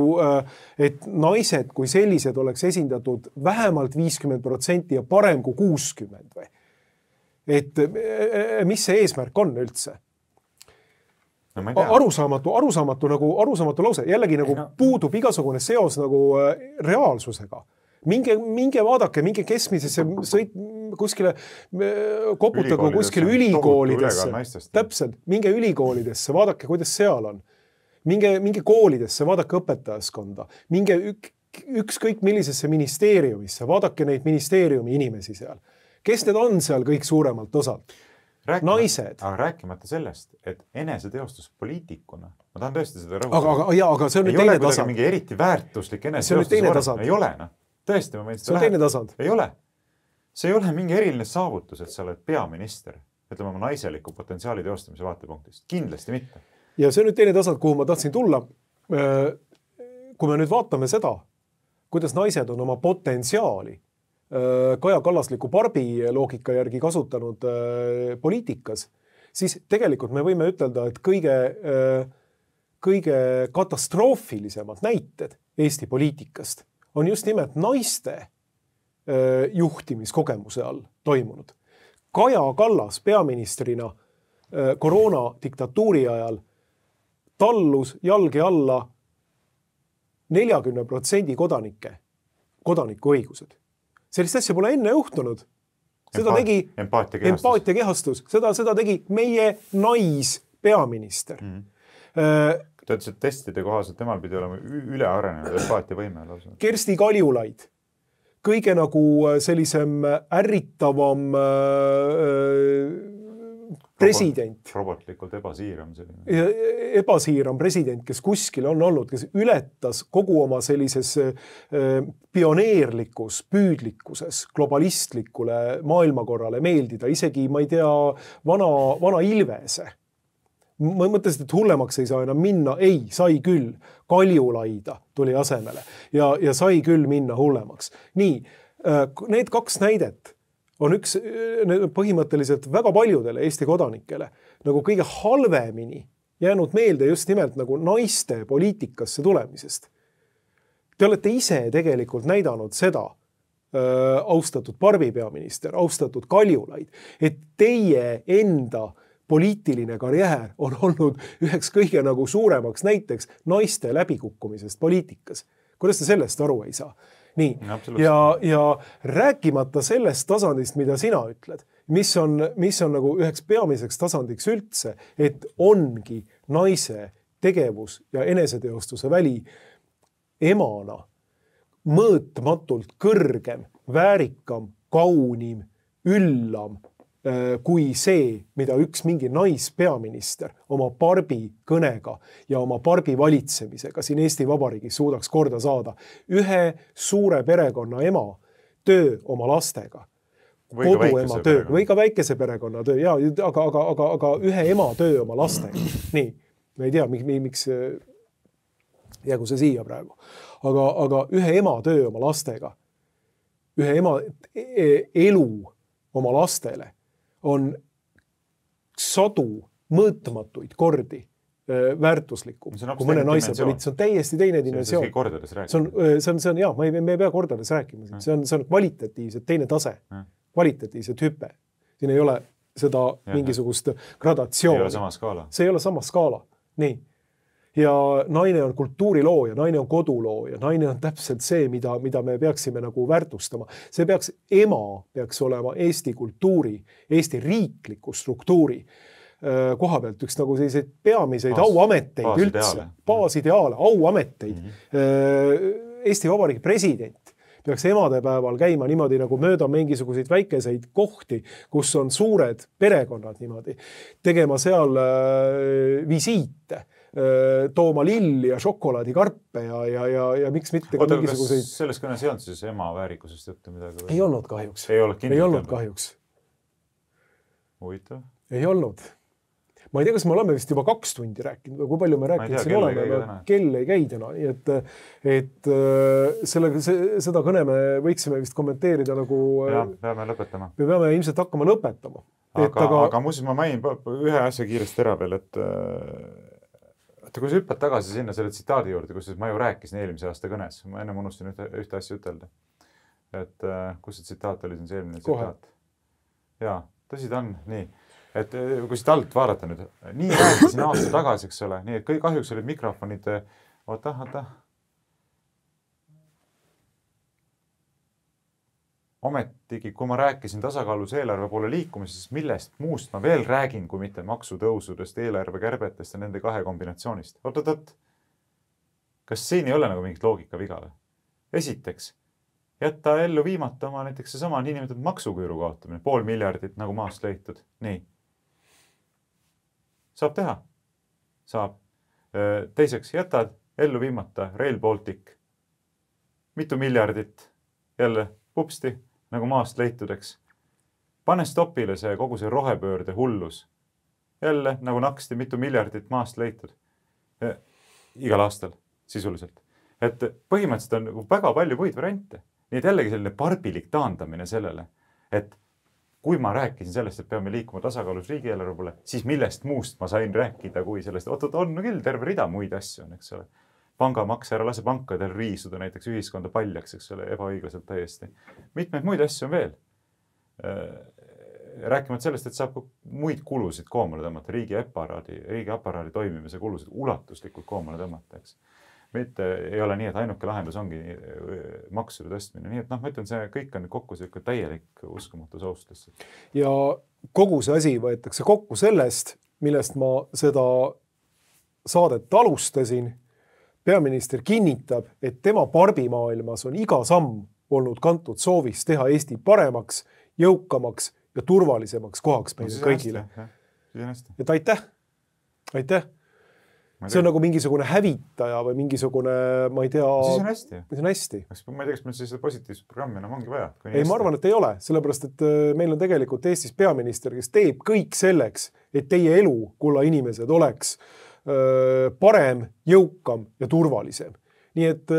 et naised kui sellised oleks esindatud vähemalt viiskümmend protsenti ja parem kui kuuskümmend või? Et mis see eesmärk on üldse? No, arusaamatu, arusaamatu, nagu, arusaamatu lause. Jällegi nagu no. puudub igasugune seos nagu reaalsusega. Minge, minge vaadake, minge keskmisesse sõit kuskile, koputagu kuskile ülikoolidesse. Täpselt, minge ülikoolidesse, vaadake, kuidas seal on. Minge, minge koolidesse, vaadake õpetajaskonda. Minge ük, ükskõik millisesse ministeeriumisse, vaadake neid ministeeriumi inimesi seal. Kes need on seal kõik suuremalt osalt? rääkimata, naised. Aga rääkimata sellest, et eneseteostus poliitikuna, ma tahan tõesti seda rõhutada. Aga, aga, jaa, aga see on ei nüüd teine tasand. Ei tasand. ole mingi eriti väärtuslik eneseteostus vorm. Ei ole, noh. Tõesti, ma võin seda see on teine tasand. Ei ole. See ei ole mingi eriline saavutus, et sa oled peaminister, ütleme oma naiseliku potentsiaali teostamise vaatepunktist. Kindlasti mitte. Ja see on nüüd teine tasand, kuhu ma tahtsin tulla. Kui me nüüd vaatame seda, kuidas naised on oma potentsiaali Kaja Kallasliku Barbi loogika järgi kasutanud poliitikas, siis tegelikult me võime ütelda, et kõige, kõige katastroofilisemad näited Eesti poliitikast on just nimelt naiste juhtimiskogemuse all toimunud. Kaja Kallas peaministrina koroona diktatuuri ajal tallus jalge alla neljakümne protsendi kodanike, kodaniku õigused. Sellist asja pole enne juhtunud. Seda Empa tegi empaatia kehastus. empaatia kehastus. Seda, seda tegi meie naispeaminister. Mm. -hmm. Ta ütles, et testide kohaselt temal pidi olema üle arenenud empaatia võime. Kersti Kaljulaid. Kõige nagu sellisem ärritavam president. Robotlikult ebasiiram. Ebasiiram president, kes kuskil on olnud, kes ületas kogu oma sellises pioneerlikus, püüdlikkuses, globalistlikule maailmakorrale meeldida. Isegi, ma ei tea, vana, vana Ilvese. Ma mõtlesin, et hullemaks ei saa enam minna. Ei, sai küll. Kaljulaida tuli asemele ja, ja sai küll minna hullemaks. Nii, need kaks näidet on üks põhimõtteliselt väga paljudele Eesti kodanikele nagu kõige halvemini jäänud meelde just nimelt nagu naiste poliitikasse tulemisest. Te olete ise tegelikult näidanud seda, äh, austatud Barbi peaminister, austatud Kaljulaid, et teie enda poliitiline karjäär on olnud üheks kõige nagu suuremaks näiteks naiste läbikukkumisest poliitikas. Kuidas te sellest aru ei saa? Nii, ja, ja rääkimata sellest tasandist, mida sina ütled, mis on, mis on nagu üheks peamiseks tasandiks üldse, et ongi naise tegevus ja eneseteostuse väli emana mõõtmatult kõrgem, väärikam, kaunim, üllam kui see, mida üks mingi naispeaminister oma Barbi kõnega ja oma Barbi valitsemisega siin Eesti Vabariigis suudaks korda saada. Ühe suure perekonna ema töö oma lastega, koduema töö või ka väikese perekonna töö, ja, aga, aga, aga, aga ühe ema töö oma lastega. Nii, ma ei tea, miks jäägu see siia praegu. Aga, aga ühe ema töö oma lastega, ühe ema elu oma lastele on sadu mõõtmatuid kordi väärtuslikum kui mõne naise poliit. See on täiesti teine dimensioon. See on, see on, see on, jah, me ei, me ei pea kordades rääkima. See on, see on kvalitatiivselt teine tase, kvalitatiivselt hüpe. Siin ei ole seda ja, mingisugust gradatsiooni. See ei ole sama skaala. See ei ole sama skaala. Nii. Ja naine on kultuurilooja, naine on kodulooja, naine on täpselt see, mida, mida me peaksime nagu väärtustama. See peaks, ema peaks olema Eesti kultuuri, Eesti riikliku struktuuri koha pealt üks nagu selliseid peamiseid Baas, auameteid baas üldse, baasideaale, auameteid. Mm-hmm. Eesti Vabariigi president peaks emadepäeval käima niimoodi nagu mööda mingisuguseid väikeseid kohti, kus on suured perekonnad niimoodi, tegema seal visiite, tooma lilli ja šokolaadikarpe ja, ja, ja, ja miks mitte ka Oota, mingisuguseid... Selles kõnes ei olnud siis ema väärikusest juttu midagi? Ei olnud kahjuks. Ei, ei olnud kahjuks. Huvitav. Ei olnud. Ma ei tea, kas me oleme vist juba kaks tundi rääkinud või kui palju me rääkinud siin oleme. Kell ei käi täna. Et, et selle, seda kõne me võiksime vist kommenteerida nagu... Ja, peame lõpetama. Me peame ilmselt hakkama lõpetama. Aga, et, aga... aga muuseas ma mainin ühe asja kiiresti ära veel, et kui sa hüppad tagasi sinna selle tsitaadi juurde, kus ma ju rääkisin eelmise aasta kõnes, ma enne unustin ühte, ühte asja ütelda. Et kus see tsitaat oli, see eelmine tsitaat. Jaa, tõsi ta on, nii. Et kui siit alt vaadata nüüd, nii rääkisin aasta tagasi, eks ole, nii et kõik kahjuks olid mikrofonid, oota, oota. Ometigi, kui ma rääkisin tasakaalus eelarve poole liikumisest, siis millest muust ma veel räägin, kui mitte maksutõusudest, eelarvekärbetest ja nende kahe kombinatsioonist. Oot, oot, oot. Kas siin ei ole nagu mingit loogika viga? Esiteks, jätta ellu viimata oma näiteks see sama niinimetatud maksuküüru kaotamine, pool miljardit nagu maast leitud. Nii. saab teha, saab. Teiseks, jätad ellu viimata Rail Baltic, mitu miljardit, jälle pupsti, nagu maast leitudeks. Pane stopile see kogu see rohepöörde hullus. Jälle, nagu naksti, mitu miljardit maast leitud. Ja, igal aastal, sisuliselt. Et põhimõtteliselt on nagu väga palju muid variante. Nii et jällegi selline parbilik taandamine sellele, et kui ma rääkisin sellest, et peame liikuma tasakaalus riigieelarve poole, siis millest muust ma sain rääkida, kui sellest, oot, oot, on küll terve rida muid asju, eks ole. Pangamaks ära lase pankadel riisuda näiteks ühiskonda paljaks, eks ole, ebaõiglaselt täiesti. Mitmeid muid asju on veel. Rääkimata sellest, et saab muid kulusid koomale tõmmata, riigi aparaadi, riigi aparaadi toimimise kulusid ulatuslikult koomale tõmmata, eks. Mitte ei ole nii, et ainuke lahendus ongi maksude tõstmine. Nii et noh, ma ütlen, see kõik on kokku selline täielik uskumatu soostus. Ja kogu see asi võetakse kokku sellest, millest ma seda saadet alustasin. Peaminister kinnitab, et tema parbimaailmas on iga samm olnud kantud soovis teha Eesti paremaks, jõukamaks ja turvalisemaks kohaks meile no, kõigile. Et aitäh, aitäh. See on nagu mingisugune hävitaja või mingisugune, ma ei tea... Siis on hästi. Siis on hästi. Ma ei tea, kas meil seda positiivset programmi enam ongi vaja. Ei, ma arvan, et ei ole. Sellepärast, et meil on tegelikult Eestis peaminister, kes teeb kõik selleks, et teie elu, kulla inimesed, oleks parem, jõukam ja turvalisem. Nii et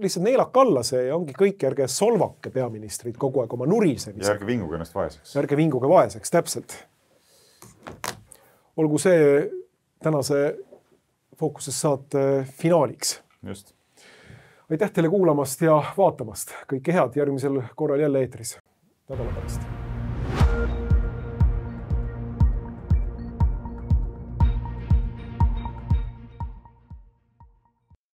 lihtsalt neelak alla see ja ongi kõik, ärge solvake peaministrid kogu aeg oma nurisemisega. Ja ärge vinguge ennast vaeseks. Ärge vinguge vaeseks, täpselt. Olgu see tänase Fookuses saate finaaliks. Just. Aitäh teile kuulamast ja vaatamast. Kõike head järgmisel korral jälle eetris. Nädala pärast.